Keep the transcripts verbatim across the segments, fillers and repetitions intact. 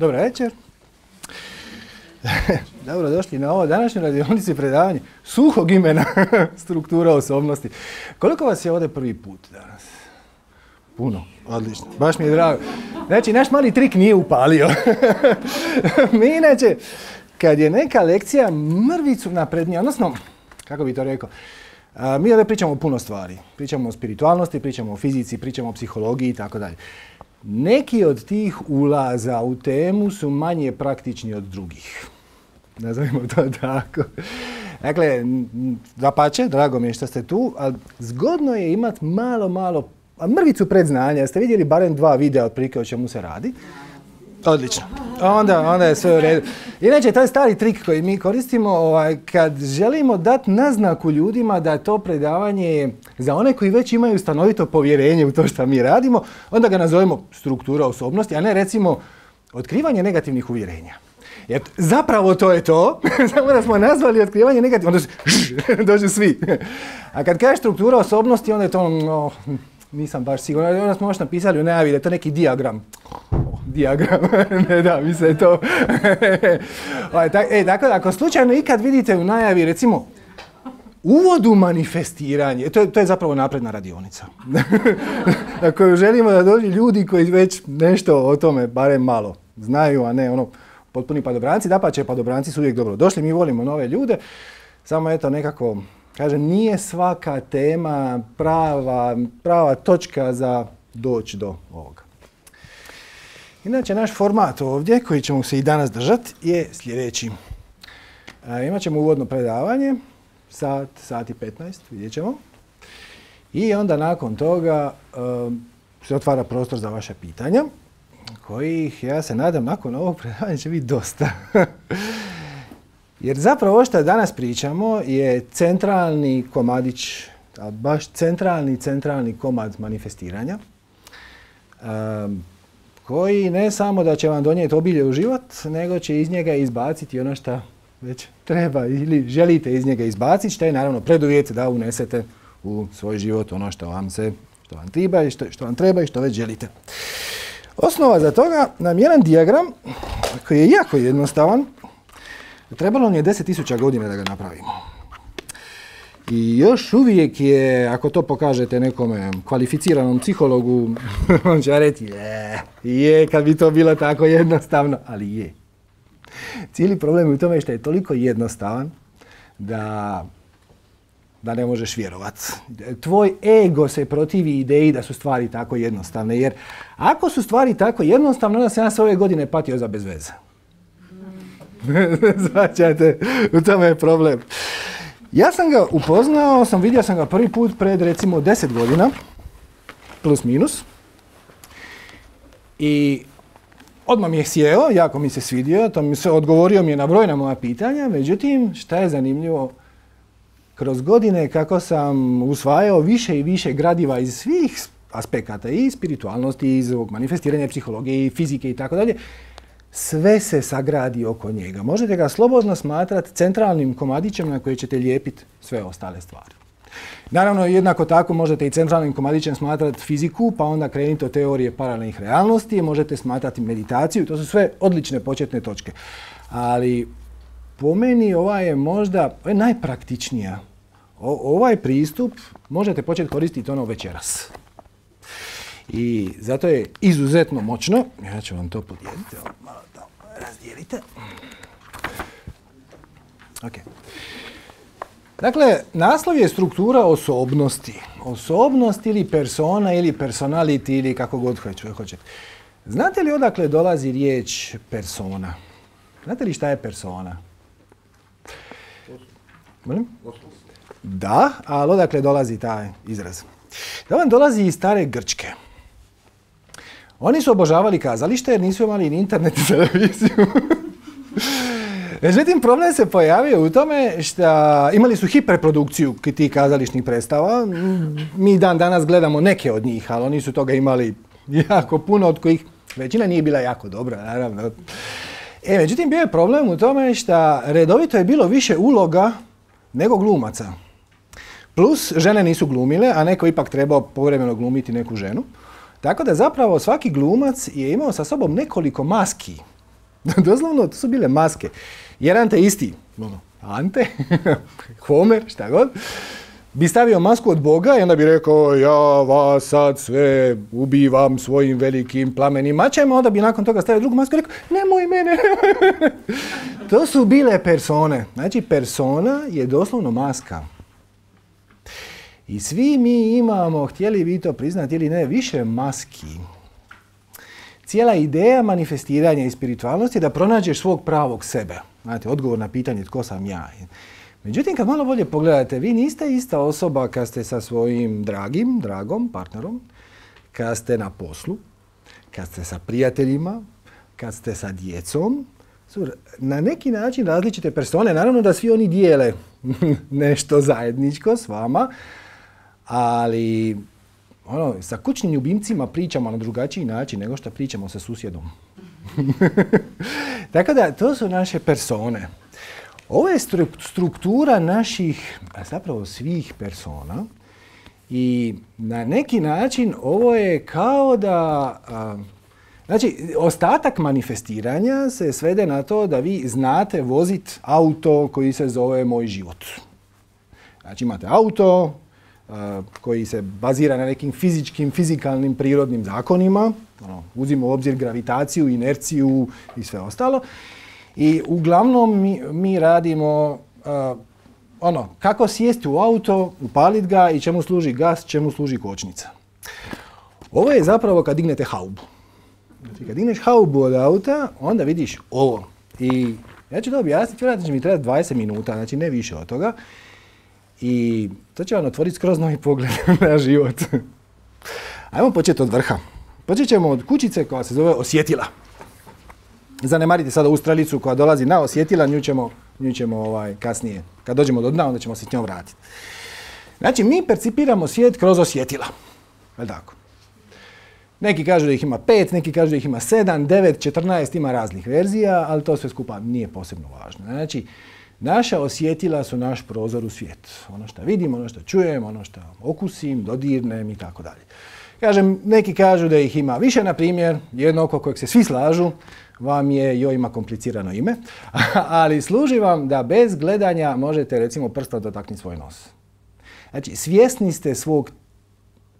Dobar večer. Dobro došli na ovo današnju radionici predavanje suhog imena struktura osobnosti. Koliko vas je ovdje prvi put danas? Puno, odlično, baš mi je drago. Znači, naš mali trik nije upalio. Mi inače, kad je neka lekcija mrvicu naprednija, odnosno, kako bi to rekao, a, mi ovdje pričamo o puno stvari. Pričamo o spiritualnosti, pričamo o fizici, pričamo o psihologiji i tako dalje. Neki od tih ulaza u temu su manje praktični od drugih. Nazovimo to tako. Dakle, dapače, drago mi je što ste tu, ali zgodno je imati malo, malo, a mrvicu predznanja. Ste vidjeli barem dva videa otprilike o čemu se radi? Odlično. Onda, onda je sve u redu. Inače, to je stari trik koji mi koristimo ovaj, kad želimo dati naznaku ljudima da to predavanje je za one koji već imaju stanovito povjerenje u to što mi radimo, onda ga nazovemo struktura osobnosti, a ne recimo otkrivanje negativnih uvjerenja. Jer zapravo to je to, samo da smo nazvali otkrivanje negativnih, onda dođu svi. A kad kažeš struktura osobnosti, onda je to no, nisam baš siguran. Onda smo još napisali u najavi da je to neki dijagram. Dijagram, ne da mi se to. E, dakle, ako slučajno ikad vidite u najavi, recimo, uvod u manifestiranje, to je, to je zapravo napredna radionica. Na koju želimo da dođu ljudi koji već nešto o tome, barem malo, znaju, a ne ono, potpuni padobranci. Dapače, padobranci su uvijek dobro došli, mi volimo nove ljude, samo eto nekako, kažem, nije svaka tema prava, prava točka za doći do ovoga. Inače, naš format ovdje, koji ćemo se i danas držati, je sljedeći. E, imat ćemo uvodno predavanje, sat, sat i petnaest, vidjet ćemo. I onda nakon toga e, se otvara prostor za vaše pitanja, kojih, ja se nadam, nakon ovog predavanja će biti dosta. Jer zapravo ovo što danas pričamo je centralni komadić, baš centralni, centralni komad manifestiranja. E, koji ne samo da će vam donijeti obilje u život, nego će iz njega izbaciti ono što već treba ili želite iz njega izbaciti, što je naravno preduvjet da unesete u svoj život ono što vam se, što vam treba i što, što vam treba i što već želite. Osnova za toga nam je jedan dijagram koji je jako jednostavan. Trebalo nam je deset tisuća godina da ga napravimo. I još uvijek je, ako to pokažete nekome kvalificiranom psihologu, on će reći, je, je, kad bi to bilo tako jednostavno, ali je. Cijeli problem je u tome što je toliko jednostavan da, da ne možeš vjerovati. Tvoj ego se protivi ideji da su stvari tako jednostavne, jer ako su stvari tako jednostavne, onda se ja sve ove godine patio za bez veze. Zvaćate, u tome je problem. Ja sam ga upoznao, sam vidio sam ga prvi put pred recimo deset godina, plus minus. I odmah mi je sjeo, jako mi se svidio, to mi se odgovorio mi je na brojna moja pitanja, međutim, šta je zanimljivo, kroz godine kako sam usvajao više i više gradiva iz svih aspekata, i spiritualnosti, i iz ovog manifestiranja psihologije, i fizike i tako dalje, sve se sagradi oko njega. Možete ga slobodno smatrati centralnim komadićem na koji ćete lijepiti sve ostale stvari. Naravno, jednako tako možete i centralnim komadićem smatrati fiziku, pa onda krenite od teorije paralelnih realnosti, možete smatrati meditaciju, to su sve odlične početne točke. Ali po meni ova je možda ovo je najpraktičnija. O, ovaj pristup možete početi koristiti ono večeras. I zato je izuzetno moćno. Ja ću vam to podijeliti. Malo to razdijelite. Okay. Dakle, naslov je struktura osobnosti. Osobnost ili persona ili personality ili kako god hoćete. Znate li odakle dolazi riječ persona? Znate li šta je persona? Molim? Da, ali odakle dolazi taj izraz? Da vam dolazi iz stare Grčke. Oni su obožavali kazalište jer nisu imali ni internet i televiziju. Međutim, problem se pojavio u tome što imali su hiperprodukciju tih kazališnih predstava. Mi dan danas gledamo neke od njih, ali oni su toga imali jako puno, od kojih većina nije bila jako dobra, naravno. E, međutim, bio je problem u tome što redovito je bilo više uloga nego glumaca. Plus, žene nisu glumile, a neko ipak trebao povremeno glumiti neku ženu. Tako da zapravo svaki glumac je imao sa sobom nekoliko maski Doslovno, to su bile maske. Jedan te isti, ono, Ante, Homer, šta god, bi stavio masku od Boga i onda bi rekao ja vas sad sve ubivam svojim velikim plamenim mačem, onda bi nakon toga stavio drugu masku i rekao nemoj mene, nemoj mene. To su bile persone. Znači, persona je doslovno maska. I svi mi imamo, htjeli vi to priznati ili ne, više maski. Cijela ideja manifestiranja i spiritualnosti je da pronađeš svog pravog sebe. Znate, odgovor na pitanje tko sam ja. Međutim, kad malo bolje pogledate, vi niste ista osoba kad ste sa svojim dragim, dragom, partnerom, kad ste na poslu, kad ste sa prijateljima, kad ste sa djecom. Su na neki način različite persone. Naravno da svi oni dijele nešto zajedničko s vama, ali ono, sa kućnim ljubimcima pričamo na drugačiji način nego što pričamo sa susjedom. Tako da, to su naše persone. Ovo je struktura naših, a zapravo svih persona i na neki način ovo je kao da, a, znači, ostatak manifestiranja se svede na to da vi znate voziti auto koji se zove Moj život. Znači, imate auto a, koji se bazira na nekim fizičkim, fizikalnim, prirodnim zakonima, ono, uzimo u obzir gravitaciju, inerciju i sve ostalo. I uglavnom mi, mi radimo uh, ono, kako sjesti u auto, upaliti ga i čemu služi gas, čemu služi kočnica. Ovo je zapravo kad dignete haubu. Znači, kad digneš haubu od auta, onda vidiš ovo. I ja ću to objasniti, vjerojatno će mi trebati dvadeset minuta, znači ne više od toga. I to će vam otvoriti skroz novi pogled na život. Ajmo početi od vrha. Počet ćemo od kućice koja se zove osjetila. Zanemarite sada ovu strelicu koja dolazi na osjetila, nju ćemo, nju ćemo ovaj, kasnije. Kad dođemo do dna, onda ćemo se s njom vratiti. Znači, mi percipiramo svijet kroz osjetila. Je li tako? Neki kažu da ih ima pet, neki kažu da ih ima sedam, devet, četrnaest, ima raznih verzija, ali to sve skupa nije posebno važno. Znači, naša osjetila su naš prozor u svijet. Ono što vidim, ono što čujem, ono što okusim, dodirnem i tako dalje. Kažem, neki kažu da ih ima više, na primjer, jedno oko kojeg se svi slažu, vam je, joj ima komplicirano ime, ali služi vam da bez gledanja možete recimo prstom dotaknuti svoj nos. Znači, svjesni ste svog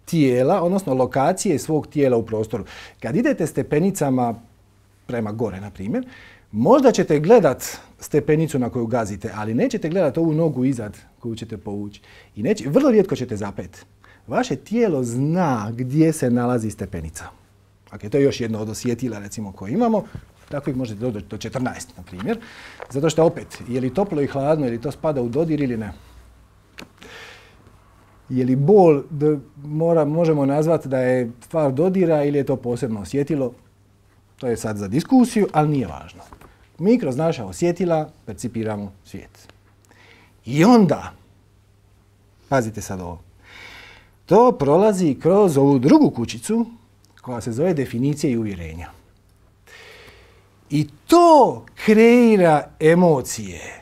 tijela, odnosno lokacije svog tijela u prostoru. Kad idete stepenicama prema gore, na primjer, možda ćete gledat stepenicu na koju gazite, ali nećete gledat ovu nogu izad koju ćete povući. I neće, vrlo rijetko ćete zapet. Vaše tijelo zna gdje se nalazi stepenica. Okay, to je još jedno od osjetila recimo koje imamo. Tako ih možete doći do četrnaest, na primjer. Zato što opet, je li toplo i hladno, je li to spada u dodir ili ne? Je li bol da mora, možemo nazvati da je stvar dodira ili je to posebno osjetilo? To je sad za diskusiju, ali nije važno. Mi kroz naša osjetila percipiramo svijet. I onda, pazite sad ovo, to prolazi kroz ovu drugu kućicu koja se zove definicija i uvjerenja. I to kreira emocije.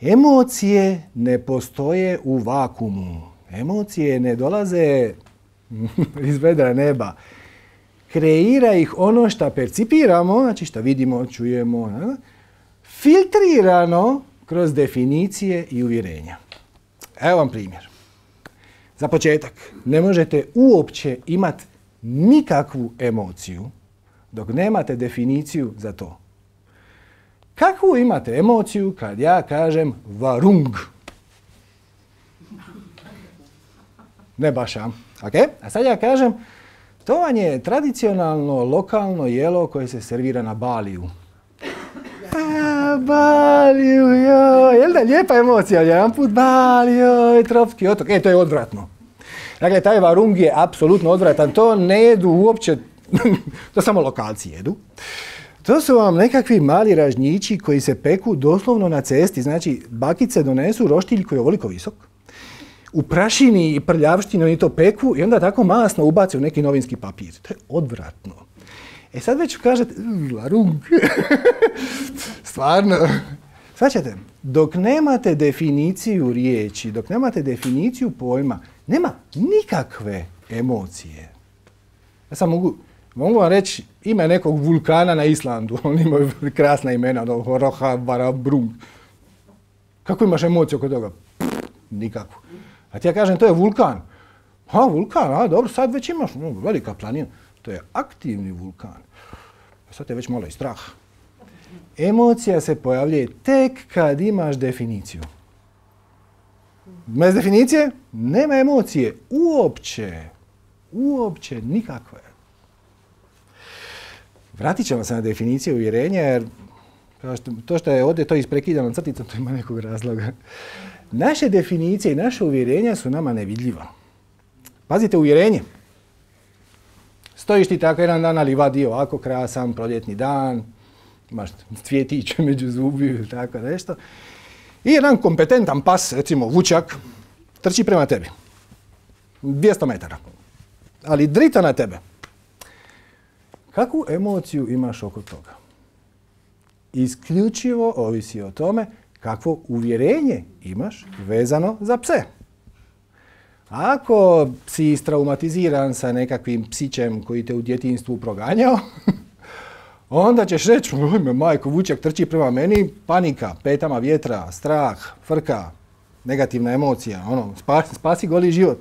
Emocije ne postoje u vakuumu. Emocije ne dolaze iz vedra neba. Kreira ih ono što percipiramo, znači što vidimo, čujemo, filtrirano kroz definicije i uvjerenja. Evo vam primjer. Za početak, ne možete uopće imati nikakvu emociju dok nemate definiciju za to. Kakvu imate emociju kad ja kažem varung? Ne baš, a? Okay? A sad ja kažem, to vam je tradicionalno lokalno jelo koje se servira na Baliju. A, Baliju, joj, jel da lijepa emocija, jedan put Bali, joj, tropski otok. E, to je odvratno. Dakle, taj varung je apsolutno odvratan. To ne jedu uopće, to samo lokalci jedu. To su vam nekakvi mali ražnjići koji se peku doslovno na cesti. Znači, bakice donesu roštilj koji je ovoliko visok. U prašini i prljavštini oni to peku i onda tako masno ubace u neki novinski papir. To je odvratno. E sad već kažete, varung. Stvarno. Svaćate, dok nemate definiciju riječi, dok nemate definiciju pojma, nema nikakve emocije. Ja sam mogu Mogu vam reći ime nekog vulkana na Islandu. Oni imaju krasna imena, ono, Roha, Barabrung. Kako imaš emociju oko toga? Pff, nikakvu. A ti ja kažem, to je vulkan. A, vulkan, a dobro, sad već imaš, no, velika planina. To je aktivni vulkan. Sad te već malo i strah. Emocija se pojavljuje tek kad imaš definiciju. Bez definicije nema emocije. Uopće. Uopće nikakve. Vratit ćemo se na definiciju uvjerenja, jer to što je ovdje to isprekidano crticom, to ima nekog razloga. Naše definicije i naše uvjerenja su nama nevidljiva. Pazite, uvjerenje. Stojiš ti tako jedan dan na livadi, ovako krasan, proljetni dan, imaš cvjetiće među zubi, tako nešto. I jedan kompetentan pas, recimo vučak, trči prema tebi. dvjesto metara. Ali drita na tebe. Kakvu emociju imaš oko toga? Isključivo ovisi o tome kakvo uvjerenje imaš vezano za pse. Ako si istraumatiziran sa nekakvim psićem koji te u djetinjstvu proganjao, onda ćeš reći, ojme majko, vučak trči prema meni, panika, petama vjetra, strah, frka, negativna emocija, ono, spasi, spasi goli život.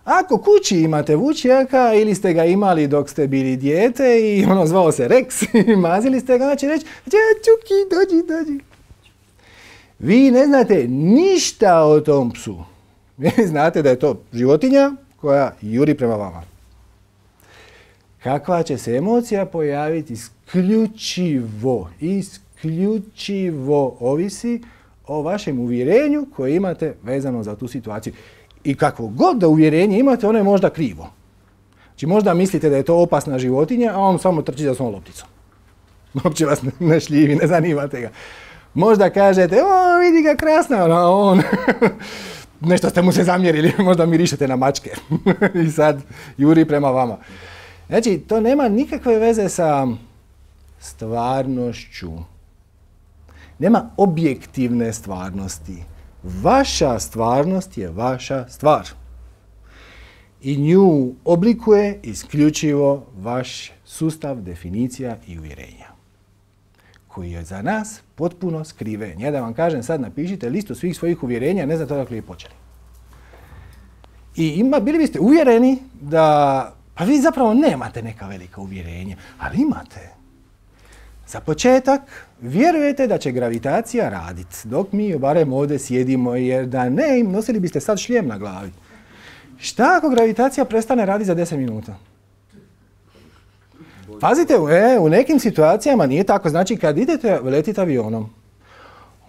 Ako kući imate vučjaka ili ste ga imali dok ste bili dijete i ono zvao se Rex i mazili ste ga, onda će reći, Čuki, dođi, dođi. Vi ne znate ništa o tom psu. Vi znate da je to životinja koja juri prema vama. Kakva će se emocija pojaviti isključivo, isključivo ovisi o vašem uvjerenju koje imate vezano za tu situaciju. I kakvo god da uvjerenje imate, ono je možda krivo. Znači možda mislite da je to opasna životinja, a on samo trči za svom lopticom. Uopće vas ne šljivi, ne zanimate ga. Možda kažete, o vidi ga krasna, a on... Nešto ste mu se zamjerili, možda mirišete na mačke i sad juri prema vama. Znači, to nema nikakve veze sa stvarnošću. Nema objektivne stvarnosti. Vaša stvarnost je vaša stvar. I nju oblikuje isključivo vaš sustav definicija i uvjerenja, koji je za nas potpuno skriven. Ja da vam kažem, sad napišite listu svih svojih uvjerenja, ne znate odakle je počeli. I ima, bili biste uvjereni da, pa vi zapravo nemate neka velika uvjerenja, ali imate. Za početak, vjerujete da će gravitacija raditi, dok mi barem ovdje sjedimo, jer da ne, nosili biste sad šljem na glavi. Šta ako gravitacija prestane raditi za deset minuta? Pazite, e, u nekim situacijama nije tako. Znači, kad idete letiti avionom,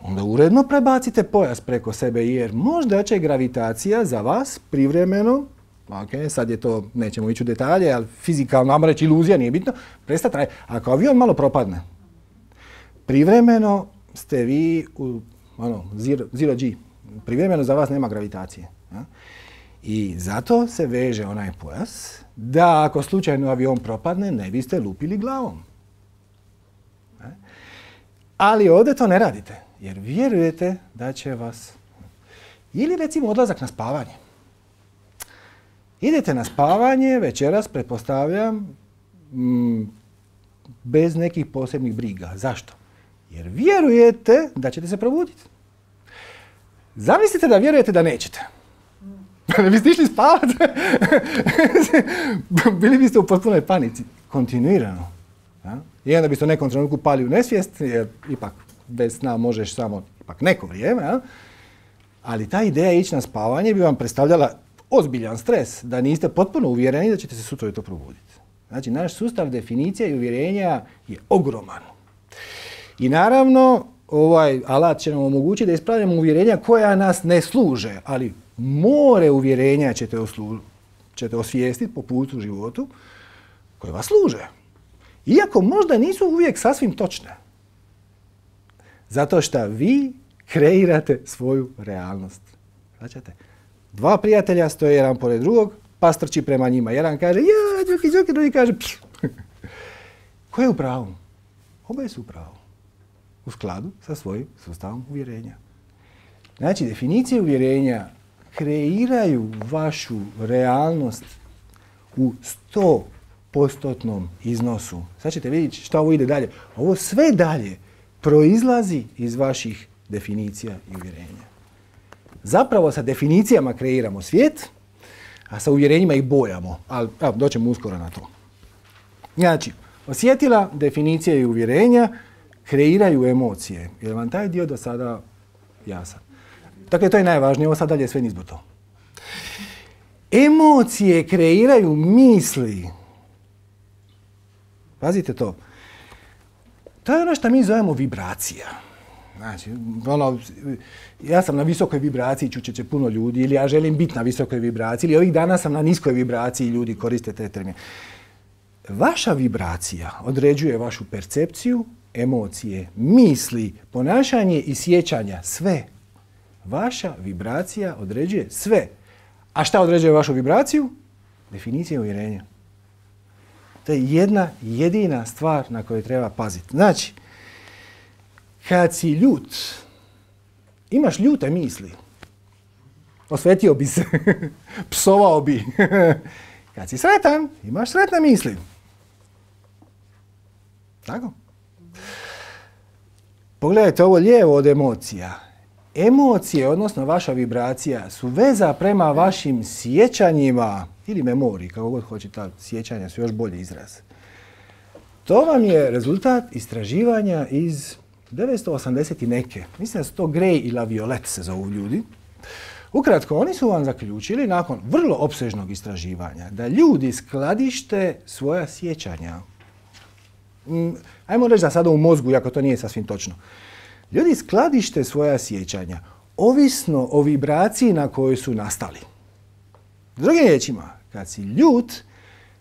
onda uredno prebacite pojas preko sebe, jer možda će gravitacija za vas privremeno, ok, sad je to, nećemo ići u detalje, ali fizikalno, ajmo reći iluzija, nije bitno, prestati raditi. Ako avion malo propadne, privremeno ste vi u ono, zero, zero G, privremeno za vas nema gravitacije. Ja? I zato se veže onaj pojas, da ako slučajno avion propadne, ne biste lupili glavom. Ali ovdje to ne radite, jer vjerujete da će vas... Ili recimo odlazak na spavanje. Idete na spavanje, večeras, pretpostavljam, m, bez nekih posebnih briga. Zašto? Jer vjerujete da ćete se probuditi. Zamislite da vjerujete da nećete. Ne biste išli spavati. Bili biste u potpunoj panici. Kontinuirano. Ja? I onda biste u nekom trenutku pali u nesvijest, jer ipak bez sna možeš samo ipak neko vrijeme. Ja? Ali ta ideja ići na spavanje bi vam predstavljala ozbiljan stres, da niste potpuno uvjereni da ćete se sutra to probuditi. Znači, naš sustav definicija i uvjerenja je ogroman. I naravno, ovaj alat će nam omogućiti da ispravljamo uvjerenja koja nas ne služe, ali more uvjerenja ćete, oslu, ćete osvijestiti po putu u životu koje vas služe. Iako možda nisu uvijek sasvim točne. Zato što vi kreirate svoju realnost. Značite? Dva prijatelja stoje jedan pored drugog, pas trči prema njima. Jedan kaže, ja, džuki, džuki, drugi kaže, pš. Ko je u pravu? Oboje su u pravu. U skladu sa svojim sustavom uvjerenja. Znači, definicije uvjerenja kreiraju vašu realnost u sto postotnom iznosu. Sad ćete vidjeti što ovo ide dalje. Ovo sve dalje proizlazi iz vaših definicija i uvjerenja. Zapravo sa definicijama kreiramo svijet, a sa uvjerenjima ih bojamo. Ali evo, doćemo uskoro na to. Znači, osjetila, definicije i uvjerenja kreiraju emocije. Je li vam taj dio do sada jasan? Dakle, to je najvažnije. Ovo sad dalje je sve nizbrdo. Emocije kreiraju misli. Pazite to. To je ono što mi zovemo vibracija. Znači, ono, ja sam na visokoj vibraciji, čuće će puno ljudi, ili ja želim biti na visokoj vibraciji, ili ovih dana sam na niskoj vibraciji, ljudi koriste te termine. Vaša vibracija određuje vašu percepciju, emocije, misli, ponašanje i sjećanja. Sve. Vaša vibracija određuje sve. A šta određuje vašu vibraciju? Definicija uvjerenja. To je jedna jedina stvar na koju treba paziti. Znači, kad si ljut, imaš ljute misli. Osvetio bi se, psovao bi. Kad si sretan, imaš sretne misli. Tako? Pogledajte ovo lijevo od emocija. Emocije, odnosno vaša vibracija, su veza prema vašim sjećanjima ili memoriji, kako god hoćete, sjećanja su još bolji izraz. To vam je rezultat istraživanja iz devetsto osamdeset i neke. Mislim da su to Gray i LaViolette se zovu ljudi. Ukratko, oni su vam zaključili nakon vrlo opsežnog istraživanja da ljudi skladište svoja sjećanja. Ajmo reći da sada u mozgu, iako to nije sasvim točno. Ljudi skladište svoja sjećanja ovisno o vibraciji na kojoj su nastali. Drugim riječima, kad si ljut,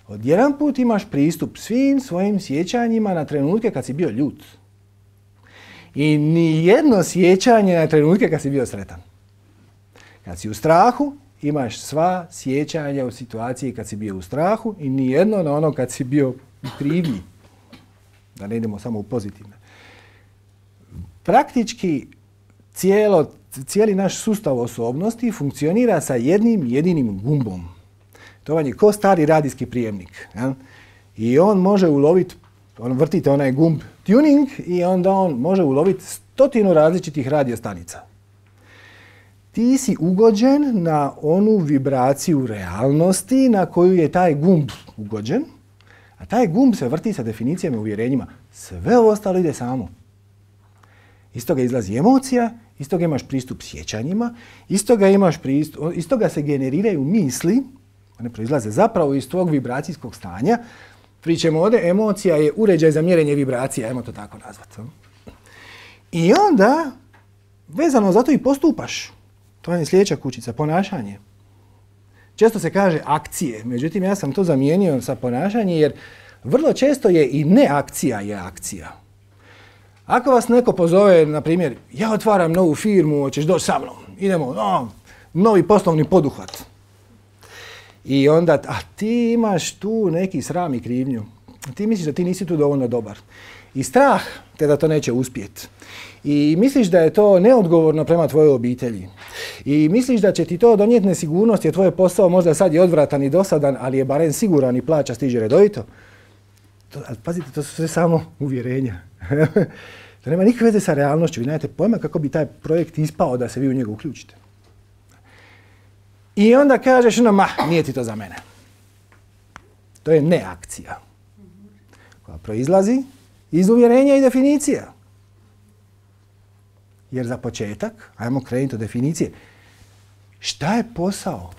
odjedan put imaš pristup svim svojim sjećanjima na trenutke kad si bio ljut. I ni jedno sjećanje na trenutke kad si bio sretan. Kad si u strahu, imaš sva sjećanja u situaciji kad si bio u strahu i ni jedno na ono kad si bio u krivnji. Da ne idemo samo u pozitivne. Praktički cijelo, cijeli naš sustav osobnosti funkcionira sa jednim jedinim gumbom. To vam je ko stari radijski prijemnik. Ja? I on može uloviti, on vrtite onaj gumb tuning i onda on može uloviti stotinu različitih radiostanica. Ti si ugođen na onu vibraciju realnosti na koju je taj gumb ugođen, a taj gumb se vrti sa definicijama i uvjerenjima. Sve ovo ostalo ide samo. Iz toga izlazi emocija, iz toga imaš pristup sjećanjima, iz toga, imaš pristup, iz toga se generiraju misli, one proizlaze zapravo iz tvog vibracijskog stanja. Pričamo ovdje, emocija je uređaj za mjerenje vibracija, ajmo to tako nazvati. I onda, vezano za to i postupaš. To je sljedeća kućica, ponašanje. Često se kaže akcije, međutim ja sam to zamijenio sa ponašanje jer vrlo često je i neakcija je akcija. Ako vas neko pozove, na primjer, ja otvaram novu firmu, hoćeš doći sa mnom, idemo, no, novi poslovni poduhvat. I onda, a ti imaš tu neki sram i krivnju. Ti misliš da ti nisi tu dovoljno dobar. I strah te da to neće uspjeti. I misliš da je to neodgovorno prema tvojoj obitelji. I misliš da će ti to donijeti nesigurnost jer tvoj posao možda sad je odvratan i dosadan, ali je barem siguran i plaća stiže redovito. To, ali pazite, to su sve samo uvjerenja. To nema nikakve veze sa realnošću. Vi nemate pojma kako bi taj projekt ispao da se vi u njega uključite. I onda kažeš, no ma, nije ti to za mene. To je neakcija koja proizlazi iz uvjerenja i definicija. Jer za početak, ajmo krenuti od definicije, šta je posao?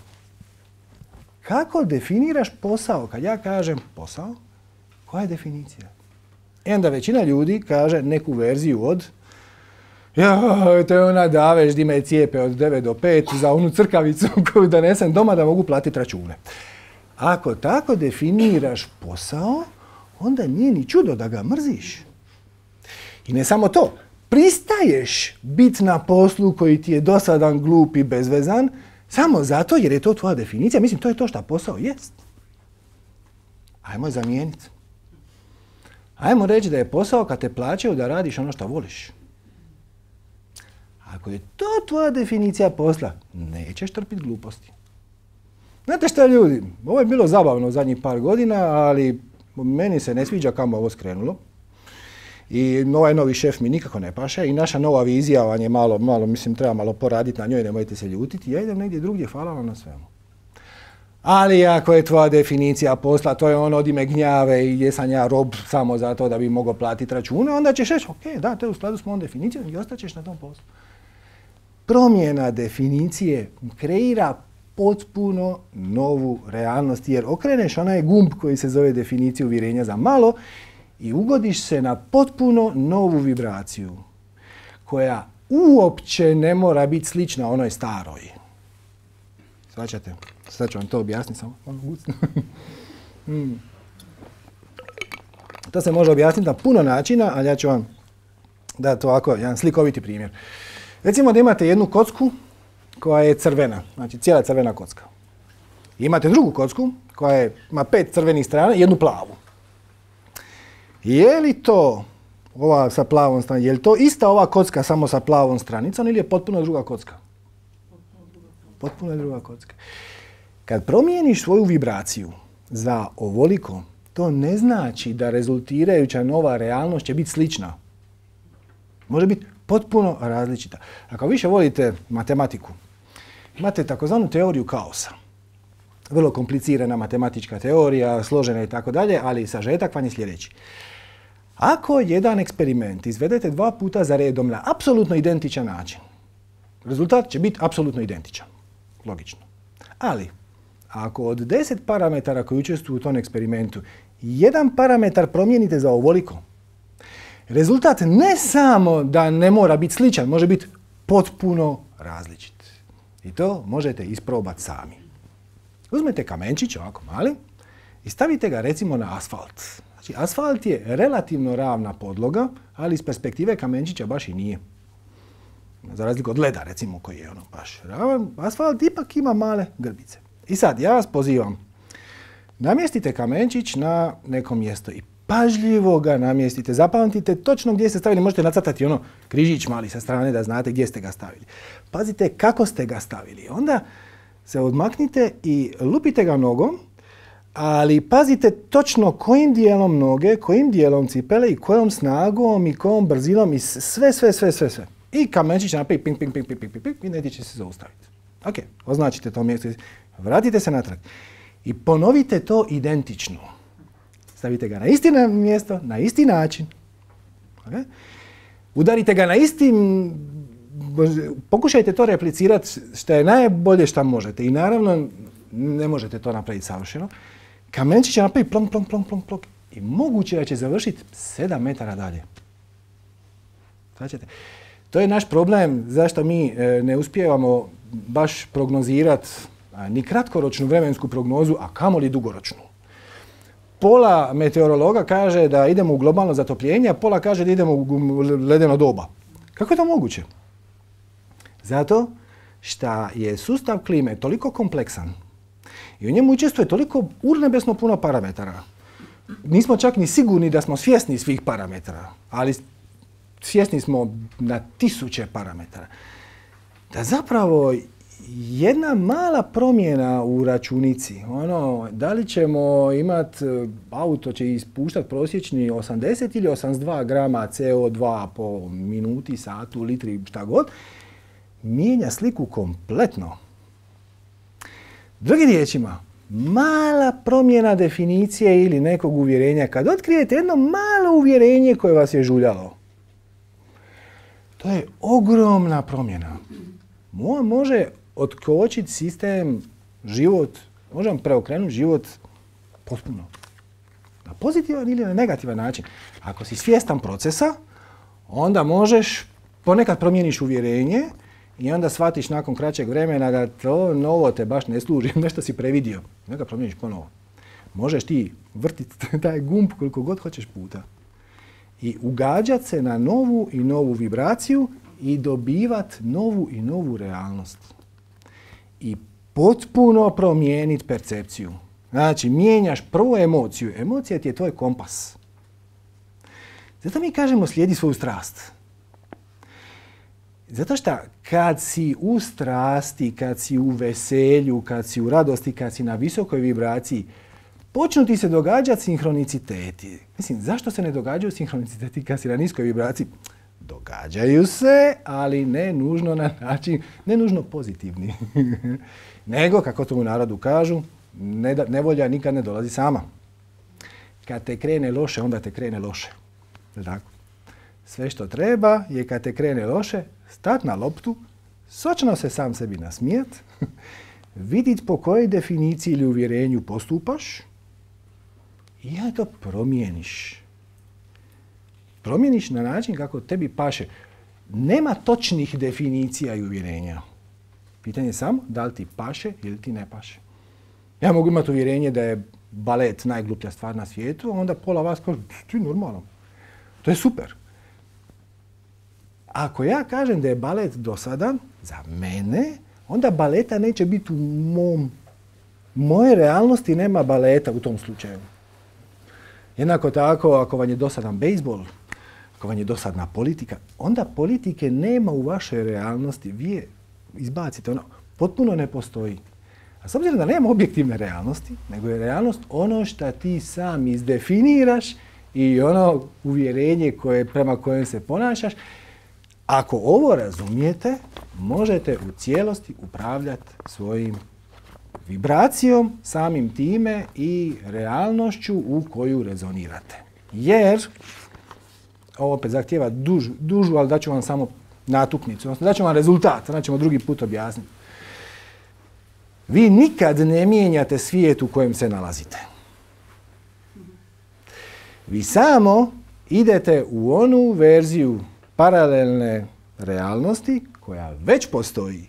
Kako definiraš posao? Kad ja kažem posao, koja je definicija? I onda većina ljudi kaže neku verziju od ja, to je ona daveš di me cijepe od devet do pet za onu crkavicu koju donesem doma da mogu platiti račune. Ako tako definiraš posao, onda nije ni čudo da ga mrziš. I ne samo to, pristaješ biti na poslu koji ti je dosadan, glup i bezvezan, samo zato jer je to tvoja definicija. Mislim, to je to što posao jest. Ajmo je zamijeniti. Ajmo reći da je posao kad te plaćaju da radiš ono što voliš. Ako je to tvoja definicija posla, nećeš trpiti gluposti. Znate šta ljudi, ovo je bilo zabavno zadnjih par godina, ali meni se ne sviđa kamo ovo skrenulo. I ovaj novi šef mi nikako ne paše i naša nova vizija vam je malo, malo, mislim, treba malo poraditi na njoj, nemojte se ljutiti. Ja idem negdje drugdje, hvala vam na svemu. Ali ako je tvoja definicija posla, to je ono odi me gnjave i gdje sam ja rob samo zato da bi mogao platiti račune, onda ćeš reći, ok, da, to je u skladu s mojom definicijom i ostaćeš na tom poslu. Promjena definicije kreira potpuno novu realnost, jer okreneš onaj gumb koji se zove definicija uvjerenja za malo i ugodiš se na potpuno novu vibraciju, koja uopće ne mora biti slična onoj staroj. Svaćate? Sad ću vam to objasniti samo. hmm. To se može objasniti na puno načina, ali ja ću vam dati ovako jedan slikoviti primjer. Recimo da imate jednu kocku koja je crvena, znači cijela crvena kocka. Imate drugu kocku koja je, ima pet crvenih strana i jednu plavu. Je li to, ova sa plavom stranicom, je li to ista ova kocka samo sa plavom stranicom ili je potpuno druga kocka? Potpuno je druga kocka. Kad promijeniš svoju vibraciju za ovoliko, to ne znači da rezultirajuća nova realnost će biti slična. Može biti potpuno različita. Ako više volite matematiku, imate takozvanu teoriju kaosa. Vrlo komplicirana matematička teorija, složena i tako dalje, ali sažetak vam je sljedeći. Ako jedan eksperiment izvedete dva puta za redom na apsolutno identičan način, rezultat će biti apsolutno identičan. Logično. Ali, ako od deset parametara koji učestvuju u tom eksperimentu, jedan parametar promijenite za ovoliko, rezultat ne samo da ne mora biti sličan, može biti potpuno različit. I to možete isprobati sami. Uzmete kamenčić, ovako mali, i stavite ga recimo na asfalt. Znači, asfalt je relativno ravna podloga, ali iz perspektive kamenčića baš i nije. Za razliku od leda, recimo, koji je ono baš ravan, asfalt ipak ima male grbice. I sad, ja vas pozivam, namjestite kamenčić na neko mjesto i pažljivo ga namjestite. Zapamtite točno gdje ste stavili, možete nacrtati ono križić mali sa strane da znate gdje ste ga stavili. Pazite kako ste ga stavili. Onda se odmaknite i lupite ga nogom, ali pazite točno kojim dijelom noge, kojim dijelom cipele i kojom snagom i kojom brzinom i sve, sve, sve, sve, sve. I kamenčić napravi ping, ping, ping, ping, ping, ping, ping i negdje će se zaustaviti. Ok, označite to mjesto, vratite se natrag i ponovite to identično. Stavite ga na isti mjesto, na isti način. Okay? Udarite ga na istim, pokušajte to replicirati što je najbolje što možete. I naravno, ne možete to napraviti savršeno. Kamenčić će napraviti plonk, plonk, plonk, plonk, plonk. I moguće da će završiti sedam metara dalje. Značite? To je naš problem zašto mi ne uspijevamo baš prognozirati ni kratkoročnu vremensku prognozu, a kamoli dugoročnu. Pola meteorologa kaže da idemo u globalno zatopljenje, a pola kaže da idemo u ledeno doba. Kako je to moguće? Zato što je sustav klime toliko kompleksan i u njemu učestvuje toliko urnebesno puno parametara. Nismo čak ni sigurni da smo svjesni svih parametara, ali svjesni smo na tisuće parametara. Da zapravo jedna mala promjena u računici, ono, da li ćemo imati, auto će ispuštati prosječni osamdeset ili osamdeset dva grama C O dva po minuti, satu, litri, šta god, mijenja sliku kompletno. Drugim riječima, mala promjena definicije ili nekog uvjerenja, kad otkrijete jedno malo uvjerenje koje vas je žuljalo, to je ogromna promjena. Mo može otkočiti sistem, život, može vam preokrenuti život potpuno. Na pozitivan ili na negativan način. Ako si svjestan procesa, onda možeš, ponekad promijeniš uvjerenje i onda shvatiš nakon kraćeg vremena da to novo te baš ne služi, nešto si previdio. Neka promijeniš ponovo. Možeš ti vrtiti taj gumb koliko god hoćeš puta. I ugađati se na novu i novu vibraciju i dobivati novu i novu realnost. I potpuno promijeniti percepciju. Znači, mijenjaš prvu emociju. Emocija ti je tvoj kompas. Zato mi kažemo slijedi svoju strast. Zato što kad si u strasti, kad si u veselju, kad si u radosti, kad si na visokoj vibraciji, počnu ti se događati sinhroniciteti. Mislim, zašto se ne događaju sinhroniciteti kad si na niskoj vibraciji? Događaju se, ali ne nužno na način, ne nužno pozitivni. Nego, kako to u narodu kažu, ne da, nevolja nikad ne dolazi sama. Kad te krene loše, onda te krene loše. Tako. Sve što treba je kad te krene loše, stat na loptu, sočno se sam sebi nasmijat, vidit po kojoj definiciji ili uvjerenju postupaš i ja to promijeniš. Promijeniš na način kako tebi paše. Nema točnih definicija i uvjerenja. Pitanje je samo da li ti paše ili ti ne paše. Ja mogu imati uvjerenje da je balet najgluplja stvar na svijetu, a onda pola vas kaže, ti normalno. To je super. Ako ja kažem da je balet dosadan, za mene, onda baleta neće biti u mom, moje realnosti nema baleta u tom slučaju. Jednako tako, ako vam je dosadan bejsbol, ako vam je dosadna politika, onda politike nema u vašoj realnosti. Vi je izbacite, ono potpuno ne postoji. A s obzirom da nema objektivne realnosti, nego je realnost ono što ti sam izdefiniraš i ono uvjerenje koje, prema kojem se ponašaš, ako ovo razumijete, možete u cijelosti upravljati svojim vibracijom, samim time i realnošću u koju rezonirate. Jer, ovo opet zahtijeva dužu, dužu, ali daću vam samo natuknicu, odnosno daću vam rezultat, znači ćemo drugi put objasniti. Vi nikad ne mijenjate svijet u kojem se nalazite. Vi samo idete u onu verziju paralelne realnosti koja već postoji,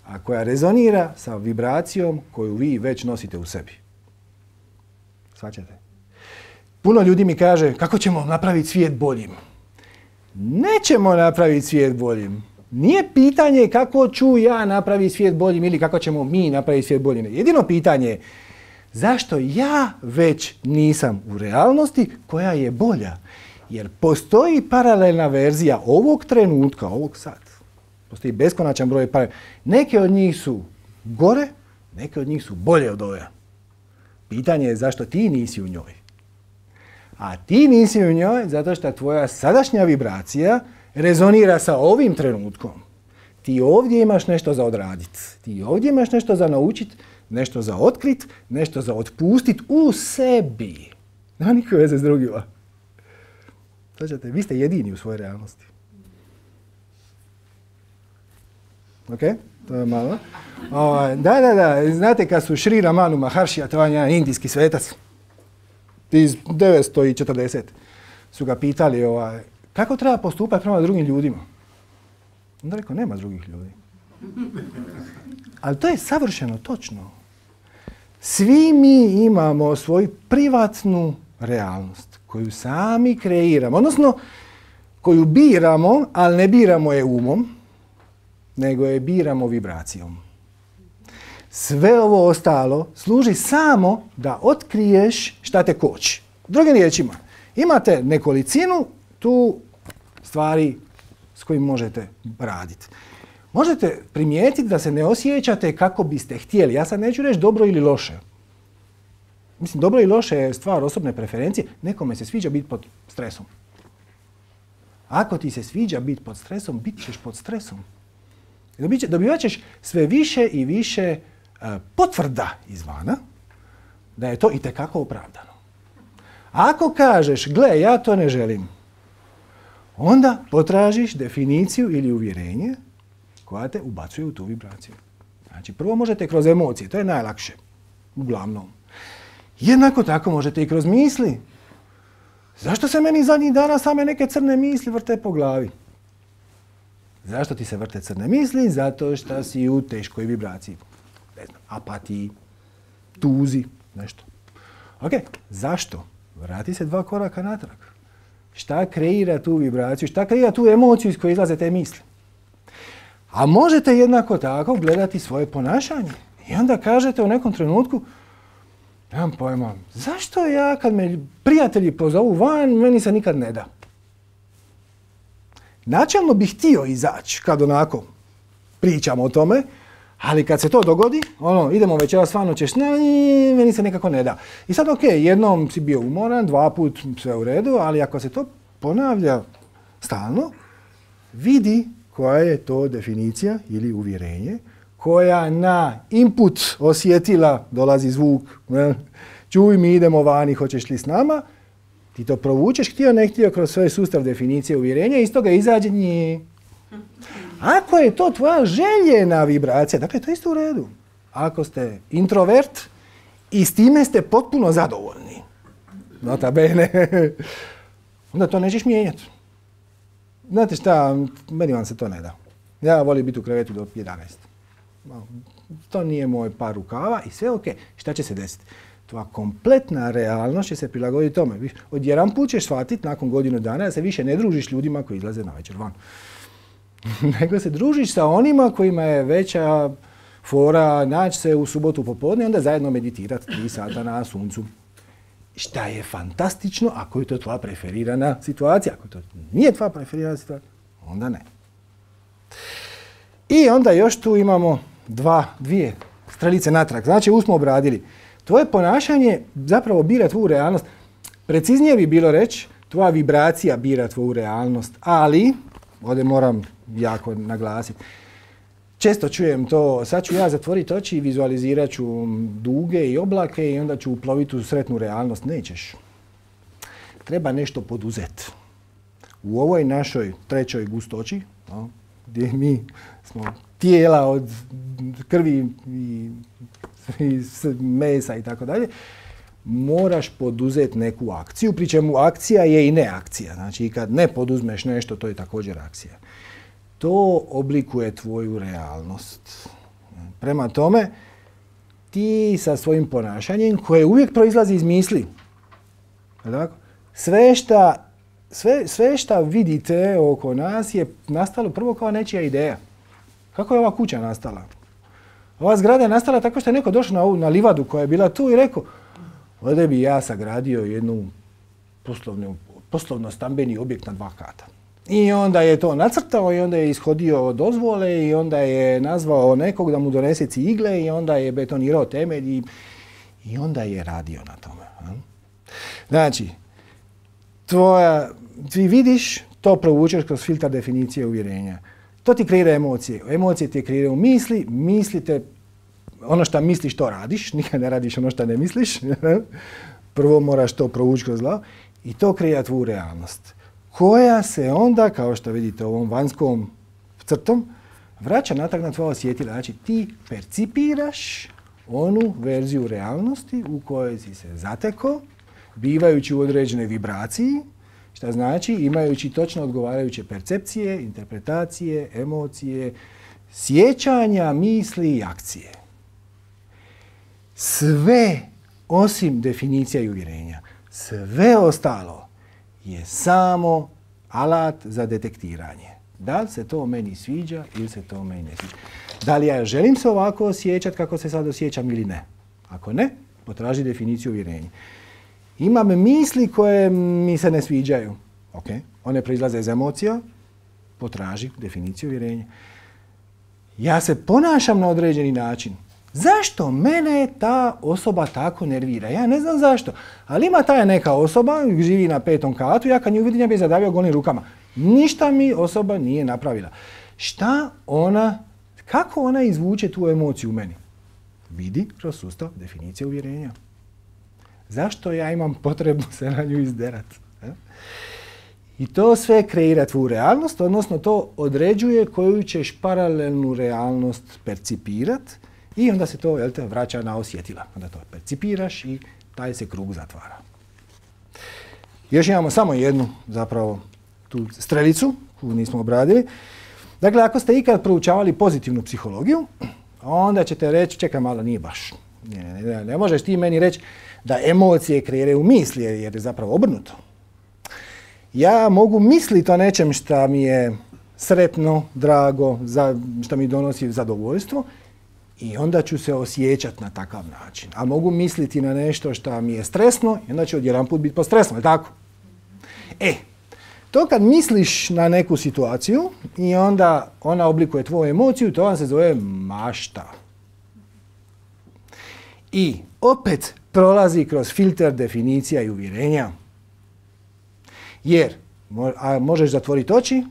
a koja rezonira sa vibracijom koju vi već nosite u sebi. Shvaćate? Puno ljudi mi kaže kako ćemo napraviti svijet boljim. Nećemo napraviti svijet boljim. Nije pitanje kako ću ja napraviti svijet boljim ili kako ćemo mi napraviti svijet boljim. Jedino pitanje je zašto ja već nisam u realnosti koja je bolja. Jer postoji paralelna verzija ovog trenutka, ovog sad. Postoji beskonačan broj paralelna. Neke od njih su gore, neke od njih su bolje od ove. Pitanje je zašto ti nisi u njoj. A ti nisi u njoj zato što tvoja sadašnja vibracija rezonira sa ovim trenutkom. Ti ovdje imaš nešto za odraditi. Ti ovdje imaš nešto za naučiti, nešto za otkrit, nešto za otpustiti u sebi. Nema nikakve veze s drugima. Znači, vi ste jedini u svojoj realnosti. Ok? To je malo. O, da, da, da. Znate kad su Šri Ramanu Maharshija, to je jedan indijski svetac, iz devetsto četrdeset su ga pitali ovaj, kako treba postupati prema drugim ljudima. Onda rekao, nema drugih ljudi. Ali to je savršeno točno. Svi mi imamo svoju privatnu realnost koju sami kreiramo, odnosno koju biramo, ali ne biramo je umom, nego je biramo vibracijom. Sve ovo ostalo služi samo da otkriješ šta te koči. Drugim riječima, imate nekolicinu tu stvari s kojim možete raditi. Možete primijetiti da se ne osjećate kako biste htjeli. Ja sad neću reći dobro ili loše. Mislim, dobro i loše je stvar osobne preferencije. Nekome se sviđa biti pod stresom. Ako ti se sviđa biti pod stresom, bit ćeš pod stresom. Dobivat ćeš sve više i više uh, potvrda izvana da je to itekako opravdano. Ako kažeš, gle, ja to ne želim, onda potražiš definiciju ili uvjerenje koja te ubacuje u tu vibraciju. Znači, prvo možete kroz emocije, to je najlakše, uglavnom. Jednako tako možete i kroz misli. Zašto se meni zadnjih dana same neke crne misli vrte po glavi? Zašto ti se vrte crne misli? Zato što si u teškoj vibraciji. Ne znam, apatiji, tuzi, nešto. Ok, zašto? Vrati se dva koraka natrag. Šta kreira tu vibraciju? Šta kreira tu emociju iz koje izlaze te misli? A možete jednako tako gledati svoje ponašanje. I onda kažete u nekom trenutku, nemam pojma, zašto ja kad me prijatelji pozovu van, meni se nikad ne da? načelno bih htio izaći kad onako pričamo o tome, ali kad se to dogodi, ono, idemo večeras, stvarno ćeš, ne, meni se nekako ne da. I sad, ok, jednom si bio umoran, dva put sve u redu, ali ako se to ponavlja stalno, vidi koja je to definicija ili uvjerenje koja na input osjetila, dolazi zvuk, čuj mi idemo vani, hoćeš li s nama, ti to provučeš, htio ne htio kroz svoj sustav definicije uvjerenja i iz toga izađe nje. Ako je to tvoja željena vibracija, dakle to je isto u redu. Ako ste introvert i s time ste potpuno zadovoljni, nota bene, onda to nećeš mijenjati. Znate šta, meni vam se to ne da. Ja volim biti u krevetu do jedanaest. To nije moj par rukava i sve ok. Šta će se desiti? Tvoja kompletna realnost će se prilagoditi tome. Odjedan put ćeš shvatiti nakon godinu dana da se više ne družiš ljudima koji izlaze na večer van. Nego se družiš sa onima kojima je veća fora naći se u subotu popodne i onda zajedno meditirati tri sata na suncu. Šta je fantastično ako je to tvoja preferirana situacija. Ako to nije tvoja preferirana situacija, onda ne. I onda još tu imamo dva, dvije strelice natrag. Znači, ovu smo obradili. Tvoje ponašanje zapravo bira tvoju realnost. Preciznije bi bilo reći, tvoja vibracija bira tvoju realnost, ali, ovdje moram jako naglasiti, često čujem to, sad ću ja zatvoriti oči i vizualizirat ću duge i oblake i onda ću uploviti u sretnu realnost. Nećeš. Treba nešto poduzeti. U ovoj našoj trećoj gustoći, no, gdje mi smo tijela od krvi i, i mesa i tako dalje, moraš poduzeti neku akciju, pri čemu akcija je i neakcija. Znači, kad ne poduzmeš nešto, to je također akcija. To oblikuje tvoju realnost. Prema tome, ti sa svojim ponašanjem, koje uvijek proizlazi iz misli, sve šta, sve, sve šta vidite oko nas je nastalo prvo kao nečija ideja. Kako je ova kuća nastala? Ova zgrada je nastala tako što je neko došao na, ovu, na livadu koja je bila tu i rekao, ovdje bi ja sagradio jednu poslovnu, poslovno-stambeni objekt na dva kata. I onda je to nacrtao i onda je ishodio dozvole i onda je nazvao nekog da mu donese cigle i onda je betonirao temelj i, i onda je radio na tome. Znači, tvoja, ti vidiš, to provučeš kroz filtar definicije uvjerenja. To ti kreira emocije. Emocije ti kreiraju misli, mislite, ono što misliš to radiš, nikad ne radiš ono što ne misliš. Prvo moraš to provući kroz glavu i to kreira tvoju realnost, koja se onda, kao što vidite ovom vanjskom crtom, vraća natrag na tvoja osjetila. Znači, ti percipiraš onu verziju realnosti u kojoj si se zatekao, bivajući u određenoj vibraciji, što znači imajući točno odgovarajuće percepcije, interpretacije, emocije, sjećanja, misli i akcije. Sve osim definicija i uvjerenja, sve ostalo je samo alat za detektiranje. Da li se to meni sviđa ili se to meni ne sviđa. Da li ja želim se ovako osjećati kako se sad osjećam ili ne. Ako ne, potraži definiciju uvjerenja. Imam misli koje mi se ne sviđaju. Ok, one proizlaze iz emocija, potraži definiciju uvjerenja. Ja se ponašam na određeni način. Zašto mene ta osoba tako nervira? Ja ne znam zašto, ali ima ta neka osoba, živi na petom katu, ja kad nju vidim ja bi zadavio golim rukama. Ništa mi osoba nije napravila. Šta ona, kako ona izvuče tu emociju u meni? Vidi kroz sustav definicije uvjerenja. Zašto ja imam potrebu se na nju izderat? I to sve kreira tvoju realnost, odnosno to određuje koju ćeš paralelnu realnost percipirat i onda se to, jel te, vraća na osjetila. Onda to percipiraš i taj se krug zatvara. Još imamo samo jednu, zapravo, tu strelicu koju nismo obradili. Dakle, ako ste ikad proučavali pozitivnu psihologiju, onda ćete reći, čekaj malo, nije baš. Ne, ne, ne, ne možeš ti meni reći da emocije kreiraju misli, jer je zapravo obrnuto. Ja mogu misliti o nečem što mi je sretno, drago, za, što mi donosi zadovoljstvo i onda ću se osjećati na takav način. A mogu misliti na nešto što mi je stresno i onda ću odjedanput biti postresno, je tako? E, To kad misliš na neku situaciju i onda ona oblikuje tvoju emociju, to vam se zove mašta. I opet prolazi kroz filter definicija i uvjerenja. Jer a možeš zatvoriti oči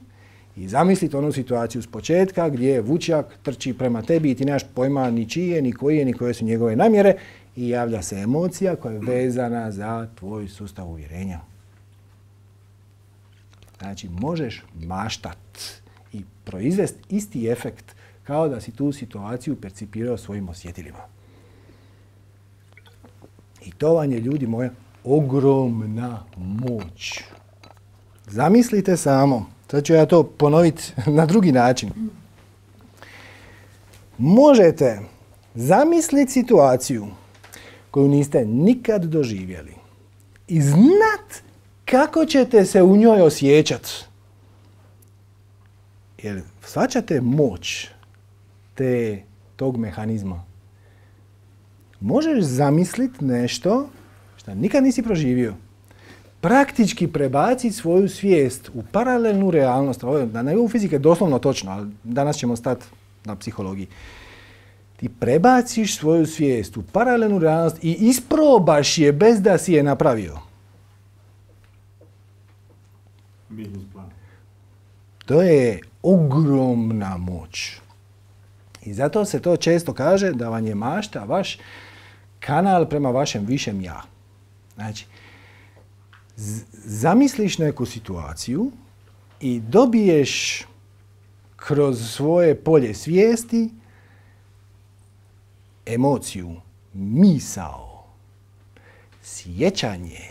i zamisliti onu situaciju s početka gdje vučjak trči prema tebi i ti nemaš pojma ni čije, ni koje, ni koje su njegove namjere i javlja se emocija koja je vezana za tvoj sustav uvjerenja. Znači, možeš maštat i proizvesti isti efekt kao da si tu situaciju percipirao svojim osjetilima. I to vam je, ljudi moja, ogromna moć. Zamislite samo, sad ću ja to ponoviti na drugi način. Možete zamisliti situaciju koju niste nikad doživjeli i znat kako ćete se u njoj osjećati. Jer shvaćate moć te, tog mehanizma. Možeš zamisliti nešto što nikad nisi proživio. Praktički prebaciti svoju svijest u paralelnu realnost. Ovo je na nivou fizike doslovno točno, ali danas ćemo stati na psihologiji. Ti prebaciš svoju svijest u paralelnu realnost i isprobaš je bez da si je napravio. To je ogromna moć. I zato se to često kaže da vam je mašta vaš kanal prema vašem višem ja. Znači, zamisliš neku situaciju i dobiješ kroz svoje polje svijesti emociju, misao, sjećanje,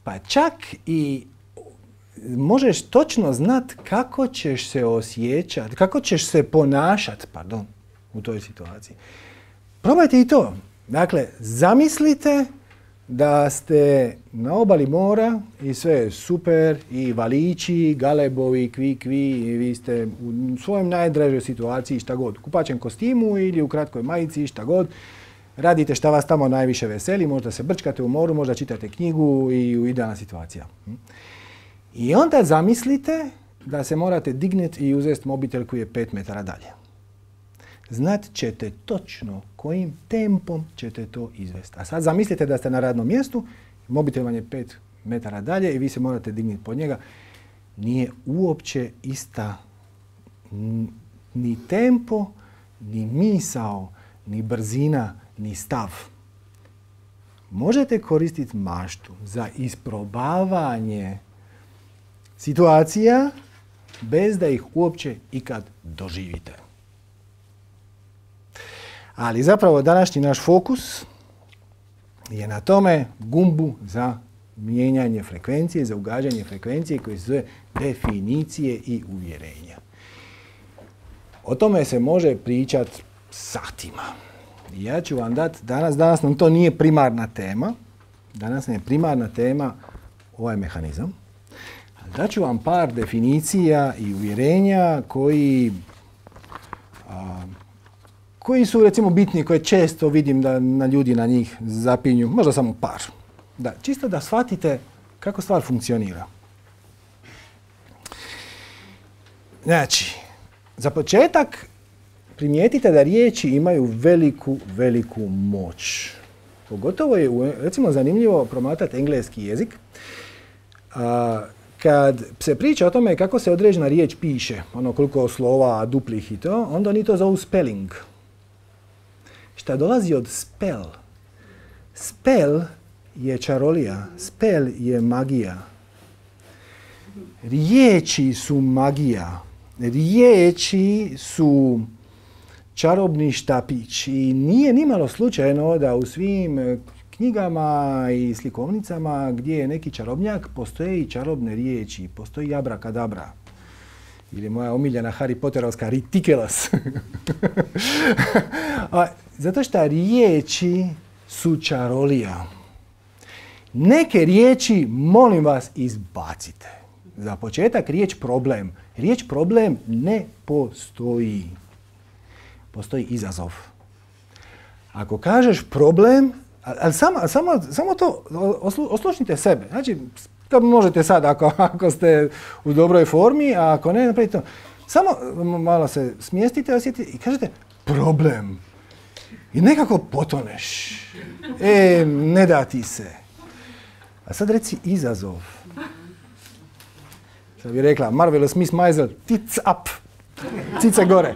pa čak i možeš točno znat kako ćeš se osjećati, kako ćeš se ponašati, pardon, u toj situaciji. Probajte i to. Dakle, zamislite da ste na obali mora i sve je super i valiči, galebovi, kvi, kvi i vi ste u svojom najdražoj situaciji šta god. U kupaćem kostimu ili u kratkoj majici, šta god. Radite šta vas tamo najviše veseli, možda se brčkate u moru, možda čitate knjigu i u idealna situacija. I onda zamislite da se morate dignuti i uzeti mobitel koji je pet metara dalje. Znat ćete točno kojim tempom ćete to izvesti. A sad zamislite da ste na radnom mjestu, mobitel vam je pet metara dalje i vi se morate dignuti pod njega. Nije uopće ista ni tempo, ni misao, ni brzina, ni stav. Možete koristiti maštu za isprobavanje situacija bez da ih uopće ikad doživite. Ali zapravo današnji naš fokus je na tome gumbu za mijenjanje frekvencije, za ugađanje frekvencije koje se zove definicije i uvjerenja. O tome se može pričati satima. Ja ću vam dati, danas, danas nam to nije primarna tema, danas nam je primarna tema ovaj mehanizam. Dat ću vam par definicija i uvjerenja koji, a, koji su recimo bitni, koje često vidim da na ljudi na njih zapinju, možda samo par. Da, čisto da shvatite kako stvar funkcionira. Znači, za početak primijetite da riječi imaju veliku, veliku moć. Pogotovo je, recimo, zanimljivo promatrati engleski jezik. A, kad se priča o tome kako se određena riječ piše, ono koliko slova, duplih i to, onda oni to zovu spelling. Šta dolazi od spell. Spell je čarolija, spell je magija. Riječi su magija. Riječi su čarobni štapić i nije nimalo slučajno da u svim knjigama i slikovnicama gdje je neki čarobnjak postoje i čarobne riječi, postoji abrakadabra. Ili moja omiljena Harry Potterovska ridiculous. Zato što riječi su čarolija. Neke riječi, molim vas, izbacite. Za početak riječ problem. Riječ problem ne postoji. Postoji izazov. Ako kažeš problem, ali samo, samo, samo to oslušnite sebe. Znači, To možete sad ako, ako ste u dobroj formi, a ako ne, napravite to. Samo malo se smjestite, osjetite i kažete problem. I nekako potoneš. E, ne da ti se. A sad reci izazov. Što bi rekla Marvelous Miss Maisel, tits up. Cice gore.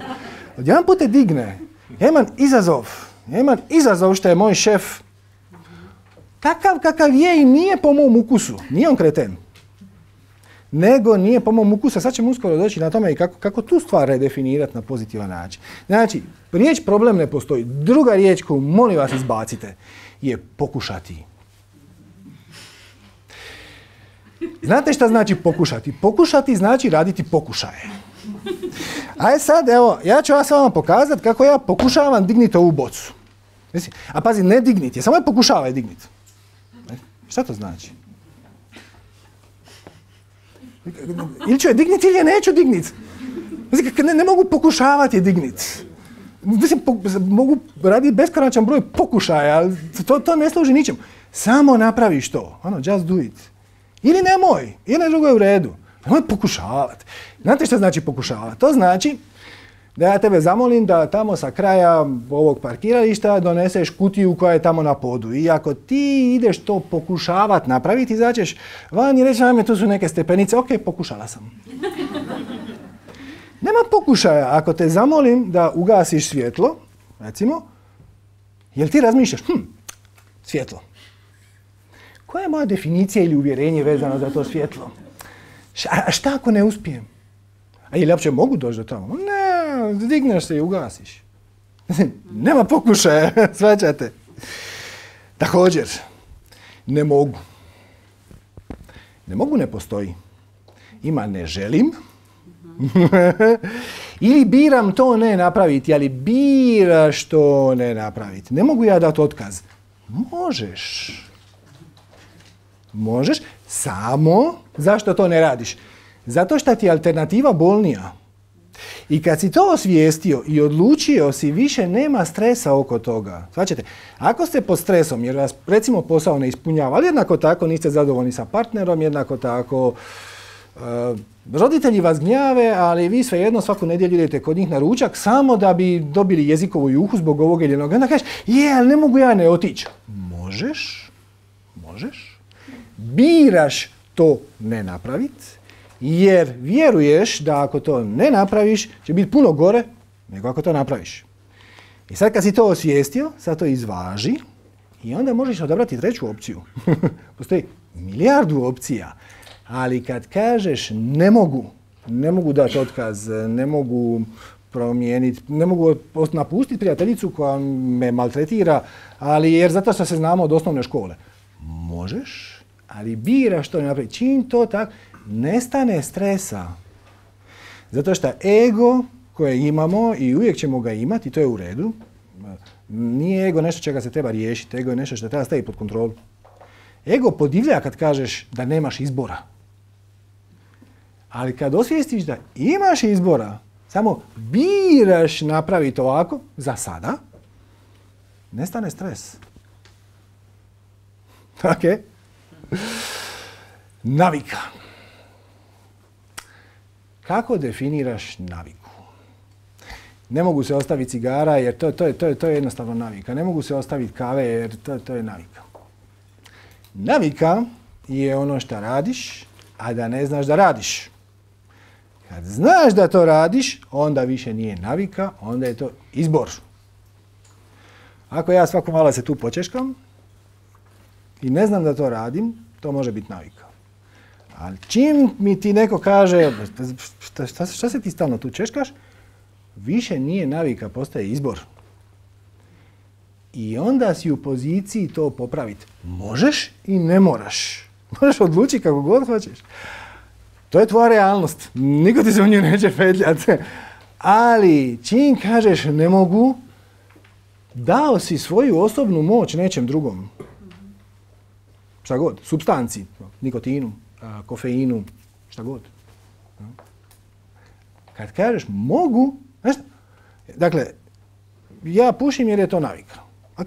Odjedan put te digne. Ja imam izazov. Ja imam izazov što je moj šef takav kakav je i nije po mom ukusu. Nije on kreten. Nego nije po mom ukusu. Sad ćemo uskoro doći na tome i kako, kako tu stvar redefinirati na pozitivan način. Znači, riječ problem ne postoji. Druga riječ koju molim vas izbacite je pokušati. Znate šta znači pokušati? Pokušati znači raditi pokušaje. Aj sad, evo, ja ću vas vama pokazati kako ja pokušavam digniti ovu bocu. A pazi, ne digniti je, samo je pokušavaj digniti. Šta to znači? Ili ću je digniti ili je neću digniti. Ne, ne mogu pokušavati je digniti. Mislim, po, mogu raditi beskonačan broj pokušaja, ali to, to ne služi ničemu. Samo napraviš to. Ono, just do it. Ili nemoj, ili drugo je u redu. Nemoj pokušavati. Znate što znači pokušavati? To znači da ja tebe zamolim da tamo sa kraja ovog parkirališta doneseš kutiju koja je tamo na podu. I ako ti ideš to pokušavati napraviti, izaćeš van i reći nam tu su neke stepenice, ok, pokušala sam. Nema pokušaja. Ako te zamolim da ugasiš svjetlo, recimo, jel ti razmišljaš, hm, svjetlo. Koja je moja definicija ili uvjerenje vezano za to svjetlo? A šta ako ne uspijem? A je li uopće mogu doći do tamo? Ne, digneš se i ugasiš. Nema pokušaja, shvaćate. Također, ne mogu. Ne mogu ne postoji. Ima ne želim. Ili biram to ne napraviti, ali biraš to ne napraviti. Ne mogu ja dati otkaz. Možeš. Možeš, samo zašto to ne radiš? Zato što ti je alternativa bolnija. I kad si to osvijestio i odlučio si, više nema stresa oko toga. Svačate, ako ste pod stresom jer vas recimo posao ne ispunjava, ali jednako tako niste zadovoljni sa partnerom, jednako tako uh, roditelji vas gnjave, ali vi svejedno svaku nedjelju idete kod njih na ručak samo da bi dobili jezikovu juhu zbog ovog ili onoga. Onda kažeš, je, ali ne mogu ja ne otići. Možeš, možeš. Biraš to ne napraviti, jer vjeruješ da ako to ne napraviš, će biti puno gore nego ako to napraviš. I sad kad si to osvijestio, sad to izvaži i onda možeš odabrati treću opciju. Postoji milijardu opcija, ali kad kažeš ne mogu, ne mogu dati otkaz, ne mogu promijeniti, ne mogu napustiti prijateljicu koja me maltretira, ali jer zato što se znamo od osnovne škole. Možeš, ali biraš to ne napraviti. Čim to tako, nestane stresa. Zato što ego koje imamo i uvijek ćemo ga imati, to je u redu, nije ego nešto čega se treba riješiti, ego je nešto što treba staviti pod kontrolu. Ego podivlja kad kažeš da nemaš izbora. Ali kad osvijestiš da imaš izbora, samo biraš napraviti ovako, za sada, nestane stres. Ok? Navika. Kako definiraš naviku? Ne mogu se ostaviti cigara jer to, to, je, to, je, to je jednostavno navika. Ne mogu se ostaviti kave jer to, to je navika. Navika je ono što radiš, a da ne znaš da radiš. Kad znaš da to radiš, onda više nije navika, onda je to izbor. Ako ja svako malo se tu počeškam i ne znam da to radim, to može biti navika. Ali čim mi ti neko kaže, šta, šta, šta se ti stalno tu češkaš, više nije navika, postaje izbor. I onda si u poziciji to popraviti. Možeš i ne moraš. Možeš odlučiti kako god hoćeš. To je tvoja realnost. Niko ti se u nju neće petljati. Ali čim kažeš ne mogu, dao si svoju osobnu moć nečem drugom. Šta god, supstanci, nikotinu, kofeinu, šta god. Kad kažeš mogu, znaš, dakle, ja pušim jer je to navika. Ok.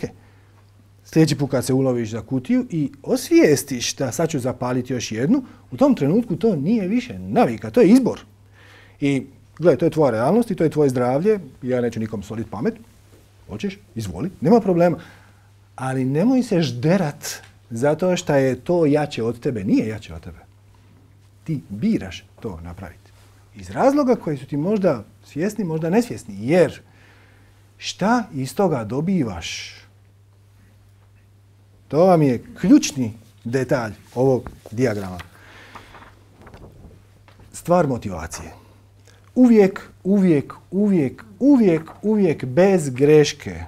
sljedeći put kad se uloviš za kutiju i osvijestiš da sad ću zapaliti još jednu, u tom trenutku to nije više navika, to je izbor. I gledaj, to je tvoja realnost i to je tvoje zdravlje, ja neću nikom soliti pamet, hoćeš, izvoli, nema problema. Ali nemoj se žderat zato što je to jače od tebe, nije jače od tebe. Ti biraš to napraviti. Iz razloga koji su ti možda svjesni, možda nesvjesni, jer šta iz toga dobivaš? To vam je ključni detalj ovog dijagrama. Stvar motivacije. Uvijek, uvijek, uvijek, uvijek, uvijek bez greške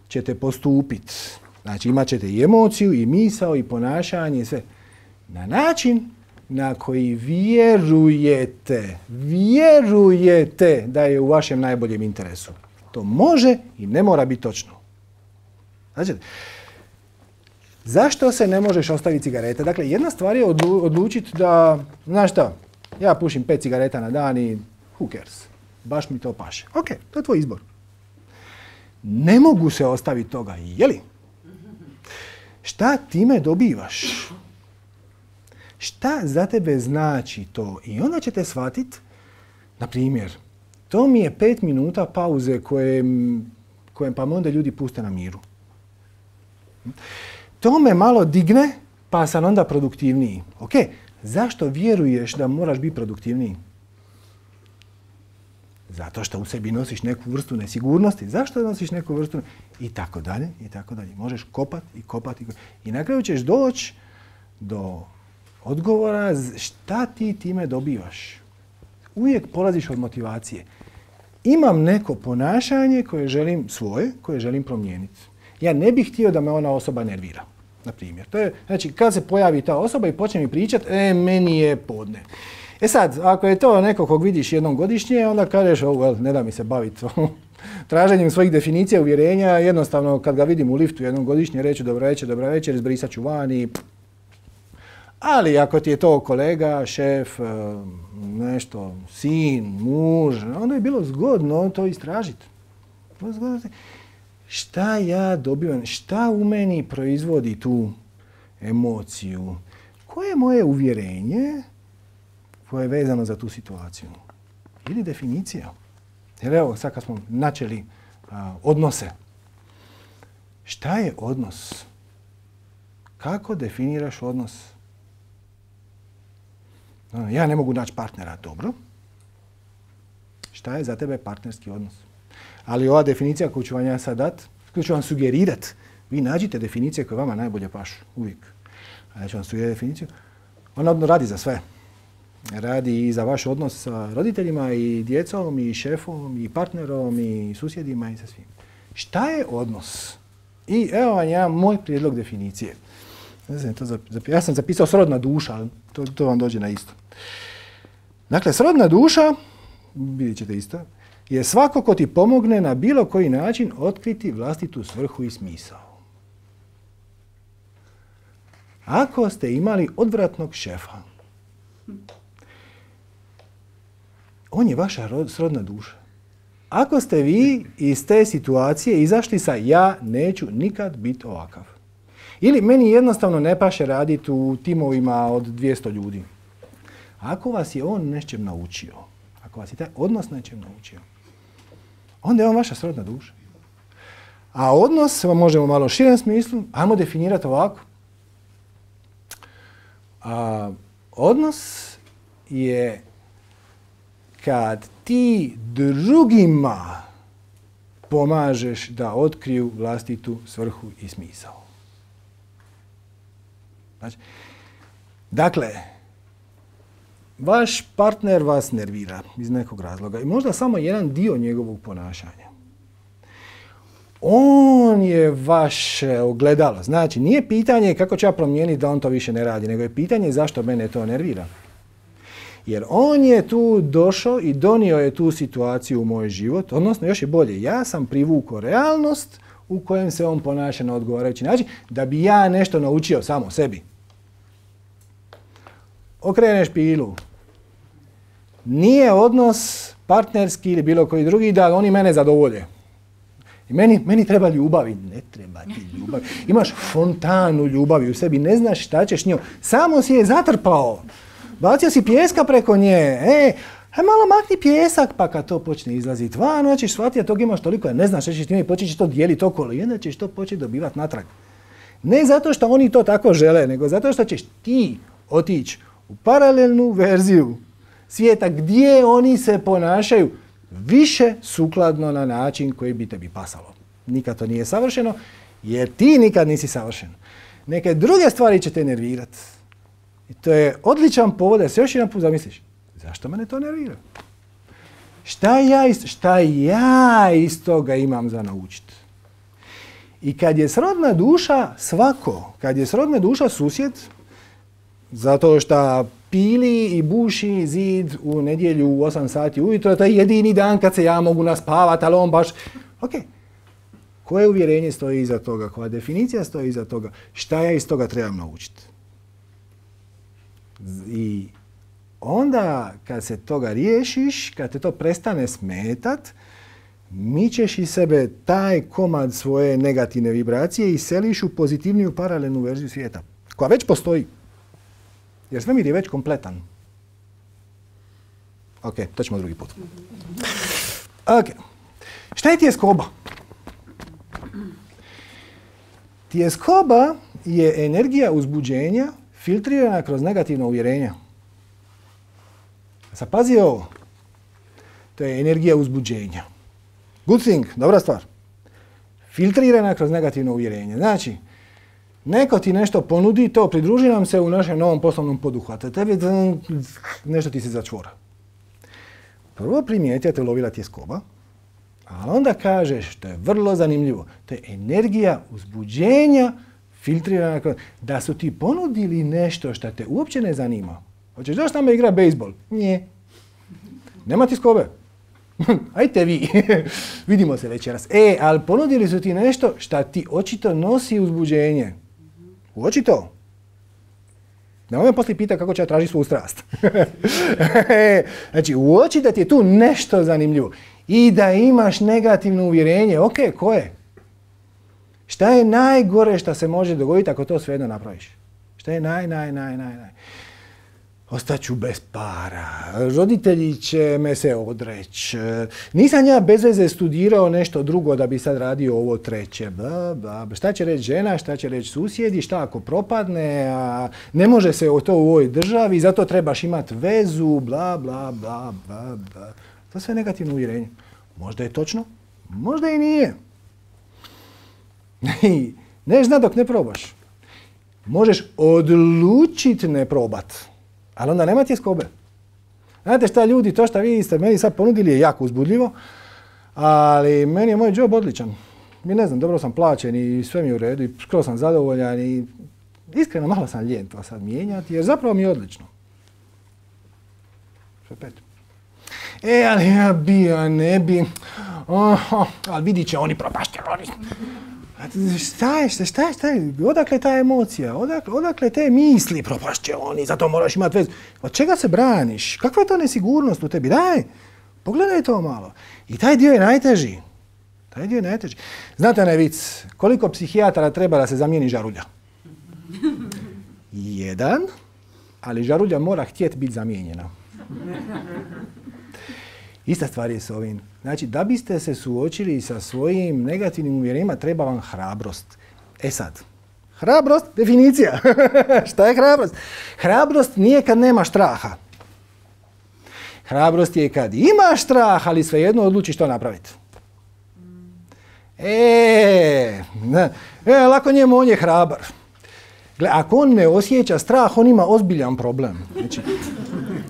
ćete postupiti. Znači imat ćete i emociju, i misao, i ponašanje, i sve. Na način na koji vjerujete, vjerujete da je u vašem najboljem interesu. To može i ne mora biti točno. Znači, zašto se ne možeš ostaviti cigarete? Dakle, jedna stvar je odlučiti da, znaš šta, ja pušim pet cigareta na dan i who cares? Baš mi to paše. Ok, to je tvoj izbor. Ne mogu se ostaviti toga, jeli? Šta time dobivaš? Šta za tebe znači to? I onda ćete shvatiti, na primjer, to mi je pet minuta pauze koje, koje pa onda ljudi puste na miru. To me malo digne, pa sam onda produktivniji. Ok, zašto vjeruješ da moraš biti produktivniji? Zato što u sebi nosiš neku vrstu nesigurnosti. Zašto nosiš neku vrstu? I tako dalje, i tako dalje. Možeš kopat i kopat i kopat. I na kraju ćeš doći do odgovora šta ti time dobivaš. Uvijek polaziš od motivacije. Imam neko ponašanje koje želim svoje, koje želim promijeniti. Ja ne bih htio da me ona osoba nervira. Na primjer. To je, znači, kad se pojavi ta osoba i počne mi pričati, e, meni je podne. E sad, ako je to neko kog vidiš jednom godišnje, onda kažeš, oh, well, ne da mi se baviti traženjem svojih definicija, uvjerenja. Jednostavno, kad ga vidim u liftu jednom godišnje, reću dobra večer, dobra večer, izbrisat ću van i... Ali ako ti je to kolega, šef, nešto, sin, muž, onda je bilo zgodno to istražiti. Šta ja dobivam, šta u meni proizvodi tu emociju? Koje je moje uvjerenje koje je vezano za tu situaciju? Ili definicija? Jer evo, sad kad smo načeli a, odnose. Šta je odnos? Kako definiraš odnos? Ja ne mogu naći partnera, dobro. Šta je za tebe partnerski odnos? Ali ova definicija koju ću vam ja sad dat, koju ću vam sugerirat, vi nađite definicije koje vama najbolje pašu, uvijek. A ja ću vam sugerirati definiciju. Ona radi za sve. Radi i za vaš odnos sa roditeljima, i djecom, i šefom, i partnerom, i susjedima, i sa svim. Šta je odnos? I evo vam ja moj prijedlog definicije. Ne znam, to zapi- ja sam zapisao srodna duša, ali to, to vam dođe na isto. Dakle, srodna duša, vidjet ćete isto, je svako ko ti pomogne na bilo koji način otkriti vlastitu svrhu i smisao. Ako ste imali odvratnog šefa, on je vaša srodna duša. Ako ste vi iz te situacije izašli sa ja neću nikad biti ovakav. Ili meni jednostavno ne paše raditi u timovima od dvjesto ljudi. Ako vas je on nečem naučio, ako vas je taj odnos nečem naučio, onda je on vaša srodna duša. A odnos, vam možemo malo širem smislu, ajmo definirati ovako. A, odnos je kad ti drugima pomažeš da otkriju vlastitu svrhu i smisao. Znači, dakle, vaš partner vas nervira iz nekog razloga i možda samo jedan dio njegovog ponašanja. On je vaše ogledalo. Znači, nije pitanje kako ću ja promijeniti da on to više ne radi, nego je pitanje zašto mene to nervira. Jer on je tu došao i donio je tu situaciju u moj život, odnosno još je bolje, ja sam privukao realnost u kojem se on ponaša na odgovarajući način, da bi ja nešto naučio samo sebi. Okreneš pilu. Nije odnos partnerski ili bilo koji drugi da oni mene zadovolje. I meni, meni treba ljubavi. Ne treba ti ljubavi. Imaš fontanu ljubavi u sebi, ne znaš šta ćeš njom. Samo si je zatrpao. Bacio si pijeska preko nje. E, aj malo makni pijesak, pa kad to počne izlaziti van, onda ćeš shvatiti, a tog imaš toliko, ja ne znaš šta ćeš ti, počet ćeš to dijeliti okolo i onda ćeš to početi dobivati natrag. Ne zato što oni to tako žele, nego zato što ćeš ti otići u paralelnu verziju svijeta gdje oni se ponašaju više sukladno na način koji bi tebi pasalo. Nikad to nije savršeno, jer ti nikad nisi savršen. Neke druge stvari će te nervirati. I to je odličan povod da se još jedan put zamisliš. Zašto mene to nervira? Šta ja iz, šta ja iz toga imam za naučiti? I kad je srodna duša svako, kad je srodna duša susjed, zato što pili i buši zid u nedjelju u osam sati ujutro, to je jedini dan kad se ja mogu naspavati, ali on baš... Ok, koje uvjerenje stoji iza toga, koja definicija stoji iza toga, šta ja iz toga trebam naučiti? I onda kad se toga riješiš, kad te to prestane smetat, mičeš iz sebe taj komad svoje negativne vibracije i seliš u pozitivniju paralelnu verziju svijeta, koja već postoji. Jer svemir je već kompletan. Ok, to ćemo drugi put. Ok, šta je tjeskoba? Tjeskoba je energija uzbuđenja filtrirana kroz negativna uvjerenja. Sad pazi ovo. To je energija uzbuđenja. Good thing, dobra stvar. Filtrirana kroz negativno uvjerenje. Znači, neko ti nešto ponudi, to pridruži nam se u našem novom poslovnom poduhvatu. Tebi nešto ti se začvora. Prvo primijeti, a te lovila tjeskoba, a onda kažeš, to je vrlo zanimljivo, to je energija uzbuđenja filtrirana kroz... Da su ti ponudili nešto što te uopće ne zanima. Hoćeš doći tamo igra bejsbol? Nije. Nema tjeskobe. Ajte vi, vidimo se večeras. E, ali ponudili su ti nešto što ti očito nosi uzbuđenje. Uoči to. Nemoj me poslije pita kako će ja tražiti svoju strast. Znači, uoči da ti je tu nešto zanimljivo i da imaš negativno uvjerenje. Ok, koje? Šta je najgore što se može dogoditi ako to svejedno napraviš? Šta je naj, naj, naj, naj, naj? Ostaću bez para, roditelji će me se odreći, nisam ja bez veze studirao nešto drugo da bi sad radio ovo treće. Bla, bla. Šta će reći žena, šta će reći susjedi, šta ako propadne, a ne može se to u ovoj državi, zato trebaš imati vezu, bla, bla, bla, bla, bla. To sve negativno uvjerenje. Možda je točno, možda i nije. Ne zna dok ne probaš. Možeš odlučiti ne probat. Ali onda nema tjeskobe. Znate šta ljudi, to što vi ste meni sad ponudili je jako uzbudljivo, ali meni je moj job odličan. Mi ne znam, dobro sam plaćen i sve mi je u redu i skoro sam zadovoljan i iskreno malo sam lijen to sad mijenjati jer zapravo mi je odlično. Sve pet. E, ali ja bi, ja ne bi, oh, oh, ali vidit će oni propašće, oni... Šta je, šta je, šta je, odakle ta emocija, odakle, odakle te misli, propašće oni, zato moraš imati vezu. Od čega se braniš? Kakva je to nesigurnost u tebi? Daj, pogledaj to malo. I taj dio je najteži. Taj dio je najteži. Znate onaj vic, koliko psihijatara treba da se zamijeni žarulja? Jedan, ali žarulja mora htjeti biti zamijenjena. Ista stvar je s ovim. Znači, da biste se suočili sa svojim negativnim uvjerenjima, treba vam hrabrost. E sad, hrabrost, definicija. Šta je hrabrost? Hrabrost nije kad nema straha. Hrabrost je kad imaš strah, ali svejedno odlučiš to napraviti. E, ne, e, lako njemu, on je hrabar. Gle, ako on ne osjeća strah, on ima ozbiljan problem. Znači,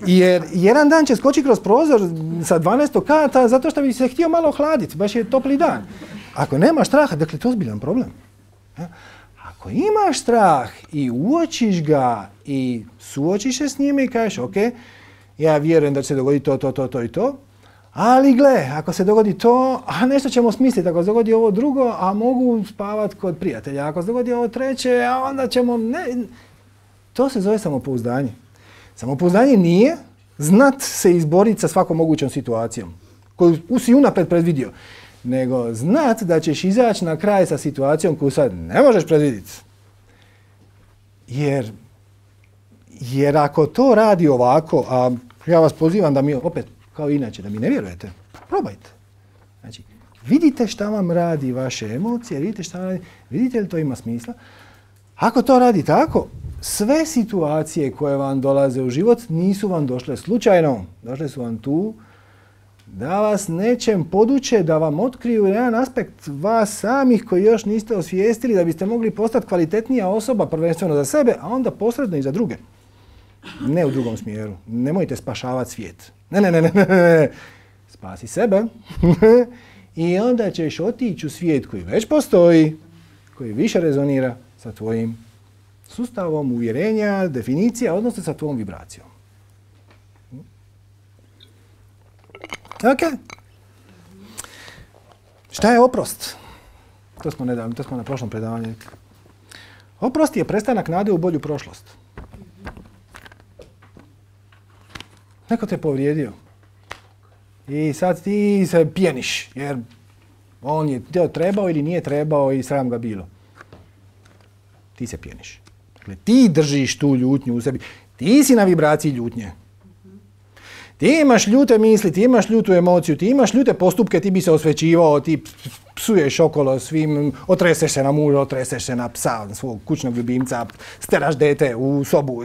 jer jedan dan će skočiti kroz prozor sa dvanaestog kata zato što bi se htio malo ohladiti, baš je topli dan. Ako nemaš straha, dakle, to je ozbiljan problem. Ako imaš strah i uočiš ga i suočiš se s njime i kažeš, ok, ja vjerujem da će se dogoditi to, to, to, to i to, ali gle, ako se dogodi to, a nešto ćemo smisliti, ako se dogodi ovo drugo, a mogu spavati kod prijatelja, ako se dogodi ovo treće, a onda ćemo, ne, to se zove samopouzdanje. Samopouzdanje nije znat se izboriti sa svakom mogućom situacijom koju si unaprijed predvidio. nego znat da ćeš izaći na kraj sa situacijom koju sad ne možeš predvidjeti. Jer, jer ako to radi ovako, a ja vas pozivam da mi, opet, kao inače, da mi ne vjerujete, probajte. Znači, vidite šta vam radi vaše emocije, vidite šta vam radi, vidite li to ima smisla. Ako to radi tako, sve situacije koje vam dolaze u život nisu vam došle slučajno. Došle su vam tu da vas nečem poduče, da vam otkriju jedan aspekt vas samih koji još niste osvijestili da biste mogli postati kvalitetnija osoba prvenstveno za sebe, a onda posredno i za druge. Ne u drugom smjeru. Nemojte spašavati svijet. Ne, ne, ne, ne, ne. Spasi sebe i onda ćeš otići u svijet koji već postoji, koji više rezonira sa tvojim sustavom uvjerenja, definicija, odnosno sa tvojom vibracijom. Ok. Šta je oprost? To smo nedavno, to smo na prošlom predavanju. Oprost je prestanak nade u bolju prošlost. Neko te povrijedio. I sad ti se pjeniš, jer on je to trebao ili nije trebao i sram ga bilo. Ti se pjeniš. Dakle, ti držiš tu ljutnju u sebi. Ti si na vibraciji ljutnje. Ti imaš ljute misli, ti imaš ljutu emociju, ti imaš ljute postupke, ti bi se osvećivao, ti psuješ okolo svim, otreseš se na muža, otreseš se na psa, na svog kućnog ljubimca, steraš dete u sobu,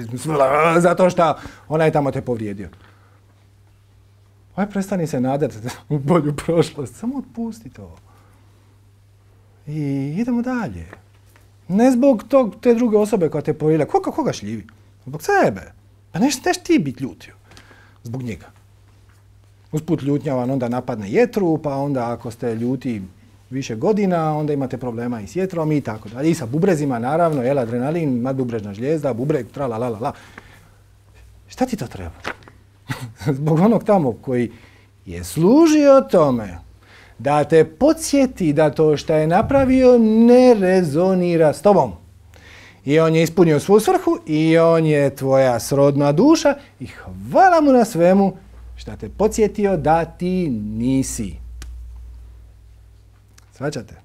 zato što onaj tamo te povrijedio. Aj, prestani se nadati u bolju prošlost, samo otpusti to. I idemo dalje. Ne zbog tog, te druge osobe koja te povrijedila. Koga, koga šljivi? Zbog sebe. Pa neš, neš ti biti ljutio. Zbog njega. Usput ljutnja vam onda napadne jetru, pa onda ako ste ljuti više godina, onda imate problema i s jetrom i tako dalje. I sa bubrezima, naravno, jel, adrenalin, madbubrežna žlijezda, bubreg, tra la la la la. Šta ti to treba? Zbog onog tamo koji je služio tome da te podsjeti da to što je napravio ne rezonira s tobom. I on je ispunio svoju svrhu i on je tvoja srodna duša i hvala mu na svemu što te podsjetio da ti nisi. Svaćate?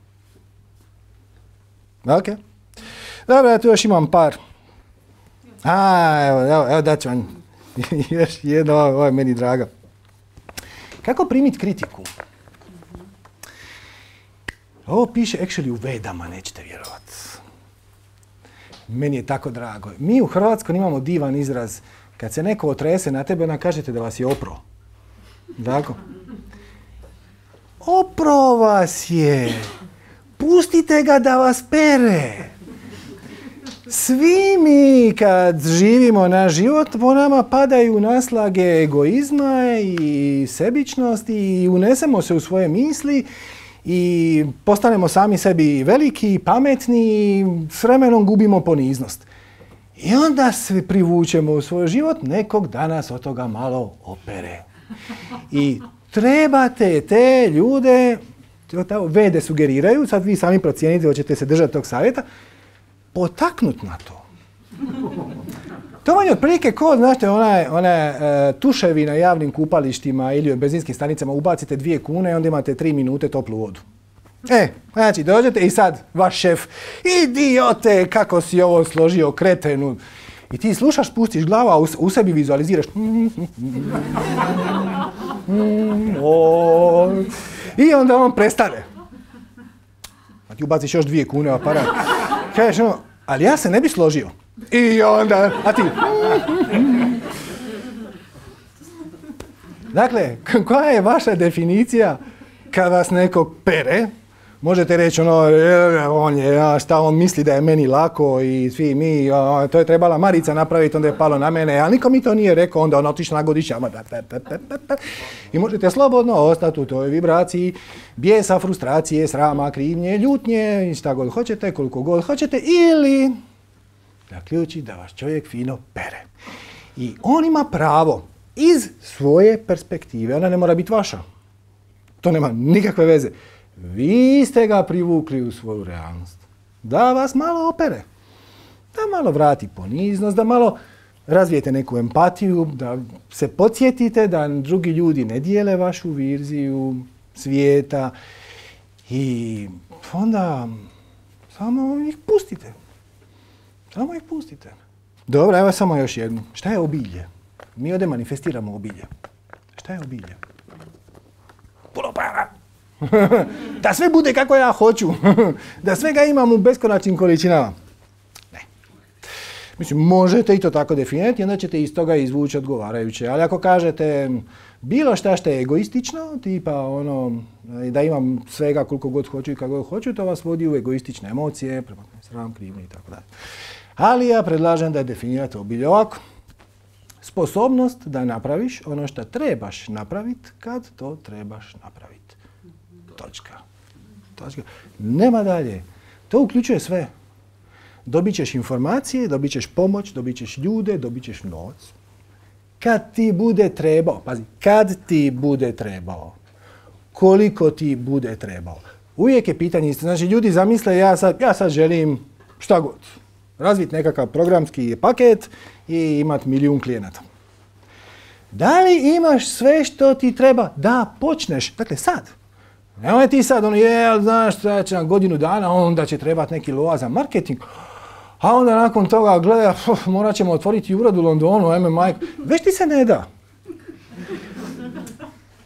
Ok. Dobro, ja tu još imam par. A, evo, evo, evo dat ću vam još jedno, ovo je meni draga. Kako primiti kritiku? Ovo piše actually u Vedama, nećete vjerovati. Meni je tako drago. Mi u Hrvatskoj imamo divan izraz. Kad se neko otrese na tebe, onda kažete da vas je opro. Tako? Opro vas je. Pustite ga da vas pere. Svi mi kad živimo naš život, po nama padaju naslage egoizma i sebičnosti i unesemo se u svoje misli i postanemo sami sebi veliki, pametni i s vremenom gubimo poniznost. I onda se privučemo u svoj život, nekog danas od toga malo opere. I trebate te ljude, Vede sugeriraju, sad vi sami procijenite, hoćete se držati tog savjeta, potaknut na to. To vam je otprilike ko, znate, one, one e, tuševi na javnim kupalištima ili u benzinskim stanicama, ubacite dvije kune i onda imate tri minute toplu vodu. E, znači, dođete i sad vaš šef, idiote, kako si ovo složio, kretenu. I ti slušaš, spustiš glavu, a u, u sebi vizualiziraš. I onda on prestane. A ti ubaciš još dvije kune u aparat. Kažeš ono, ali ja se ne bi složio. I onda, a ti... Dakle, koja je vaša definicija kad vas neko pere? Možete reći ono, on je, šta on misli da je meni lako i svi mi, to je trebala Marica napraviti, onda je palo na mene, ali niko mi to nije rekao, onda on otišao na godišnjama. I možete slobodno ostati u toj vibraciji bijesa, frustracije, srama, krivnje, ljutnje, šta god hoćete, koliko god hoćete, ili zaključi da vas čovjek fino pere. I on ima pravo iz svoje perspektive, ona ne mora biti vaša. To nema nikakve veze. Vi ste ga privukli u svoju realnost. Da vas malo opere. Da malo vrati poniznost, da malo razvijete neku empatiju, da se podsjetite da drugi ljudi ne dijele vašu viziju svijeta I onda samo ih pustite. Samo ih pustite. Dobro, evo samo još jednu. Šta je obilje? Mi ovdje manifestiramo obilje. Šta je obilje? Puno para! Da sve bude kako ja hoću. Da sve ga imam u beskonačnim količinama. Ne. Mislim, možete i to tako definirati, onda ćete iz toga izvući odgovarajuće. Ali ako kažete bilo šta što je egoistično, tipa ono, da imam svega koliko god hoću i kako god hoću, to vas vodi u egoistične emocije, sram, krivnje i tako dalje. Ali ja predlažem da definirate obilje ovako. Sposobnost da napraviš ono što trebaš napraviti kad to trebaš napraviti. Točka. Točka. Nema dalje. To uključuje sve. Dobit ćeš informacije, dobit ćeš pomoć, dobit ćeš ljude, dobit ćeš novac. Kad ti bude trebao, pazi, kad ti bude trebao, koliko ti bude trebao. Uvijek je pitanje isto. Znači, ljudi zamisle, ja sad, ja sad želim šta god. Razviti nekakav programski paket i imati milijun klijenata. Da li imaš sve što ti treba da počneš? Dakle, sad. Nemoj ti sad, ono, je, znaš, šta će na godinu dana, onda će trebati neki loa za marketing. A onda nakon toga, gleda, morat ćemo otvoriti ured u Londonu, ajme majko. Već ti se ne da.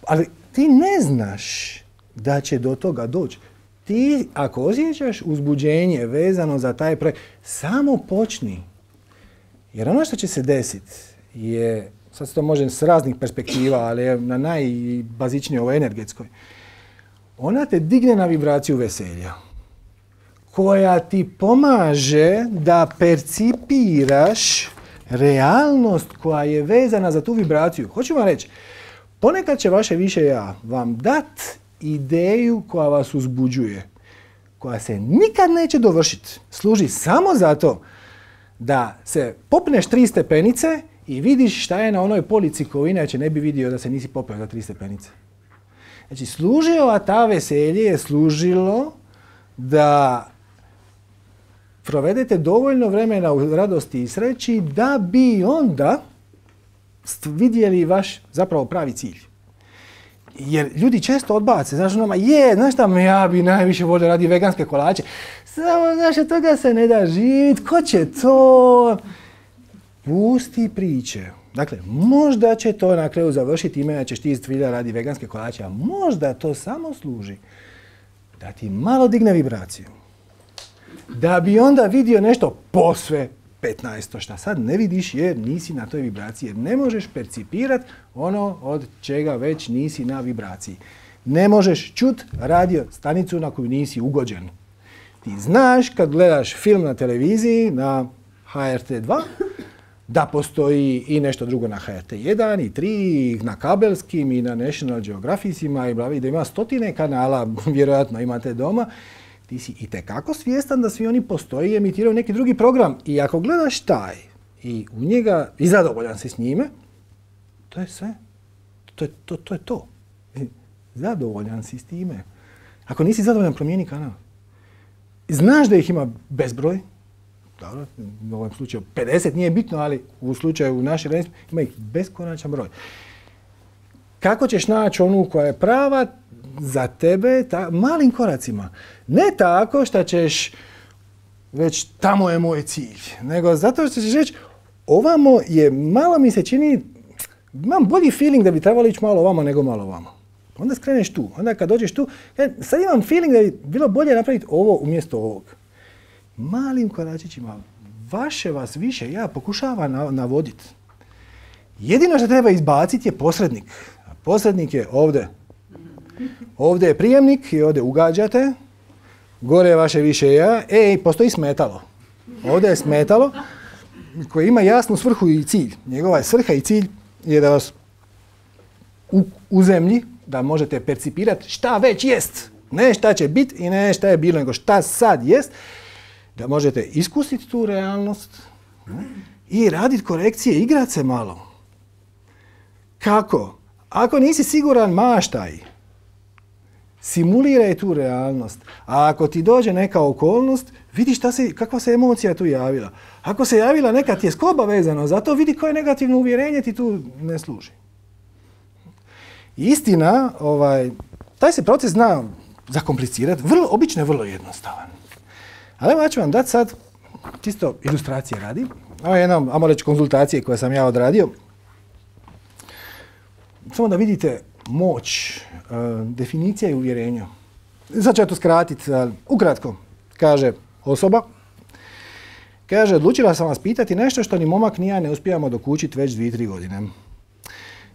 Ali ti ne znaš da će do toga doći. Ti, ako osjećaš uzbuđenje vezano za taj projekt, samo počni. Jer ono što će se desiti je, sad se to može s raznih perspektiva, ali je na najbazičnijoj, ovoj energetskoj, ona te digne na vibraciju veselja, koja ti pomaže da percipiraš realnost koja je vezana za tu vibraciju. Hoću vam reći, ponekad će vaše više ja vam dat ideju koja vas uzbuđuje, koja se nikad neće dovršiti. Služi samo zato da se popneš tri stepenice i vidiš šta je na onoj polici koju inače ne bi vidio da se nisi popeo za tri stepenice. Znači, služila ta veselje je služilo da provedete dovoljno vremena u radosti i sreći da bi onda vidjeli vaš zapravo pravi cilj. Jer ljudi često odbace, znaš, ono, je, znaš šta, ja bi najviše volio radi veganske kolače. Samo, znaš, od toga se ne da živjeti, ko će to? Pusti priče. Dakle, možda će to na kraju završiti ime da ćeš ti iztvilja radi veganske kolače, a možda to samo služi da ti malo digne vibraciju. Da bi onda vidio nešto posve petnaesto šta sad ne vidiš jer nisi na toj vibraciji, jer ne možeš percipirati ono od čega već nisi na vibraciji. Ne možeš čut radio stanicu na koju nisi ugođen. Ti znaš kad gledaš film na televiziji na ha er te dva da postoji i nešto drugo na ha er te jedan i tri, i na kabelskim i na National Geographicima i blavi, da ima stotine kanala, vjerojatno imate doma. Ti si itekako svjestan da svi oni postoji i emitiraju neki drugi program. I ako gledaš taj i u njega i zadovoljan si s njime, to je sve. To je to. to, je to. Zadovoljan si s time. Ako nisi zadovoljan, promijeni kanal. Znaš da ih ima bezbroj. Dobro, u ovom slučaju pedeset nije bitno, ali u slučaju naše rednosti ima ih beskonačan broj. Kako ćeš naći onu koja je prava za tebe ta, malim koracima? Ne tako što ćeš već tamo je moj cilj, nego zato što ćeš reći ovamo je, malo mi se čini, imam bolji feeling da bi trebalo ići malo ovamo nego malo ovamo. Onda skreneš tu, onda kad dođeš tu, sad imam feeling da bi bilo bolje napraviti ovo umjesto ovog. Malim koračićima, vaše vas više ja pokušava navoditi. Jedino što treba izbaciti je posrednik. A posrednik je ovdje. Ovdje je prijemnik i ovdje ugađate. Gore je vaše više ja. E, postoji smetalo. Ovdje je smetalo koje ima jasnu svrhu i cilj. Njegova je svrha i cilj je da vas u, u zemlji, da možete percipirati šta već jest. Ne šta će biti i ne šta je bilo, nego šta sad jest. Da možete iskusiti tu realnost i raditi korekcije, igrati se malo. Kako? Ako nisi siguran, maštaj. Simuliraj tu realnost. A ako ti dođe neka okolnost, vidi šta se, kakva se emocija tu javila. Ako se javila neka tjeskoba vezano za to, vidi koje negativno uvjerenje ti tu ne služi. Istina, ovaj, taj se proces zna zakomplicirati, vrlo, obično je vrlo jednostavan. Ali evo ja ću vam dati sad, čisto ilustracije radi, ovo je jedna, ajmo reći, konzultacije koje sam ja odradio. Samo da vidite moć, uh, definicija i uvjerenja. Sad ću ja to skratiti, uh, ukratko, kaže osoba, kaže, odlučila sam vas pitati nešto što ni momak ni ja ne uspijamo dokučiti već dvije, tri godine.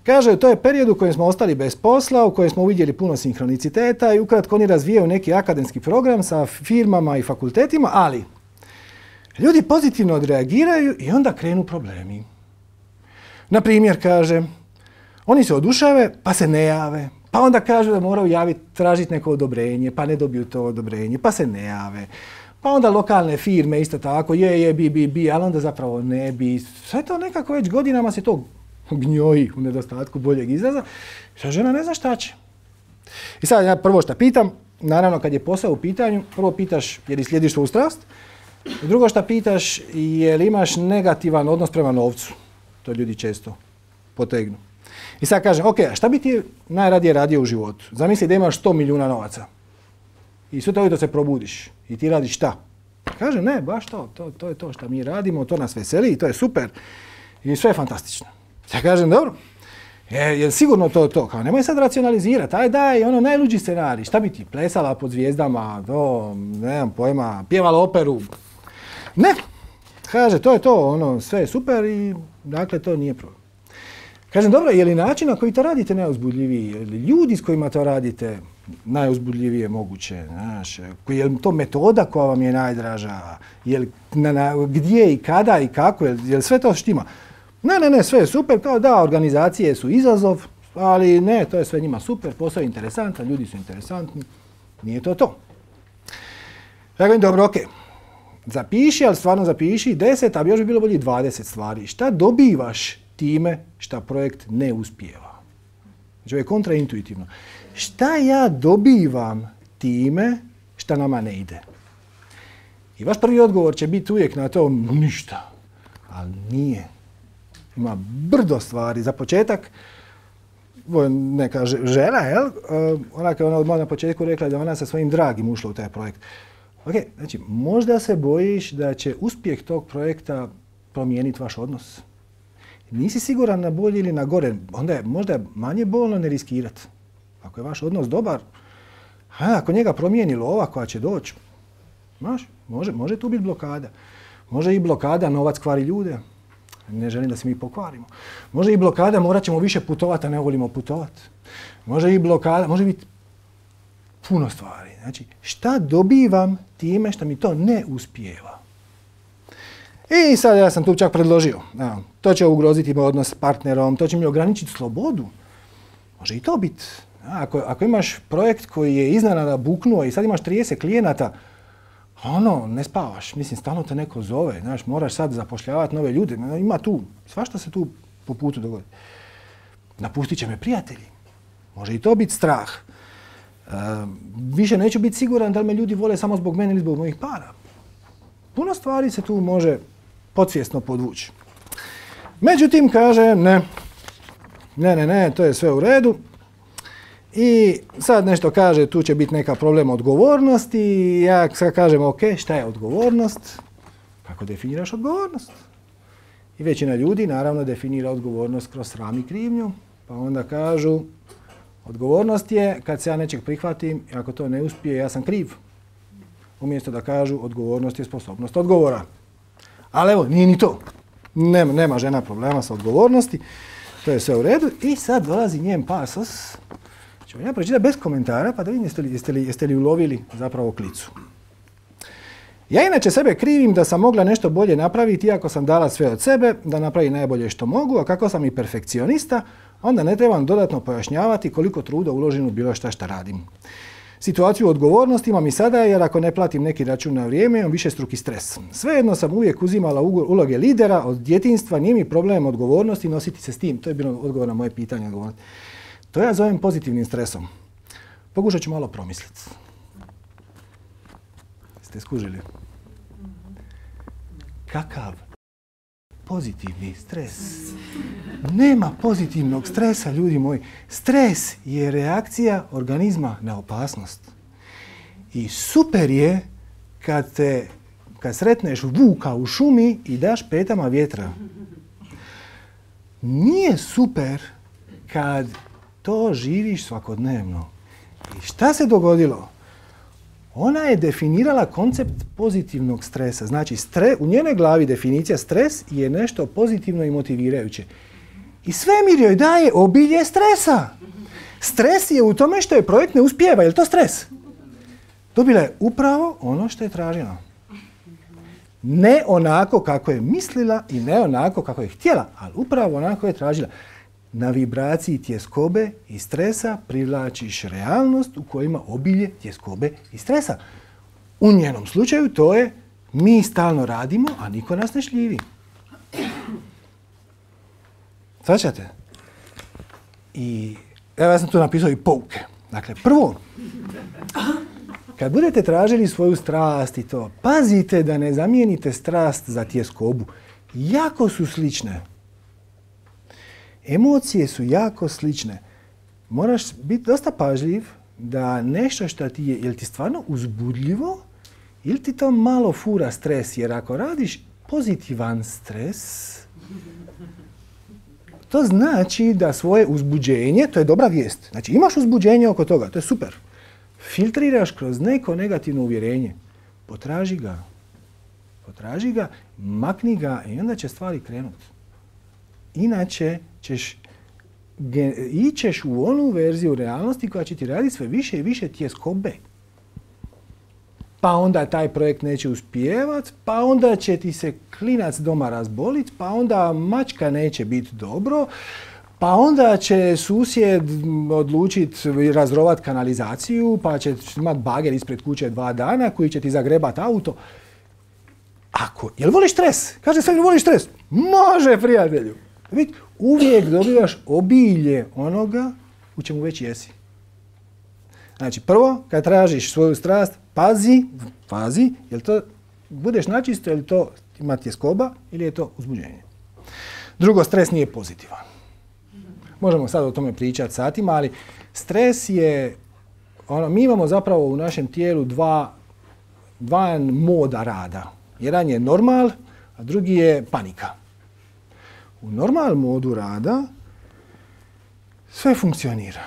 Kaže, to je period u kojem smo ostali bez posla, u kojem smo uvidjeli puno sinhroniciteta i ukratko oni razvijaju neki akademski program sa firmama i fakultetima, ali ljudi pozitivno odreagiraju i onda krenu problemi. Na primjer, kaže, oni se odušave pa se ne jave, pa onda kažu da moraju javiti, tražiti neko odobrenje, pa ne dobiju to odobrenje, pa se ne jave. Pa onda lokalne firme isto tako, je, je, bi, bi, bi, ali onda zapravo ne bi. Sve to nekako već godinama se to gnjoji u nedostatku boljeg izraza. Što žena ne zna šta će. I sad ja prvo šta pitam, naravno kad je posao u pitanju, prvo pitaš je li slijediš svoju strast, i drugo šta pitaš je li imaš negativan odnos prema novcu. To ljudi često potegnu. I sad kažem, ok, a šta bi ti najradije radio u životu? Zamisli da imaš sto milijuna novaca. I sutra ujutro se probudiš i ti radiš šta? Kaže, ne, baš to, to, to je to što mi radimo, to nas veseli i to je super. I sve je fantastično. Ja kažem, dobro, je, je sigurno to to? Kao, nemoj sad racionalizirati, aj daj, ono najluđi scenarij. Šta bi ti, plesala pod zvijezdama, to, ne znam pojma, pjevala operu? Ne, kaže, to je to, ono, sve je super i dakle to nije problem. Kažem, dobro, je li način na koji to radite najuzbudljiviji? Je li ljudi s kojima to radite najuzbudljivije moguće? Znaš, je li to metoda koja vam je najdraža? Je li na, na, gdje i kada i kako? Je li, je li sve to štima? Ne, ne, ne, sve je super. Kao da, organizacije su izazov, ali ne, to je sve njima super, posao je interesantan, ljudi su interesantni. Nije to to. Ja govorim, dobro, ok. Zapiši, ali stvarno zapiši deset, a bi još bi bilo bolje dvadeset stvari. Šta dobivaš time šta projekt ne uspijeva? Znači, ovo je kontraintuitivno. Šta ja dobivam time šta nama ne ide? I vaš prvi odgovor će biti uvijek na to ništa. Ali nije. Ima brdo stvari. Za početak, neka žena, jel? Ona kao ona odmah na početku rekla da ona sa svojim dragim ušla u taj projekt. Ok, znači, možda se bojiš da će uspjeh tog projekta promijeniti vaš odnos. Nisi siguran na bolje ili na gore, onda je možda manje bolno ne riskirati. Ako je vaš odnos dobar, a ako njega promijeni lova koja će doći, znaš, može, može tu biti blokada. Može i blokada, novac kvari ljude. Ne želim da se mi pokvarimo. Može i blokada, morat ćemo više putovati, a ne volimo putovati. Može i blokada, može biti puno stvari. Znači, šta dobivam time što mi to ne uspijeva? I sad ja sam tu čak predložio. Ja, to će ugroziti moj odnos s partnerom, to će mi ograničiti slobodu. Može i to biti. Ako, ako imaš projekt koji je iznenada buknuo i sad imaš trideset klijenata, ono, ne spavaš. Mislim, stalno te neko zove. Znaš, moraš sad zapošljavati nove ljude. Ima tu, svašta se tu po putu dogodi. Napustit će me prijatelji. Može i to biti strah. E, više neću biti siguran da li me ljudi vole samo zbog mene ili zbog mojih para. Puno stvari se tu može podsvjesno podvući. Međutim, kaže, ne, ne, ne, ne, to je sve u redu. I sad nešto kaže, tu će biti neka problem odgovornosti. Ja sad kažem, ok, šta je odgovornost? Kako definiraš odgovornost? I većina ljudi naravno definira odgovornost kroz sram i krivnju. Pa onda kažu, odgovornost je kad se ja nečeg prihvatim i ako to ne uspije, ja sam kriv. Umjesto da kažu, odgovornost je sposobnost odgovora. Ali evo, nije ni to. Nema, nema žena problema sa odgovornosti. To je sve u redu. I sad dolazi njen pasos. Ću vam ja pročitati bez komentara, pa da vidim jeste li, jeste li, jeste li ulovili zapravo klicu. Ja inače sebe krivim da sam mogla nešto bolje napraviti iako sam dala sve od sebe, da napravim najbolje što mogu, a kako sam i perfekcionista, onda ne trebam dodatno pojašnjavati koliko truda uložim u bilo šta šta radim. Situaciju odgovornosti imam i sada jer ako ne platim neki račun na vrijeme imam višestruki stres. Svejedno sam uvijek uzimala uloge lidera od djetinjstva, nije mi problem odgovornosti nositi se s tim. To je bilo odgovor na moje pitanje. Odgovornosti. To ja zovem pozitivnim stresom. Pokušat ću malo promisliti. Ste skužili? Kakav pozitivni stres? Nema pozitivnog stresa, ljudi moji. Stres je reakcija organizma na opasnost. I super je kad, te, kad sretneš vuka u šumi i daš petama vjetra. Nije super kad to živiš svakodnevno. I šta se dogodilo? Ona je definirala koncept pozitivnog stresa. Znači, stre, u njenoj glavi definicija stres je nešto pozitivno i motivirajuće. I svemir joj daje obilje stresa. Stres je u tome što je projekt ne uspijeva. Je li to stres? Dobila je upravo ono što je tražila. Ne onako kako je mislila i ne onako kako je htjela, ali upravo onako je tražila. Na vibraciji tjeskobe i stresa privlačiš realnost u kojima obilje tjeskobe i stresa. U njenom slučaju to je mi stalno radimo, a niko nas ne šljivi. Svaćate? I evo ja sam tu napisao i pouke. Dakle, prvo, kad budete tražili svoju strast i to, pazite da ne zamijenite strast za tjeskobu. Jako su slične. Emocije su jako slične. Moraš biti dosta pažljiv da nešto što ti je, je li ti stvarno uzbudljivo ili ti to malo fura stres. Jer ako radiš pozitivan stres, to znači da svoje uzbuđenje, to je dobra vijest. Znači imaš uzbuđenje oko toga, to je super. Filtriraš kroz neko negativno uvjerenje. Potraži ga. Potraži ga, makni ga i onda će stvari krenuti. Inače ćeš ićeš u onu verziju realnosti koja će ti raditi sve više i više tjeskobe. Pa onda taj projekt neće uspijevati, pa onda će ti se klinac doma razboliti, pa onda mačka neće biti dobro, pa onda će susjed odlučiti razrovat kanalizaciju, pa će imati bager ispred kuće dva dana koji će ti zagrebati auto. Ako, jel voliš stres? Kaže sve, voliš stres? Može, prijatelju. Vidite, uvijek dobivaš obilje onoga u čemu već jesi. Znači, prvo, kad tražiš svoju strast, pazi, pazi, jel to budeš načisto, je li to ima tjeskoba ili je to uzbuđenje. Drugo, stres nije pozitivan. Možemo sad o tome pričati satima, ali stres je, ono, mi imamo zapravo u našem tijelu dva, dva moda rada. Jedan je normal, a drugi je panika. U normal modu rada sve funkcionira.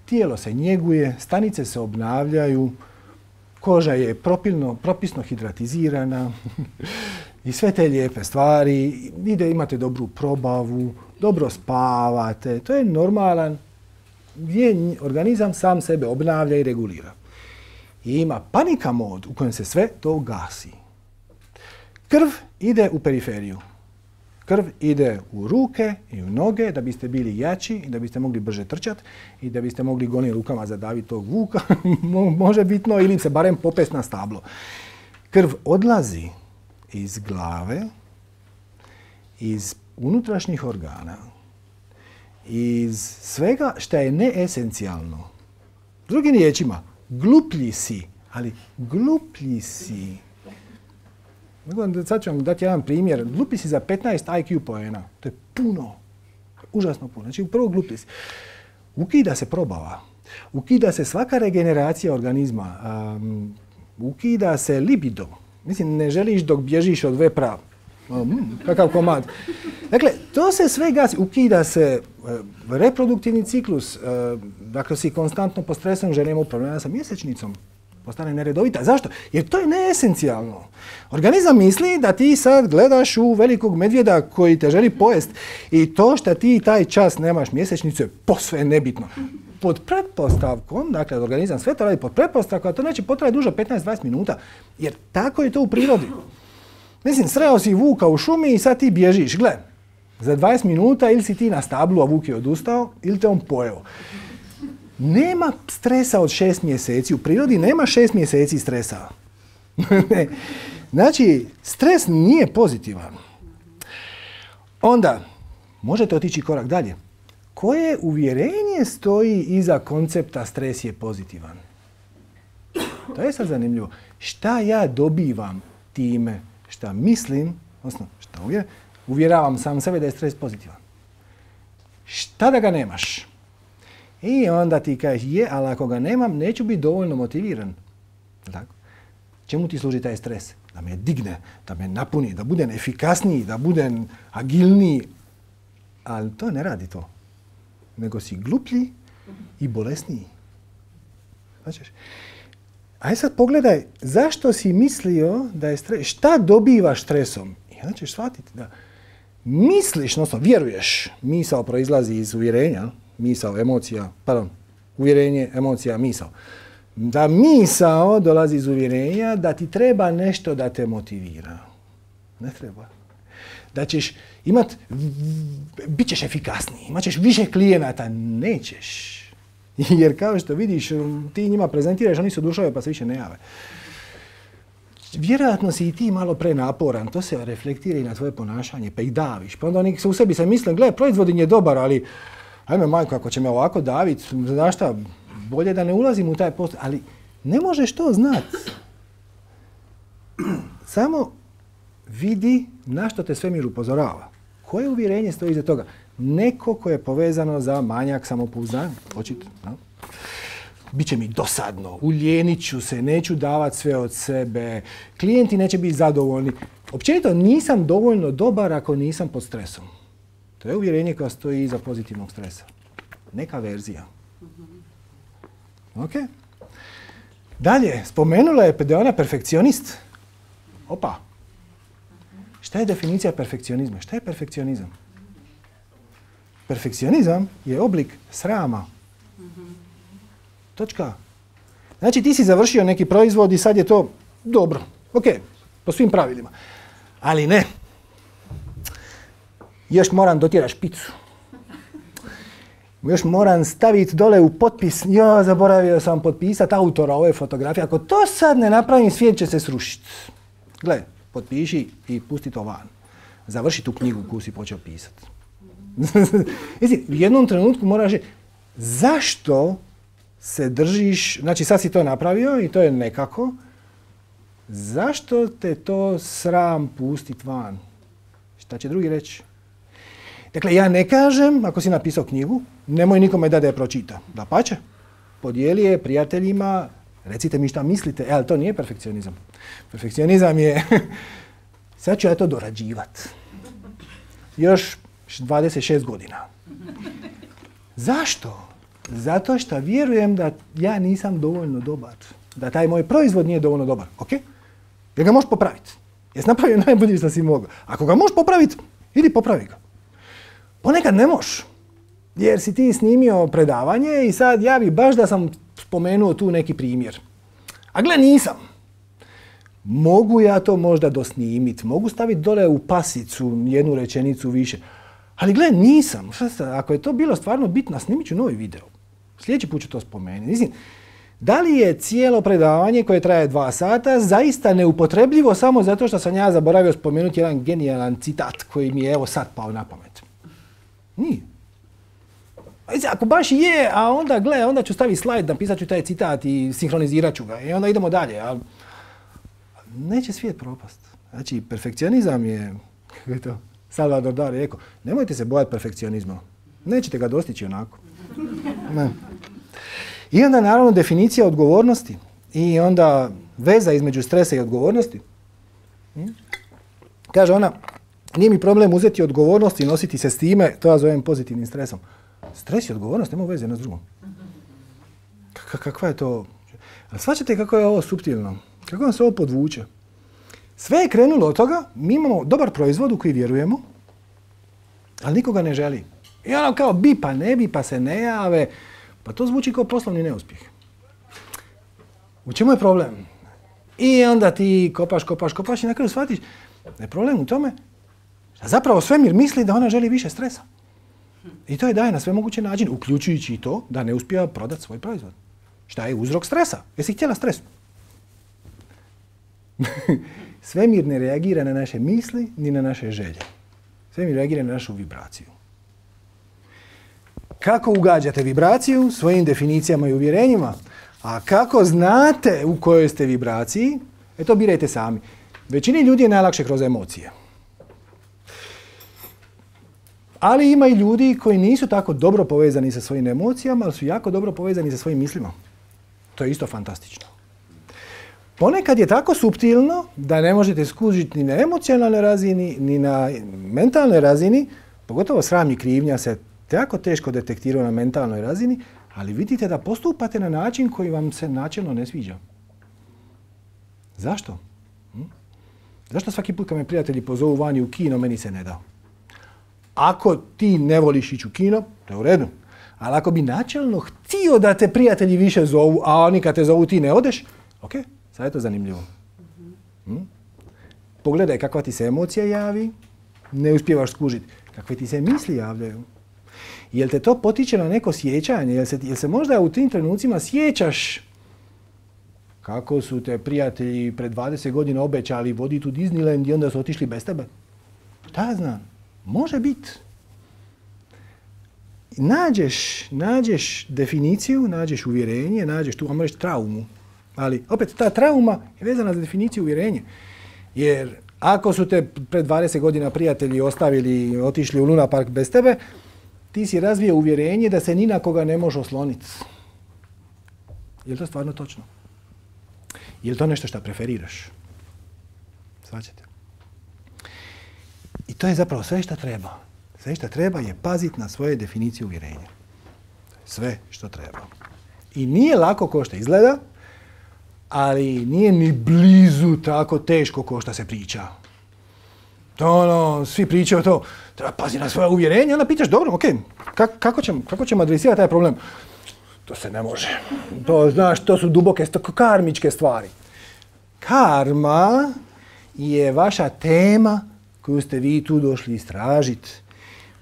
Tijelo se njeguje, stanice se obnavljaju, koža je propilno, propisno hidratizirana i sve te lijepe stvari. Ide, imate dobru probavu, dobro spavate. To je normalan gdje organizam sam sebe obnavlja i regulira. I ima panika mod u kojem se sve to gasi. Krv ide u periferiju. Krv ide u ruke i u noge da biste bili jači i da biste mogli brže trčati i da biste mogli golim rukama zadaviti tog vuka, može bitno, ili se barem popest na stablo. Krv odlazi iz glave, iz unutrašnjih organa, iz svega što je neesencijalno. Drugim riječima, gluplji si, ali gluplji si. Sad ću vam dati jedan primjer. Glupi si za petnaest I Q poena. To je puno. Užasno puno. Znači, prvo glupi si. Ukida se probava. Ukida se svaka regeneracija organizma. Um, ukida se libido. Mislim, ne želiš dok bježiš od vepra. Um, kakav komad. Dakle, to se sve gasi. Ukida se uh, reproduktivni ciklus. Uh, dakle, si konstantno pod stresom, žena ima problema sa mjesečnicom. Postane neredovita. Zašto? Jer to je neesencijalno. Organizam misli da ti sad gledaš u velikog medvjeda koji te želi pojest i to što ti taj čas nemaš mjesečnicu je posve nebitno. Pod pretpostavkom, dakle, organizam sve to radi pod pretpostavkom, a to neće potrajati duže petnaest do dvadeset minuta, jer tako je to u prirodi. Mislim, sreo si vuka u šumi i sad ti bježiš. Gle, za dvadeset minuta ili si ti na stablu, a vuk je odustao, ili te on pojeo. Nema stresa od šest mjeseci. U prirodi nema šest mjeseci stresa. Znači, stres nije pozitivan. Onda, možete otići korak dalje. Koje uvjerenje stoji iza koncepta stres je pozitivan? To je sad zanimljivo. Šta ja dobivam time šta mislim, odnosno šta uvjeravam, uvjeravam sam sebe da je stres pozitivan. Šta da ga nemaš? I onda ti kažeš, je, ali ako ga nemam, neću biti dovoljno motiviran. Tako? Čemu ti služi taj stres? Da me digne, da me napuni, da budem efikasniji, da budem agilniji. Ali to ne radi to. Nego si gluplji i bolesniji. Znači, aj sad pogledaj, zašto si mislio da je stres, šta dobivaš stresom? I onda ćeš shvatiti da misliš, odnosno vjeruješ, misao proizlazi iz uvjerenja, misao, emocija, pardon, uvjerenje, emocija, misao. Da misao dolazi iz uvjerenja da ti treba nešto da te motivira. Ne treba. Da ćeš imat, bit ćeš efikasniji, imat ćeš više klijenata, nećeš. Jer kao što vidiš, ti njima prezentiraš, oni su dušove pa se više ne jave. Vjerojatno si i ti malo prenaporan, to se reflektira i na tvoje ponašanje, pa ih daviš. Pa onda oni u sebi se misle, gle, proizvod je dobar, ali ajme majko, ako će me ovako daviti, znaš šta, bolje da ne ulazim u taj post, ali ne možeš to znati. Samo vidi na što te svemir upozorava. Koje uvjerenje stoji iza toga? Neko koje je povezano za manjak samopouzdanja, očito. No? Biće mi dosadno, uljenit ću se, neću davati sve od sebe, klijenti neće biti zadovoljni. Općenito nisam dovoljno dobar ako nisam pod stresom. To je uvjerenje koja stoji iza pozitivnog stresa. Neka verzija. Ok? Dalje, spomenula je da je ona perfekcionist. Opa. Šta je definicija perfekcionizma? Šta je perfekcionizam? Perfekcionizam je oblik srama. Točka. Znači ti si završio neki proizvod i sad je to dobro. Ok, po svim pravilima. Ali ne. Još moram dotjeraš špicu. Još moram staviti dole u potpis. Ja, zaboravio sam potpisati autora ove fotografije. Ako to sad ne napravim, svijet će se srušiti. Gle, potpiši i pusti to van. Završi tu knjigu koju si počeo pisati. U jednom trenutku moraš reći, zašto se držiš, znači sad si to napravio i to je nekako, zašto te to sram pustit van? Šta će drugi reći? Dakle, ja ne kažem, ako si napisao knjigu, nemoj nikome da da je pročita. Dapače, podijeli je prijateljima, recite mi šta mislite, e, ali to nije perfekcionizam. Perfekcionizam je, sad ću ja to dorađivat. Još dvadeset šest godina. Zašto? Zato što vjerujem da ja nisam dovoljno dobar. Da taj moj proizvod nije dovoljno dobar. Ok? Jer ga možeš popraviti. Jesi napravio najbolje što si mogao. Ako ga možeš popraviti, idi popravi ga. Ponekad ne možeš. Jer si ti snimio predavanje i sad ja bi baš da sam spomenuo tu neki primjer. A gle, nisam. Mogu ja to možda dosnimit, mogu staviti dole u pasicu jednu rečenicu više. Ali gle, nisam. Ako je to bilo stvarno bitno, snimit ću novi video. Sljedeći put ću to spomenuti. Mislim, da li je cijelo predavanje koje traje dva sata zaista neupotrebljivo samo zato što sam ja zaboravio spomenuti jedan genijalan citat koji mi je evo sad pao na pamet? Nije. Ako baš je, a onda gle, onda ću staviti slajd, napisat ću taj citat i sinhronizirat ću ga i onda idemo dalje. Ali neće svijet propast. Znači, perfekcionizam je, kako je to, Salvador Dali rekao, nemojte se bojati perfekcionizma. Nećete ga dostići onako. Ne. I onda naravno definicija odgovornosti i onda veza između stresa i odgovornosti. Kaže ona, nije mi problem uzeti odgovornost i nositi se s time, to ja zovem pozitivnim stresom. Stres i odgovornost nema veze jedna s drugom. K- kakva je to? Ali shvaćate kako je ovo suptilno? Kako vam se ovo podvuče? Sve je krenulo od toga, mi imamo dobar proizvod u koji vjerujemo, ali nikoga ne želi. I ono kao bi pa ne bi, pa se ne jave. Pa to zvuči kao poslovni neuspjeh. U čemu je problem? I onda ti kopaš, kopaš, kopaš i na kraju shvatiš da je problem u tome da zapravo svemir misli da ona želi više stresa. I to je daje na sve moguće načine, uključujući i to da ne uspija prodati svoj proizvod. Šta je uzrok stresa? Jesi htjela stres? Svemir ne reagira na naše misli ni na naše želje. Svemir reagira na našu vibraciju. Kako ugađate vibraciju? Svojim definicijama i uvjerenjima. A kako znate u kojoj ste vibraciji? E to birajte sami. Većini ljudi je najlakše kroz emocije. Ali ima i ljudi koji nisu tako dobro povezani sa svojim emocijama, ali su jako dobro povezani sa svojim mislima. To je isto fantastično. ponekad je tako suptilno da ne možete skužiti ni na emocionalnoj razini, ni na mentalnoj razini, pogotovo sram i krivnja se jako teško detektiraju na mentalnoj razini, ali vidite da postupate na način koji vam se načelno ne sviđa. Zašto? Hm? Zašto svaki put kad me prijatelji pozovu vani u kino, meni se ne da? Ako ti ne voliš ići u kino, to je u redu. Ali ako bi načelno htio da te prijatelji više zovu, a oni kad te zovu ti ne odeš, ok, sad je to zanimljivo. Hm? Pogledaj kakva ti se emocija javi, ne uspijevaš skužiti. Kakve ti se misli javljaju. Jel te to potiče na neko sjećanje? Jel se, jel se možda u tim trenucima sjećaš kako su te prijatelji pred dvadeset godina obećali voditi u Disneyland i onda su otišli bez tebe? Šta znam? Može biti. Nađeš, nađeš definiciju, nađeš uvjerenje, nađeš tu, ajmo reći, traumu. Ali opet ta trauma je vezana za definiciju uvjerenja. Jer ako su te pred dvadeset godina prijatelji ostavili i otišli u Luna Park bez tebe, ti si razvio uvjerenje da se ni na koga ne može osloniti. Je li to stvarno točno? Je li to nešto što preferiraš? Svaćate? I to je zapravo sve što treba. Sve što treba je paziti na svoje definicije uvjerenja. Sve što treba. I nije lako ko što izgleda, ali nije ni blizu tako teško ko što se priča. To ono, svi pričaju to, treba paziti na svoje uvjerenje, onda pitaš, dobro, ok, kak, kako, ćemo, kako ćemo adresirati taj problem? To se ne može. To, znaš, to su duboke, karmičke stvari. Karma je vaša tema koju ste vi tu došli istražiti.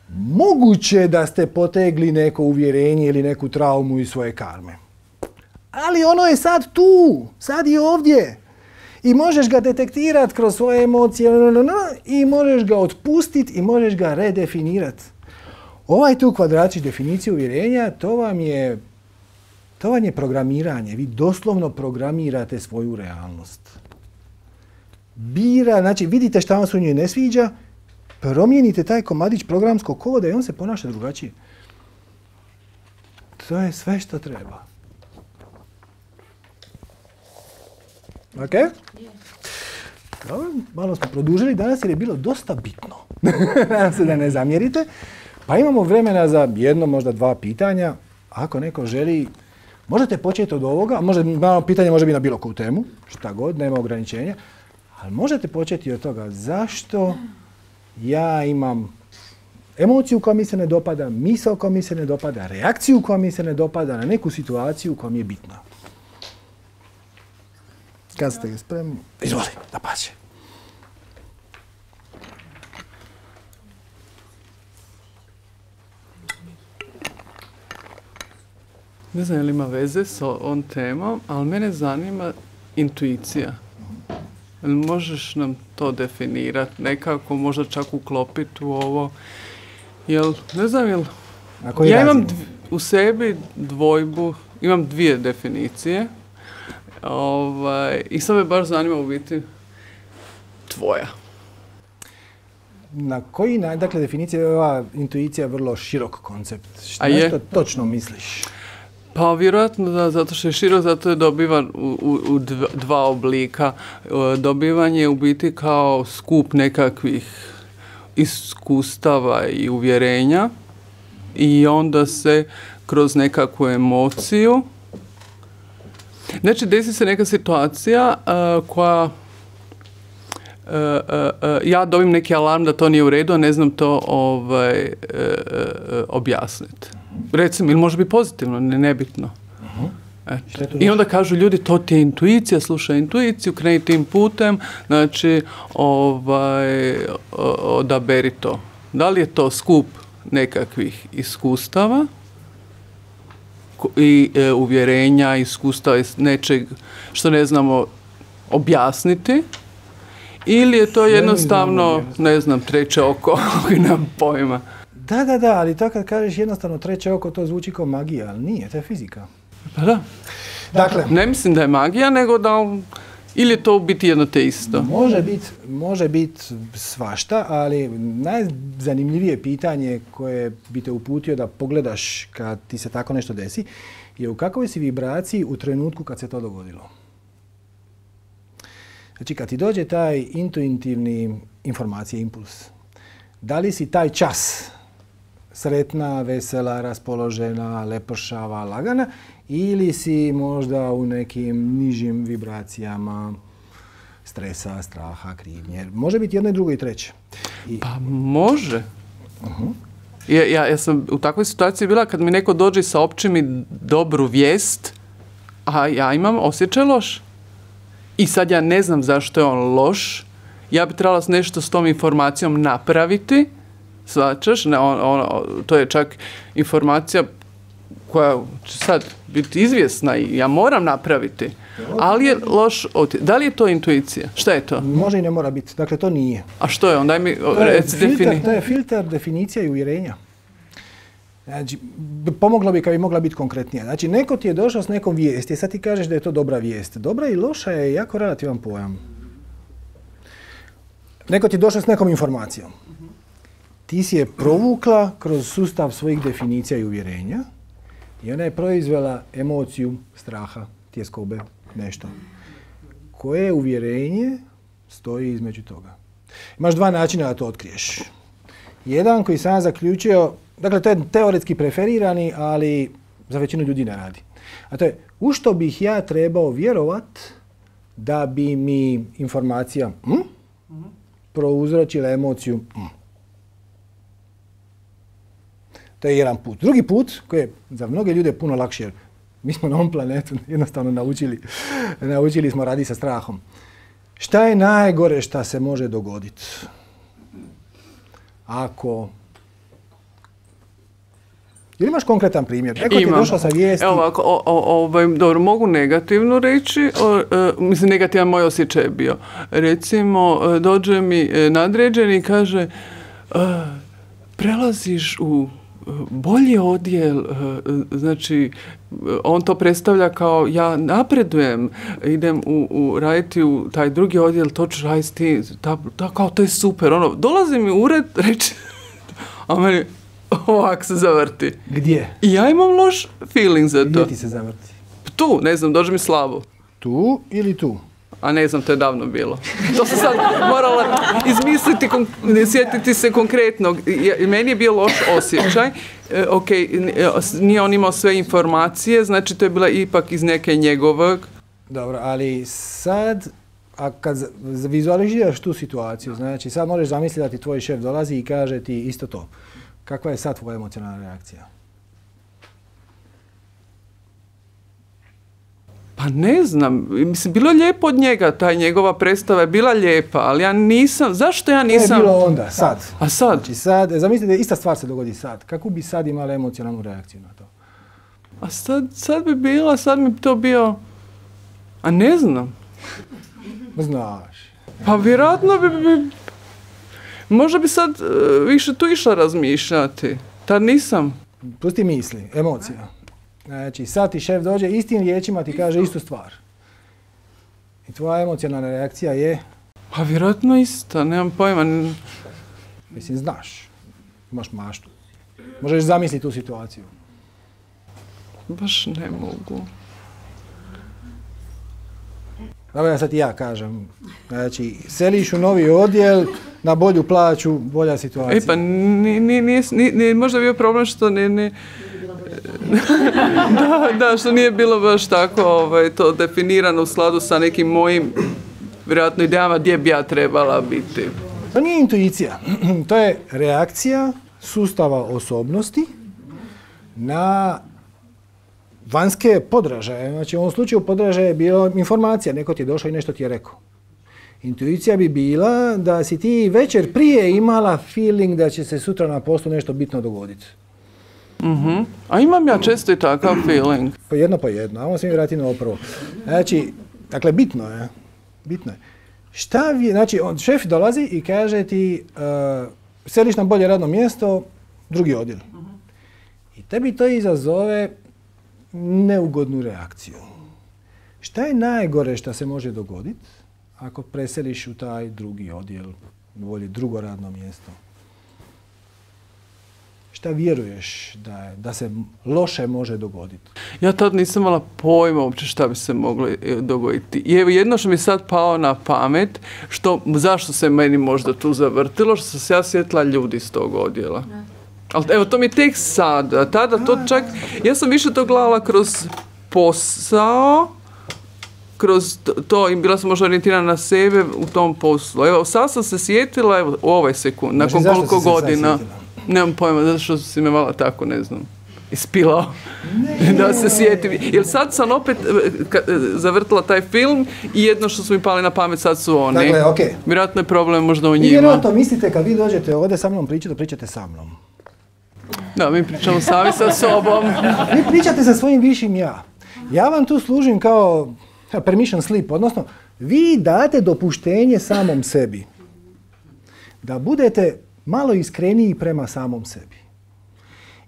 Moguće da ste potegli neko uvjerenje ili neku traumu iz svoje karme. Ali ono je sad tu, sad i ovdje. I možeš ga detektirati kroz svoje emocije i možeš ga otpustiti i možeš ga redefinirati. Ovaj tu kvadračić definicije uvjerenja, to vam je, to vam je programiranje. Vi doslovno programirate svoju realnost. Bira, znači vidite šta vam se u njoj ne sviđa, promijenite taj komadić programskog koda i on se ponaša drugačije. To je sve što treba. Ok? Dobro, malo smo produžili danas jer je bilo dosta bitno. Nadam se da ne zamjerite. Pa imamo vremena za jedno, možda dva pitanja. Ako neko želi, možete početi od ovoga. Možda, pitanje može biti na bilo koju temu, šta god, nema ograničenja. Ali možete početi od toga zašto ja imam emociju koja mi se ne dopada, misao koja mi se ne dopada, reakciju koja mi se ne dopada na neku situaciju koja mi je bitna. Kad ste spremni? Izvoli, da pače. Ne znam je li ima veze s ovom temom, ali mene zanima intuicija. Možeš nam to definirati nekako, možda čak uklopiti u ovo? Jel, ne znam, jel... Ja imam dv, u sebi dvojbu, imam dvije definicije. Ovaj, i sad me baš zanima u biti tvoja. Na koji način, dakle, definicija je ova intuicija vrlo širok koncept. Što nešto točno misliš? Pa vjerojatno da, zato što je širok, zato je dobivan u, u, u dva oblika. Dobivan je u biti kao skup nekakvih iskustava i uvjerenja i onda se kroz nekakvu emociju, znači desi se neka situacija uh, koja Uh, uh, uh, ja dobim neki alarm da to nije u redu, a ne znam to ovaj, uh, uh, objasniti. Recimo, ili može biti pozitivno, ne, nebitno. Uh-huh. I onda kažu ljudi, to ti je intuicija, slušaj intuiciju, kreni tim putem, znači ovaj, odaberi to. Da li je to skup nekakvih iskustava i e, uvjerenja, iskustava nečeg što ne znamo objasniti, ili je to jednostavno, ne znam, treće oko, koji nam pojma. Da, da, da, ali to kad kažeš jednostavno treće oko, to zvuči kao magija, ali nije, to je fizika. Pa da. Dakle, ne mislim da je magija, nego da, ili je to biti jedno te isto? Može biti može bit svašta, ali najzanimljivije pitanje koje bi te uputio da pogledaš kad ti se tako nešto desi, je u kakvoj si vibraciji u trenutku kad se to dogodilo. Znači, kad ti dođe taj intuitivni informacija, impuls, da li si taj čas sretna, vesela, raspoložena, lepršava, lagana, ili si možda u nekim nižim vibracijama stresa, straha, krivnje. Može biti jedno i drugo i treće. I... Pa može. Uh-huh. Ja, ja, ja sam u takvoj situaciji bila kad mi neko dođe sa opće mi dobru vijest, a ja imam osjećaj loš. I sad ja ne znam zašto je on loš. Ja bi trebala nešto s tom informacijom napraviti. Svačaš? Ne, on, on, to je čak informacija koja će sad biti izvjesna i ja moram napraviti. Ali je loš otjecaj. Da li je to intuicija? Šta je to? Može i ne mora biti. Dakle, to nije. A što je on? Daj mi reci defini. To je filter, definicija i uvjerenja. Znači, pomoglo bi kad bi mogla biti konkretnija. Znači, neko ti je došao s nekom vijesti, sad ti kažeš da je to dobra vijest. Dobra i loša je jako relativan pojam. Neko ti je došao s nekom informacijom. Ti si je provukla kroz sustav svojih definicija i uvjerenja i ona je proizvela emociju straha, tjeskobe, nešto. Koje uvjerenje stoji između toga? Imaš dva načina da to otkriješ. Jedan koji sam ja zaključio, dakle to je teoretski preferirani, ali za većinu ljudi ne radi. A to je, u što bih ja trebao vjerovat da bi mi informacija hm, prouzročila emociju hm. To je jedan put. Drugi put, koji je za mnoge ljude puno lakši, jer mi smo na ovom planetu jednostavno naučili, naučili smo raditi sa strahom. Šta je najgore šta se može dogoditi? Ako... Ili imaš konkretan primjer? Neko ti je došao sa vijesti... Evo ovako, o, o, ovaj, dobro, mogu negativno reći, o, e, mislim negativan moj osjećaj je bio. Recimo, dođe mi nadređeni i kaže e, prelaziš u bolji odjel, znači on to predstavlja kao ja napredujem, idem u, u raditi u taj drugi odjel, to ću raditi, ta, ta, kao to je super, ono, dolazi mi u ured, reći, a meni ovak se zavrti. Gdje? I ja imam loš feeling za to. Gdje ti se zavrti? Tu, ne znam, dođe mi slabo. Tu ili tu? A ne znam, to je davno bilo. To sam sad morala izmisliti, sjetiti se konkretno. Meni je bio loš osjećaj. E, ok, nije on imao sve informacije, znači to je bila ipak iz neke njegovog. Dobro, ali sad, a kad vizualiziraš tu situaciju, znači sad možeš zamisliti da ti tvoj šef dolazi i kaže ti isto to. Kakva je sad tvoja emocionalna reakcija? Pa ne znam, mislim, bilo je lijepo od njega, ta njegova predstava je bila lijepa, ali ja nisam, zašto ja nisam... To je bilo onda, sad. A sad? Znači sad, zamislite, ista stvar se dogodi sad. Kako bi sad imala emocionalnu reakciju na to? A sad, sad bi bila, sad mi to bio... A ne znam. Znaš. Pa vjerojatno bi... bi možda bi sad uh, više tu išla razmišljati. Tad nisam. Pusti misli, emocija. Znači, sad ti šef dođe, istim riječima ti kaže istu stvar. I tvoja emocionalna reakcija je? Pa vjerojatno ista, nemam pojma. Mislim, znaš. Imaš maštu. Možeš zamisliti tu situaciju. Baš ne mogu. Dobro, ja sad i ja kažem. Znači, seliš u novi odjel, na bolju plaću, bolja situacija. E pa, ni, ni, ni, ni, možda bio problem što ne... ne da, da, što nije bilo baš tako ovaj, to definirano u skladu sa nekim mojim, vjerojatno, idejama gdje bi ja trebala biti. To nije intuicija. To je reakcija sustava osobnosti na vanjske podražaje. Znači, u ovom slučaju podražaje je bila informacija. Neko ti je došao i nešto ti je rekao. Intuicija bi bila da si ti večer prije imala feeling da će se sutra na poslu nešto bitno dogoditi. Uh-huh. A imam ja često i takav feeling. Po jedno po jedno, a on se mi vrati na ovo prvo. Znači, dakle, bitno je. Bitno je. Šta vi, znači, on, šef dolazi i kaže ti uh, seliš na bolje radno mjesto, drugi odjel. Uh-huh. I tebi to izazove neugodnu reakciju. Šta je najgore što se može dogoditi ako preseliš u taj drugi odjel, bolje drugo radno mjesto? šta vjeruješ da, da se loše može dogoditi? Ja tad nisam imala pojma uopće šta bi se moglo dogoditi. I evo jedno što mi sad pao na pamet, što, zašto se meni možda tu zavrtilo, što sam se ja sjetila ljudi iz tog odjela. Ali evo, to mi je tek sad. Tada to čak, ja sam više to gledala kroz posao, kroz to, i bila sam možda orijentirana na sebe u tom poslu. Evo, sad sam se sjetila, evo, u ovaj sekund, nakon znači, koliko godina. Nemam pojma, zato što si me malo tako, ne znam, ispilao. Ne. Da se sjetim. Jer sad sam opet ka, zavrtila taj film i jedno što su mi pali na pamet sad su oni. Dakle, okej. Okay. Vjerojatno je problem možda u njima. I vjerojatno mislite kad vi dođete ovdje sa mnom pričati, da pričate sa mnom. Da, mi pričamo sami sa sobom. Vi pričate sa svojim višim ja. Ja vam tu služim kao permission slip, odnosno vi date dopuštenje samom sebi da budete malo iskreniji prema samom sebi.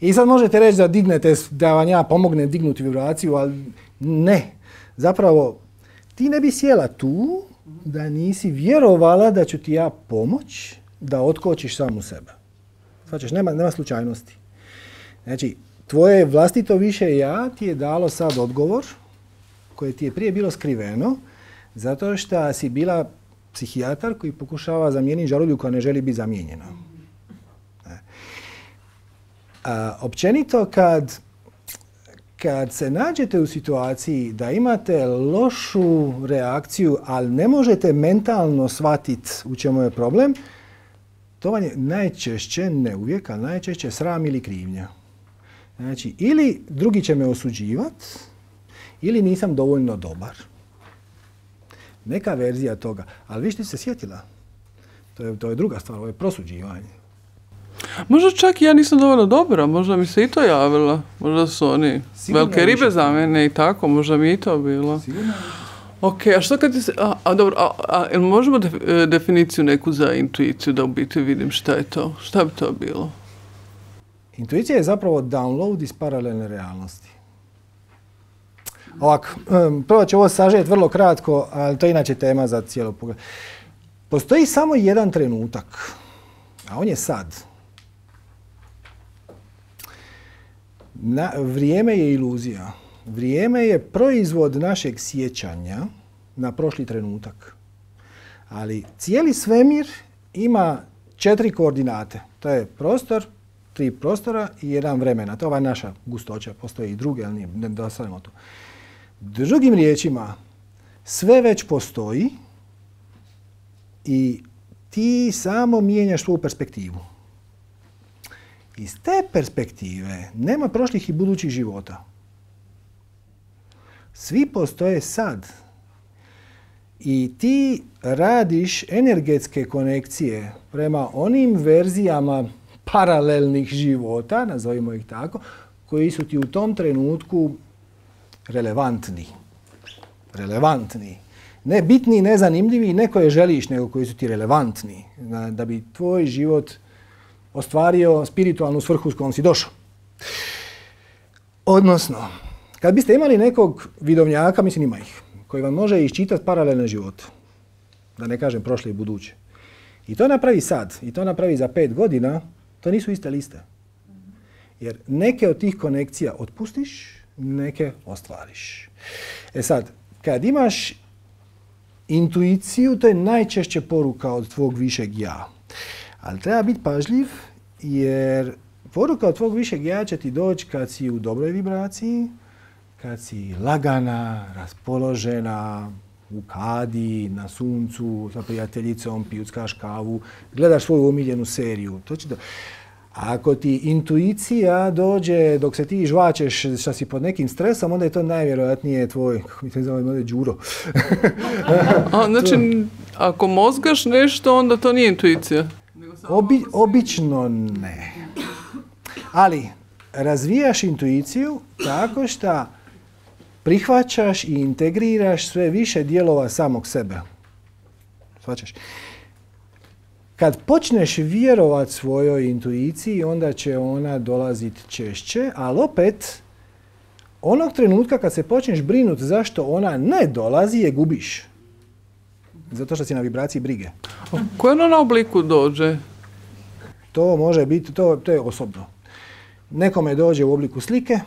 I sad možete reći da dignete, da vam ja pomognem dignuti vibraciju, ali ne. Zapravo, ti ne bi sjela tu da nisi vjerovala da ću ti ja pomoć da otkočiš samu sebe. Znači, nema, nema slučajnosti. Znači, tvoje vlastito više ja ti je dalo sad odgovor koje ti je prije bilo skriveno, zato što si bila psihijatar koji pokušava zamijeniti žarulju koja ne želi biti zamijenjena. A, općenito, kad, kad se nađete u situaciji da imate lošu reakciju, ali ne možete mentalno shvatiti u čemu je problem, to vam je najčešće, ne uvijek, ali najčešće sram ili krivnja. Znači, ili drugi će me osuđivati, ili nisam dovoljno dobar. Neka verzija toga. Ali vi što se sjetila, to je, to je druga stvar, ovo je prosuđivanje. Možda čak ja nisam dovoljno dobra, možda mi se i to javilo. Možda su oni sigurno velike ribe za mene i tako, možda mi i to bilo. Sigurno. Ok, a što kad ti se, a, a dobro, a, a jel možemo def, definiciju neku za intuiciju da u biti vidim šta je to? Šta bi to bilo? Intuicija je zapravo download iz paralelne realnosti. Ovako, um, prvo ću ovo sažeti vrlo kratko, ali to je inače tema za cijelo pogled. Postoji samo jedan trenutak, a on je sad. Na, vrijeme je iluzija. Vrijeme je proizvod našeg sjećanja na prošli trenutak. Ali cijeli svemir ima četiri koordinate. To je prostor, tri prostora i jedan vremena. To je ova naša gustoća. Postoje i druge, ali nije, ne dosadimo tu. Drugim riječima, sve već postoji i ti samo mijenjaš svoju perspektivu. Iz te perspektive nema prošlih i budućih života. Svi postoje sad. I ti radiš energetske konekcije prema onim verzijama paralelnih života, nazovimo ih tako, koji su ti u tom trenutku relevantni. Relevantni. Ne bitni, ne zanimljivi, ne koje želiš, nego koji su ti relevantni. Da bi tvoj život ostvario spiritualnu svrhu s kojom si došao. Odnosno, kad biste imali nekog vidovnjaka, mislim ima ih, koji vam može iščitati paralelne živote, da ne kažem prošle i buduće, i to napravi sad, i to napravi za pet godina, to nisu iste liste. Jer neke od tih konekcija otpustiš, neke ostvariš. E sad, kad imaš intuiciju, to je najčešće poruka od tvog višeg ja. Ali treba biti pažljiv, jer poruka od tvog višeg ja će ti doći kad si u dobroj vibraciji, kad si lagana, raspoložena, u kadi, na suncu, sa prijateljicom, pijuckaš kavu, gledaš svoju omiljenu seriju. To će do... Ako ti intuicija dođe dok se ti žvačeš što si pod nekim stresom, onda je to najvjerojatnije tvoj, kako mi to zove, đuro. A, znači, ako mozgaš nešto, onda to nije intuicija? Obi, obično ne. Ali razvijaš intuiciju tako što prihvaćaš i integriraš sve više dijelova samog sebe. Shvaćaš? Kad počneš vjerovat svojoj intuiciji, onda će ona dolaziti češće, ali opet, onog trenutka kad se počneš brinuti zašto ona ne dolazi, je gubiš. Zato što si na vibraciji brige. Koje ona na obliku dođe? To može biti, to, to je osobno. nekome dođe u obliku slike,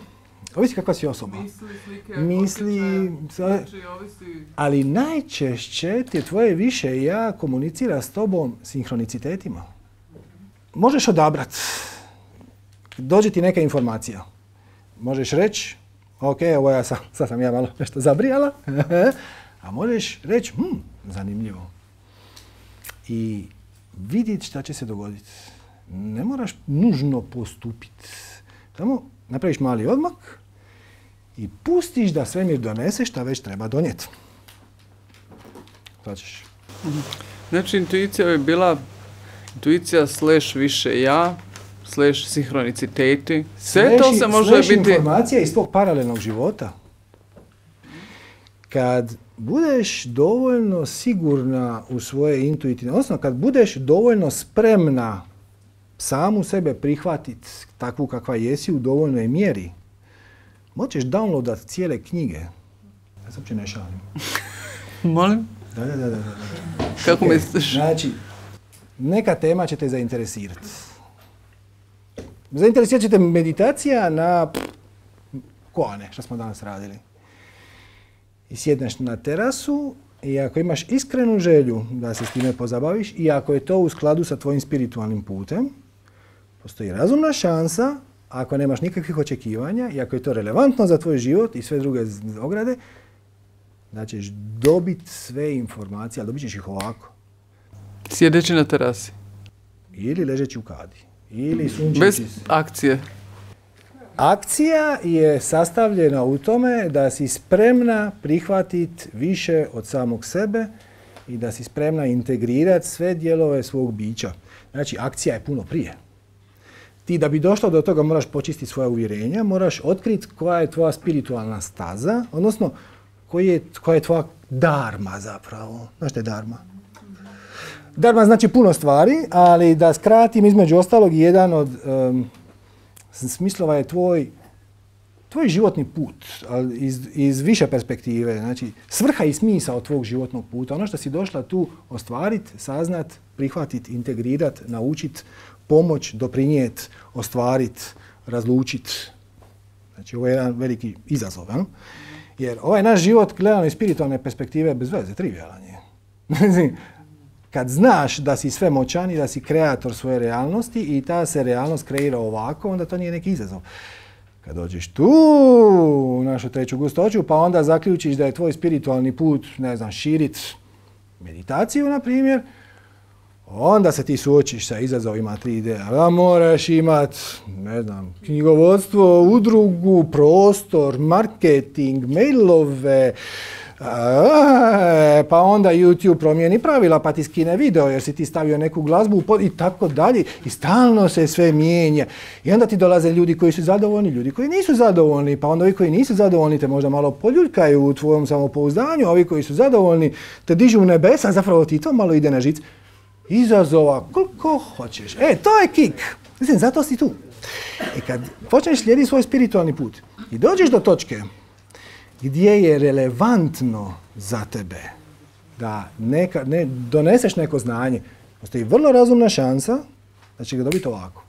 ovisi kakva si osoba. Misli, slike, Misli, znači, ovisi... ali najčešće ti tvoje više ja komunicira s tobom sinhronicitetima. Možeš odabrati. Dođe ti neka informacija. Možeš reći, ok, ovo ja sam, sad sam ja malo nešto zabrijala, a možeš reći, hm, zanimljivo. I vidjeti šta će se dogoditi. Ne moraš nužno postupiti. Samo napraviš mali odmak i pustiš da svemir donese šta već treba donijeti. Hoćeš. Znači, intuicija bi bila intuicija slash više ja, slash sinhroniciteti. Sve to se može slash biti... informacija iz tvog paralelnog života. Kad budeš dovoljno sigurna u svoje intuitivne, odnosno kad budeš dovoljno spremna samu sebe prihvatiti takvu kakva jesi u dovoljnoj mjeri, moćeš downloadat cijele knjige. Ja sam uopće ne šalim. Molim? Da, da, da, da. Kako okay. misliš? Znači, neka tema će te zainteresirati. Zainteresirat će te meditacija na koane, što smo danas radili. I sjedneš na terasu i ako imaš iskrenu želju da se s time pozabaviš i ako je to u skladu sa tvojim spiritualnim putem, postoji razumna šansa, ako nemaš nikakvih očekivanja i ako je to relevantno za tvoj život i sve druge ograde, da ćeš dobiti sve informacije, ali dobit ćeš ih ovako. Sjedeći na terasi. Ili ležeći u kadi. Ili sunčeći. Bez akcije. Akcija je sastavljena u tome da si spremna prihvatiti više od samog sebe i da si spremna integrirati sve dijelove svog bića. Znači, akcija je puno prije. Ti da bi došlo do toga moraš počistiti svoja uvjerenja, moraš otkriti koja je tvoja spiritualna staza, odnosno koji je, koja je tvoja dharma zapravo. Znaš što je dharma? Dharma znači puno stvari, ali da skratim između ostalog jedan od um, smislova je tvoj, tvoj životni put, ali iz, iz više perspektive. Znači, svrha i smisao tvog životnog puta, ono što si došla tu ostvariti, saznat, prihvatiti, integrirati, naučiti, pomoć, doprinijeti, ostvariti, razlučiti. Znači, ovo je jedan veliki izazov. Ja? Jer ovaj naš život, gledano iz spiritualne perspektive, bez veze, trivialan je. Kad znaš da si svemoćan i da si kreator svoje realnosti i ta se realnost kreira ovako, onda to nije neki izazov. Kad dođeš tu u našu treću gustoću, pa onda zaključiš da je tvoj spiritualni put, ne znam, širit meditaciju, na primjer, onda se ti suočiš sa izazovima tri D. A moraš imat, ne znam, knjigovodstvo, udrugu, prostor, marketing, mailove, A, pa onda YouTube promijeni pravila pa ti skine video jer si ti stavio neku glazbu pod, i tako dalje. I stalno se sve mijenja. I onda ti dolaze ljudi koji su zadovoljni, ljudi koji nisu zadovoljni, pa onda ovi koji nisu zadovoljni te možda malo poljuljkaju u tvojom samopouzdanju, a ovi koji su zadovoljni te dižu u nebesa, zapravo ti to malo ide na žic. Izazova koliko hoćeš. E, to je kik. Mislim, zato si tu. I kad počneš slijediti svoj spiritualni put i dođeš do točke gdje je relevantno za tebe da neka, ne, doneseš neko znanje, postoji vrlo razumna šansa da će ga dobiti ovako.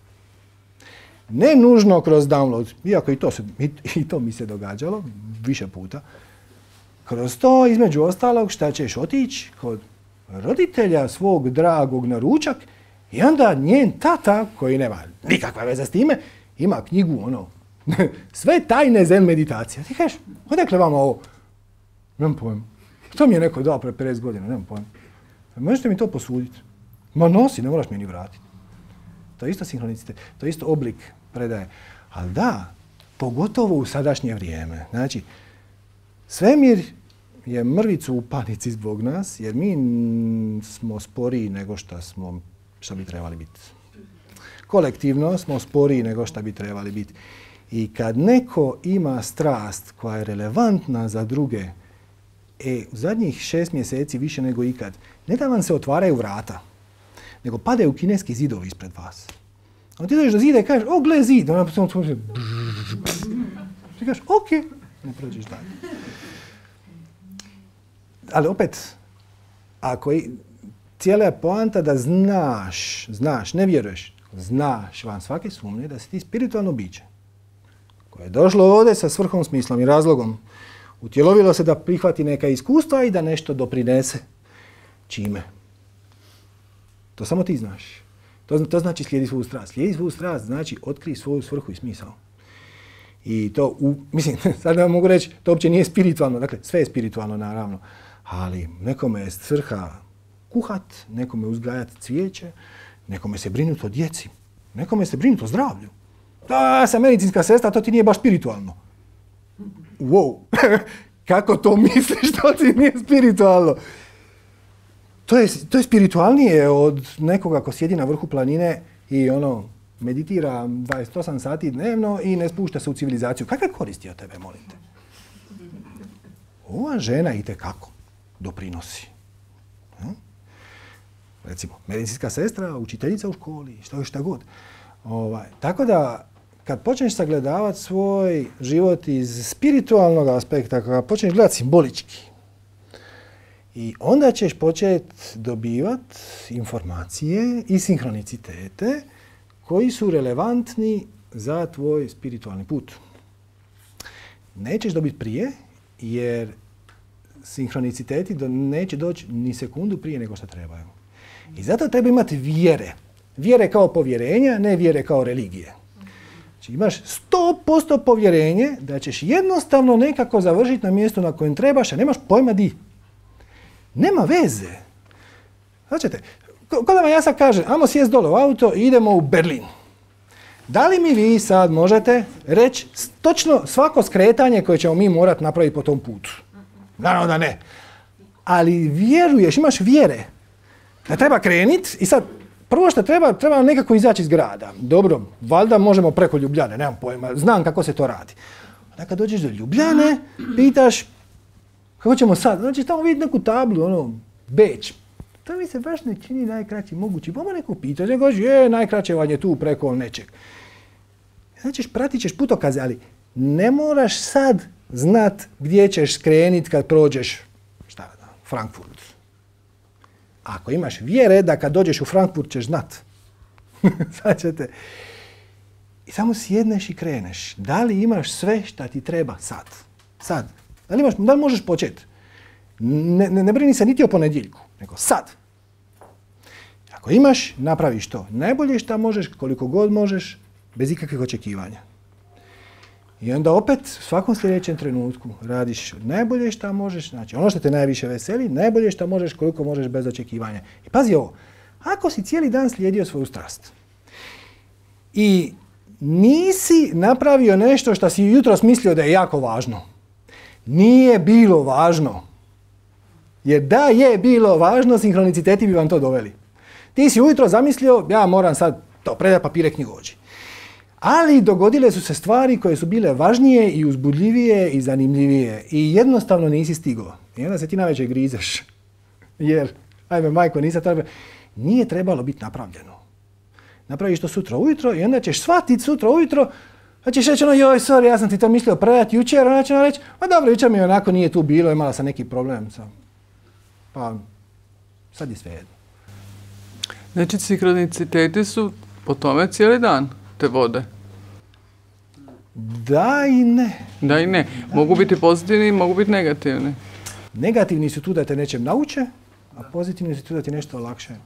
Ne nužno kroz download, iako i to, se, i, i to mi se događalo više puta. Kroz to, između ostalog, šta ćeš otići kod roditelja svog dragog na ručak i onda njen tata, koji nema nikakve veze s time, ima knjigu, ono, sve tajne zen meditacije. Ti kažeš, odakle vama ovo? Nemam pojma. To mi je neko dao pre pedeset godina, nemam pojma. Možete mi to posuditi? Ma nosi, ne moraš mi ni vratiti. To je isto sinhronicitet, to je isto oblik predaje. Ali da, pogotovo u sadašnje vrijeme. Znači, svemir je mrvicu u panici zbog nas, jer mi smo sporiji nego što smo, što bi trebali biti. Kolektivno smo sporiji nego što bi trebali biti. I kad neko ima strast koja je relevantna za druge, e, u zadnjih šest mjeseci više nego ikad, ne da vam se otvaraju vrata, nego padaju kineski zidovi ispred vas. A ti dođeš do zida i kažeš, o, gle zid. Ona samo tvoj ti kažeš, ok, ne prođeš dalje. Ali opet, ako i, cijela je poanta da znaš, znaš, ne vjeruješ. znaš van svake sumnje da si ti spiritualno biće koje je došlo ovdje sa svrhom, smislom i razlogom. Utjelovilo se da prihvati neka iskustva i da nešto doprinese. Čime? To samo ti znaš. To, to znači slijedi svoju strast. Slijedi svoju strast znači otkri svoju svrhu i smisao. I to, u, mislim, sad ne mogu reći, to uopće nije spiritualno. Dakle, sve je spiritualno, naravno. Ali nekome je svrha kuhat, nekome uzgajati cvijeće, nekome se brinuti o djeci, nekome se brinuti o zdravlju. Da, sam medicinska sestra, to ti nije baš spiritualno. Wow, kako to misliš, to ti nije spiritualno? To je, to je spiritualnije od nekoga ko sjedi na vrhu planine i ono, meditira dvadeset osam sati dnevno i ne spušta se u civilizaciju. Kakve koristi od tebe, molim te? Ova žena itekako doprinosi. Hm? Recimo, medicinska sestra, učiteljica u školi, što šta god. Ovaj, tako da, kad počneš sagledavati svoj život iz spiritualnog aspekta, kad počneš gledati simbolički, i onda ćeš početi dobivati informacije i sinhronicitete koji su relevantni za tvoj spiritualni put. Nećeš dobiti prije, jer sinhroniciteti do, neće doći ni sekundu prije nego što trebaju. I zato treba imati vjere. Vjere kao povjerenja, ne vjere kao religije. Znači imaš sto posto povjerenje da ćeš jednostavno nekako završiti na mjestu na kojem trebaš, a nemaš pojma di. Nema veze. Znači, ko da vam ja sad kažem, ajmo sjest dole u auto i idemo u Berlin. Da li mi vi sad možete reći točno svako skretanje koje ćemo mi morati napraviti po tom putu? Naravno da ne. Ali vjeruješ, imaš vjere da treba krenit i sad prvo što treba, treba nekako izaći iz grada. Dobro, valjda možemo preko Ljubljane, nemam pojma, znam kako se to radi. Onda kad dođeš do Ljubljane, pitaš kako ćemo sad? Znači tamo vidjeti neku tablu, ono, Beč. To mi se baš ne čini najkraći mogući. Pa ma neko pita, ne kaže, je, najkraće vam je tu preko nečeg. Znači, pratit ćeš putokaze, ali ne moraš sad znat gdje ćeš skrenit kad prođeš, šta da, Frankfurt. Ako imaš vjere da kad dođeš u Frankfurt ćeš znat. Sad ćete. I samo sjedneš i kreneš. Da li imaš sve šta ti treba sad? Sad. Da li, imaš, da li možeš početi? Ne, ne, ne brini se niti o ponedjeljku, nego sad. Ako imaš, napraviš to. Najbolje šta možeš, koliko god možeš, bez ikakvih očekivanja. I onda opet, u svakom sljedećem trenutku radiš najbolje šta možeš, znači ono što te najviše veseli, najbolje šta možeš, koliko možeš bez očekivanja. I pazi ovo, ako si cijeli dan slijedio svoju strast i nisi napravio nešto što si jutros mislio da je jako važno, nije bilo važno. Jer da je bilo važno, sinhroniciteti bi vam to doveli. Ti si ujutro zamislio, ja moram sad to predati papire knjigovođi. Ali dogodile su se stvari koje su bile važnije i uzbudljivije i zanimljivije. I jednostavno nisi stigao. I onda se ti navečer grizeš. Jer, ajme majko, nisam trebalo. Nije trebalo biti napravljeno. Napraviš to sutra ujutro i onda ćeš shvatiti sutra ujutro. Pa ćeš reći ono, joj, sorry, ja sam ti to mislio predati jučer. Onda će reći, pa dobro, jučer mi onako nije tu bilo, imala sam neki problem. Sam. Pa, sad je sve jedno. Znači, sinhroniciteti su po tome cijeli dan te vode? Da i ne. Da i ne. Mogu biti pozitivni, mogu biti negativni. Negativni su tu da te nečem nauče, a pozitivni su tu da ti nešto olakšaju.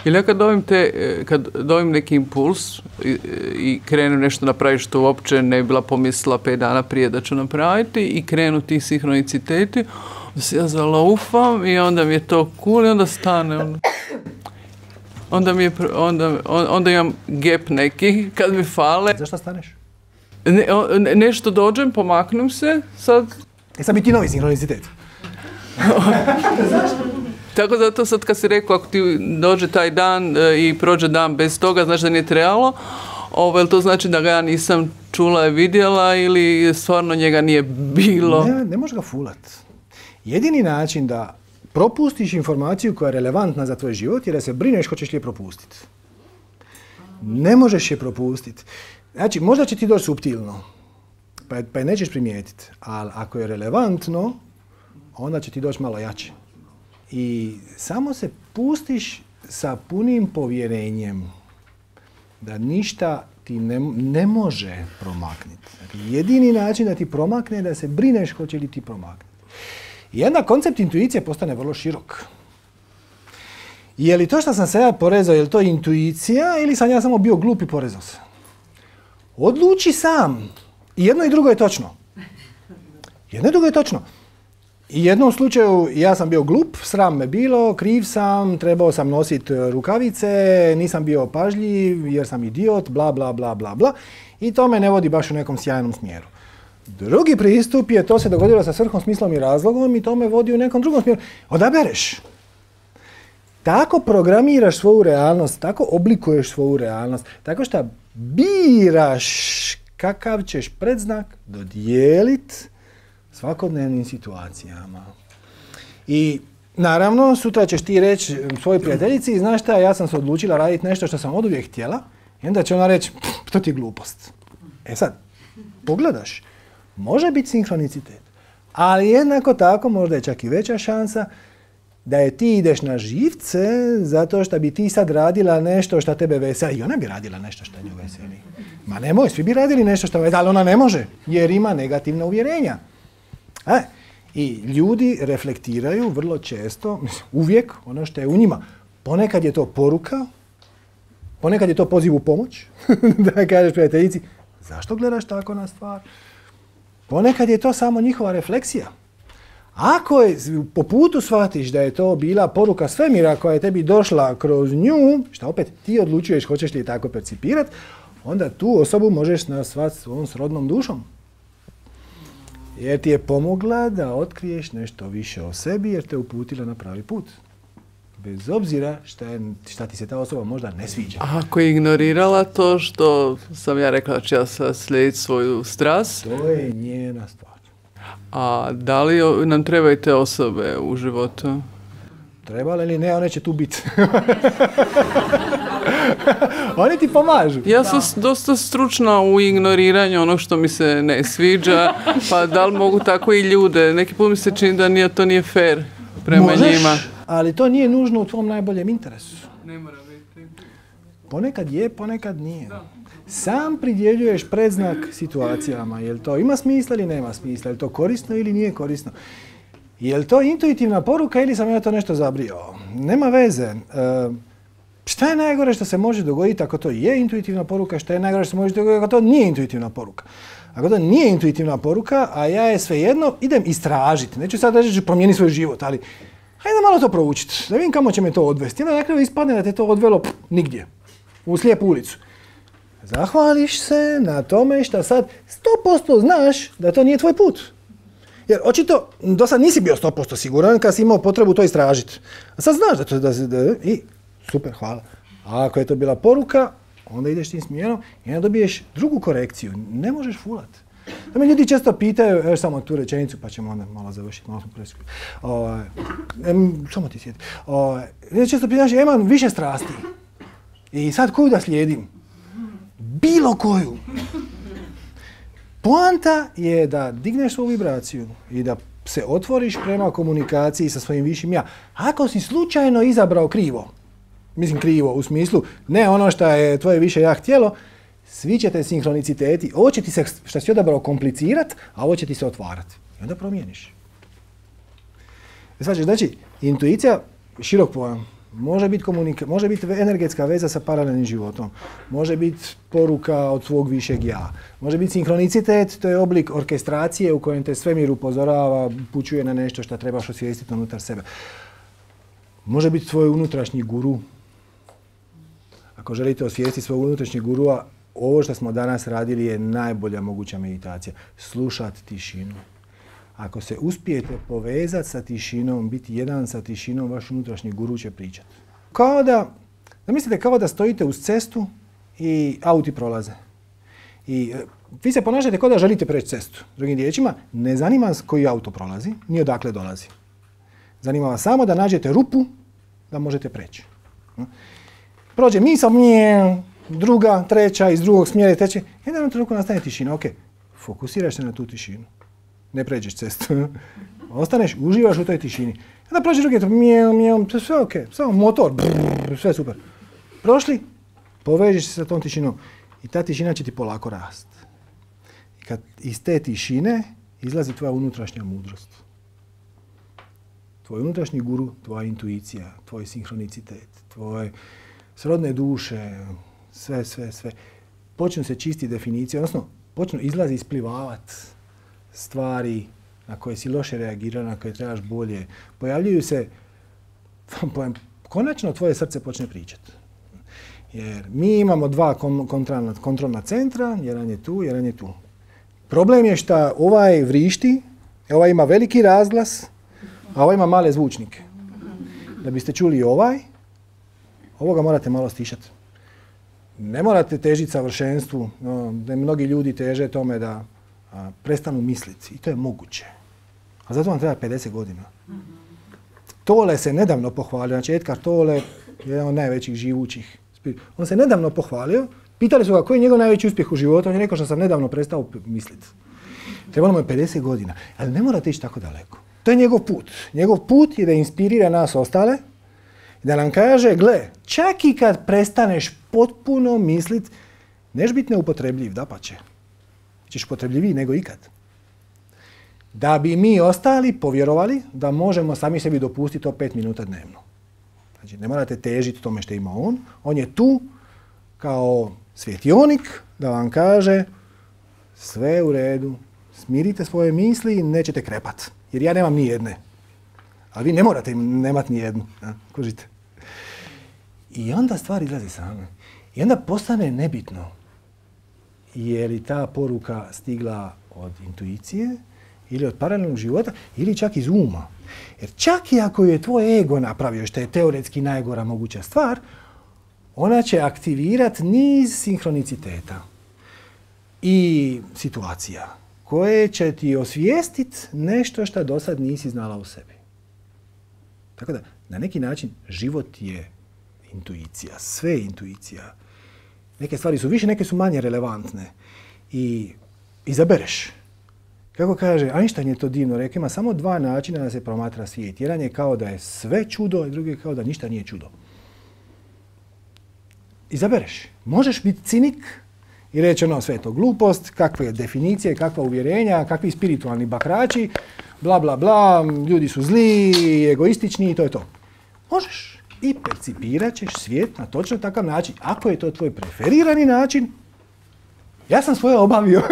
Ili ja kad dobim, te, kad dobim neki impuls i, i krenu nešto napraviti što uopće ne bi bila pomislila pet dana prije da ću napraviti i krenu ti sinhroniciteti, onda se ja zalaufam i onda mi je to cool i onda stane. Onda, onda, mi je, onda, onda imam gap neki kad mi fale. Zašto staneš? Ne, ne, nešto dođem, pomaknem se, sad... E sad bi ti novi sinhronicitet. Tako zato sad kad si rekao, ako ti dođe taj dan e, i prođe dan bez toga, znaš da nije trebalo, ovo, jel to znači da ga ja nisam čula i vidjela ili stvarno njega nije bilo? Ne, ne možeš ga fulat. Jedini način da propustiš informaciju koja je relevantna za tvoj život je da se brineš hoćeš li je propustiti. Ne možeš je propustiti. Znači, možda će ti doći suptilno, pa je, pa je nećeš primijetiti, ali ako je relevantno, onda će ti doći malo jače. I samo se pustiš sa punim povjerenjem da ništa ti ne, ne može promakniti. Dakle, jedini način da ti promakne je da se brineš hoće li ti promaknuti. I onda koncept intuicije postane vrlo širok. Je li to što sam se ja porezao, je li to intuicija ili sam ja samo bio glup i porezao se? Odluči sam. I jedno i drugo je točno. Jedno i drugo je točno. I u jednom slučaju ja sam bio glup, sram me bilo, kriv sam, trebao sam nositi rukavice, nisam bio pažljiv jer sam idiot, bla, bla, bla, bla, bla. I to me ne vodi baš u nekom sjajnom smjeru. Drugi pristup je, to se dogodilo sa svrhom, smislom i razlogom i to me vodi u nekom drugom smjeru. Odabereš. Tako programiraš svoju realnost, tako oblikuješ svoju realnost, tako što biraš kakav ćeš predznak dodijeliti svakodnevnim situacijama. I naravno, sutra ćeš ti reći svojoj prijateljici, znaš šta, ja sam se odlučila raditi nešto što sam oduvijek htjela, i onda će ona reći, to ti je glupost. E sad, pogledaš, može biti sinkronicitet, ali jednako tako možda je čak i veća šansa da je ti ideš na živce zato što bi ti sad radila nešto što tebe veseli. I ona bi radila nešto što nju veseli. Ma nemoj, svi bi radili nešto što veseli, ali ona ne može jer ima negativna uvjerenja. E, i ljudi reflektiraju vrlo često, uvijek, ono što je u njima. Ponekad je to poruka, ponekad je to poziv u pomoć, da kažeš prijateljici, zašto gledaš tako na stvar? Ponekad je to samo njihova refleksija. Ako je, po putu shvatiš da je to bila poruka svemira koja je tebi došla kroz nju, što opet ti odlučuješ hoćeš li je tako percipirati, onda tu osobu možeš nazvati svojom srodnom dušom. Jer ti je pomogla da otkriješ nešto više o sebi jer te uputila na pravi put. Bez obzira šta, je, šta ti se ta osoba možda ne sviđa. A ako je ignorirala to što sam ja rekla da ću ja sad slijediti svoju strast? To je njena stvar. A da li nam trebaju te osobe u životu? Trebale ili ne, one će tu biti. Oni ti pomažu. Ja sam da. dosta stručna u ignoriranju onog što mi se ne sviđa, pa da li mogu tako i ljude? Neki put mi se čini da nije, to nije fair prema Možeš, njima. Ali to nije nužno u tvom najboljem interesu. Ne mora biti. Ponekad je, ponekad nije. Da. Sam pridjeljuješ predznak situacijama. Jel to ima smisla ili nema smisla? Jel to korisno ili nije korisno? Jel to intuitivna poruka ili sam ja to nešto zabrio? Nema veze. E, šta je najgore što se može dogoditi ako to je intuitivna poruka? Šta je najgore što se može dogoditi ako to nije intuitivna poruka? Ako to nije intuitivna poruka, a ja je svejedno, idem istražiti. Neću sad reći da ću promijeniti svoj život, ali hajde malo to proučiti. Da vidim kamo će me to odvesti. Onda na kraju ispadne da te to odvelo pff, nigdje. U slijepu ulicu. Zahvališ se na tome što sad sto posto znaš da to nije tvoj put. Jer očito do sad nisi bio sto posto siguran kad si imao potrebu to istražiti. A sad znaš da to da, da, i super, hvala. A ako je to bila poruka, onda ideš tim smjerom i onda dobiješ drugu korekciju. Ne možeš fulat. Da me ljudi često pitaju, evo samo tu rečenicu pa ćemo onda malo završiti, malo smo preskupi. Ovaj, samo ti sjeti. Ovaj, često pitaš, ja imam više strasti. I sad koju da slijedim? Bilo koju. Poanta je da digneš svoju vibraciju i da se otvoriš prema komunikaciji sa svojim višim ja. Ako si slučajno izabrao krivo, mislim krivo u smislu, ne ono što je tvoje više ja htjelo, svi će te sinhroniciteti, ovo će ti se, što si odabrao, komplicirat, a ovo će ti se otvarati. I onda promijeniš. Znači, znači intuicija, širok pojam. Može biti komunika- može biti energetska veza sa paralelnim životom. Može biti poruka od svog višeg ja. Može biti sinhronicitet, to je oblik orkestracije u kojem te svemir upozorava, upućuje na nešto što trebaš osvijestiti unutar sebe. Može biti tvoj unutrašnji guru. Ako želite osvijestiti svog unutrašnjeg gurua, ovo što smo danas radili je najbolja moguća meditacija. Slušati tišinu. Ako se uspijete povezati sa tišinom, biti jedan sa tišinom, vaš unutrašnji guru će pričati. Kao da, da mislite kao da stojite uz cestu i auti prolaze. I e, vi se ponašate kao da želite preći cestu. Drugim riječima, ne zanima vas koji auto prolazi, ni odakle dolazi. Zanima vas samo da nađete rupu da možete preći. Prođe misao, mije, druga, treća, iz drugog smjera i treće. Jedan trenutku nastane tišina. Ok, fokusiraš se na tu tišinu. Ne pređeš cestu. Ostaneš, uživaš u toj tišini. Onda prođe drugi, mjeu, mjeu, sve ok, samo motor, brrr, sve super. Prošli, povežeš se sa tom tišinom i ta tišina će ti polako rast. I kad iz te tišine izlazi tvoja unutrašnja mudrost. Tvoj unutrašnji guru, tvoja intuicija, tvoj sinhronicitet, tvoje srodne duše, sve, sve, sve. Počnu se čisti definicije, odnosno počnu izlazi isplivavati stvari na koje si loše reagirao, na koje trebaš bolje. Pojavljuju se, konačno tvoje srce počne pričati. Jer mi imamo dva kontrolna, kontrolna centra, jedan je tu, jedan je tu. Problem je što ovaj vrišti, ovaj ima veliki razglas, a ovaj ima male zvučnike. Da biste čuli ovaj, ovoga morate malo stišati. Ne morate težiti savršenstvu, no, da mnogi ljudi teže tome da a, prestanu misliti. I to je moguće. A zato vam treba pedeset godina. Tole se nedavno pohvalio, znači Edgar Tolle je jedan od najvećih živućih. On se nedavno pohvalio, pitali su ga koji je njegov najveći uspjeh u životu, on je rekao što sam nedavno prestao misliti. Trebalo mu je pedeset godina, ali ne morate ići tako daleko. To je njegov put. Njegov put je da inspirira nas ostale, da nam kaže, gle, čak i kad prestaneš potpuno misliti, neš biti neupotrebljiv, dapače. Ćeš upotrebljiviji nego ikad. Da bi mi ostali povjerovali da možemo sami sebi dopustiti to pet minuta dnevno. Znači, ne morate težiti tome što ima on. On je tu kao svjetionik da vam kaže sve je u redu, smirite svoje misli i nećete krepat. Jer ja nemam ni jedne. Ali vi ne morate nemati ni jednu. Ja, kužite. I onda stvar izlazi same. I onda postane nebitno je li ta poruka stigla od intuicije ili od paralelnog života ili čak iz uma. Jer čak i ako je tvoj ego napravio, što je teoretski najgora moguća stvar, ona će aktivirati niz sinhroniciteta i situacija koje će ti osvijestiti nešto što do sad nisi znala u sebi. Tako da, na neki način, život je intuicija, sve je intuicija. Neke stvari su više, neke su manje relevantne. I izabereš. Kako kaže, Einstein je to divno rekao, ima samo dva načina da se promatra svijet. Jedan je kao da je sve čudo, a drugi je kao da ništa nije čudo. Izabereš. Možeš biti cinik i reći ono, sve je to glupost, kakve definicije, kakva uvjerenja, kakvi spiritualni bakrači, bla, bla, bla, ljudi su zli, egoistični i to je to. Možeš. I percipirat ćeš svijet na točno takav način. Ako je to tvoj preferirani način, ja sam svoje obavio.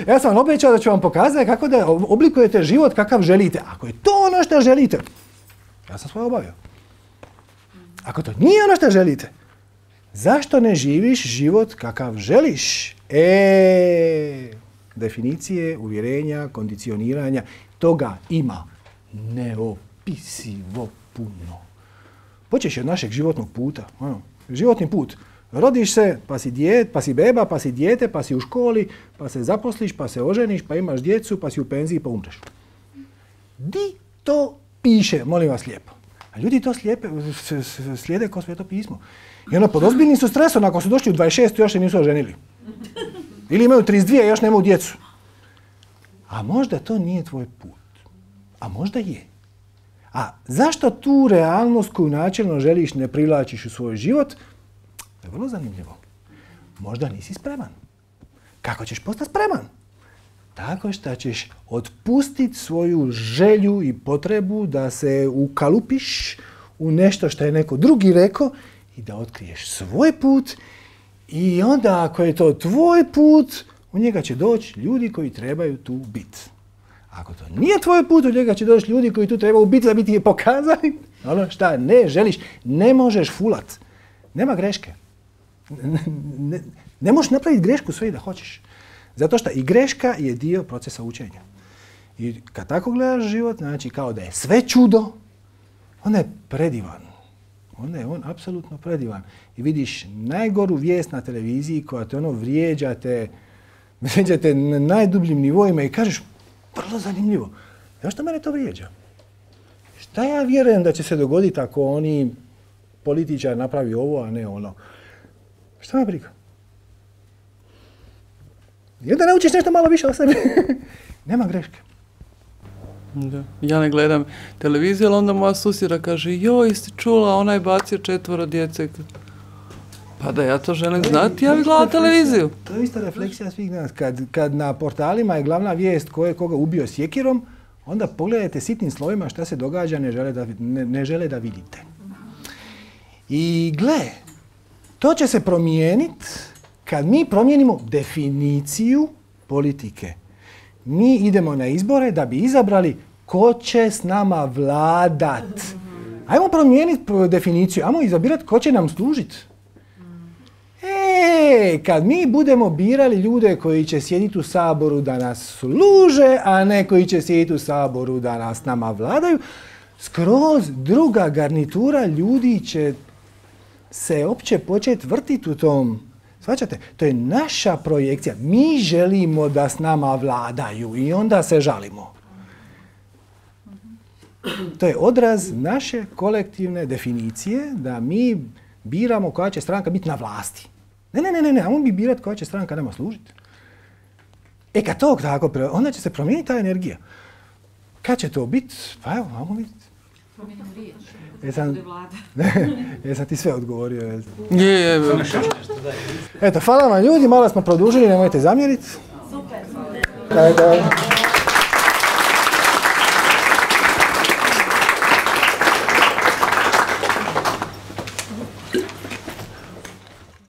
Ja sam vam obećao da ću vam pokazati kako da oblikujete život kakav želite. Ako je to ono što želite, ja sam svoje obavio. Ako to nije ono što želite, zašto ne živiš život kakav želiš? E, definicije, uvjerenja, kondicioniranja, toga ima neopisivo puno. Počeš od našeg životnog puta. Ono, životni put. Rodiš se, pa si, djet, pa si beba, pa si dijete, pa si u školi, pa se zaposliš, pa se oženiš, pa imaš djecu, pa si u penziji, pa umreš. Di to piše, molim vas lijepo. A ljudi to slijepe, slijede kao Sveto pismo. I ono, pod ozbiljnim su stresom, ako su došli u dvadeset šest još se nisu oženili. Ili imaju trideset dvije i još nemaju djecu. A možda to nije tvoj put. A možda je. A zašto tu realnost koju načelno želiš ne privlačiš u svoj život? To je vrlo zanimljivo. Možda nisi spreman. Kako ćeš postati spreman? Tako što ćeš otpustiti svoju želju i potrebu da se ukalupiš u nešto što je neko drugi rekao i da otkriješ svoj put i onda ako je to tvoj put, u njega će doći ljudi koji trebaju tu biti. Ako to nije tvoj put, u njega će doći ljudi koji tu trebaju biti da bi ti je pokazali ono šta ne želiš, ne možeš fulat. Nema greške. Ne, ne, ne možeš napraviti grešku sve i da hoćeš. Zato što i greška je dio procesa učenja. I kad tako gledaš život, znači kao da je sve čudo, onda je predivan. Onda je on apsolutno predivan. I vidiš najgoru vijest na televiziji koja te ono vrijeđate, vrijeđate na najdubljim nivoima i kažeš vrlo zanimljivo. Zašto mene to vrijeđa? Šta ja vjerujem da će se dogoditi ako oni političar napravi ovo, a ne ono? Šta me briga? I onda naučiš nešto malo više o sebi. Nema greške. Da. Ja ne gledam televiziju, ali onda moja susjeda kaže, joj, jesi čula, ona je bacio četvoro djece. Pa da ja to želim znati, ja bih gledala televiziju. To je isto refleksija svih nas. Kad, kad na portalima je glavna vijest ko je koga ubio sjekirom, onda pogledajte sitnim slovima šta se događa, ne žele da, ne, ne žele da vidite. I gle, to će se promijeniti kad mi promijenimo definiciju politike. Mi idemo na izbore da bi izabrali ko će s nama vladat. Ajmo promijeniti definiciju, ajmo izabirati ko će nam služiti. E, kad mi budemo birali ljude koji će sjediti u Saboru da nas služe, a ne koji će sjediti u Saboru da nas nama vladaju, skroz druga garnitura ljudi će se opće početi vrtiti u tom. Shvaćate? To je naša projekcija. Mi želimo da s nama vladaju i onda se žalimo. To je odraz naše kolektivne definicije da mi biramo koja će stranka biti na vlasti. Ne, ne, ne, ne, ne, ajmo mi birati koja će stranka nama služiti. E kad to tako, onda će se promijeniti ta energija. Kad će to biti? Pa evo, ajmo vidjeti. Jesam, jesam ti sve odgovorio. Je, je. Eto, hvala vam ljudi, malo smo produžili, nemojte zamjeriti. Super.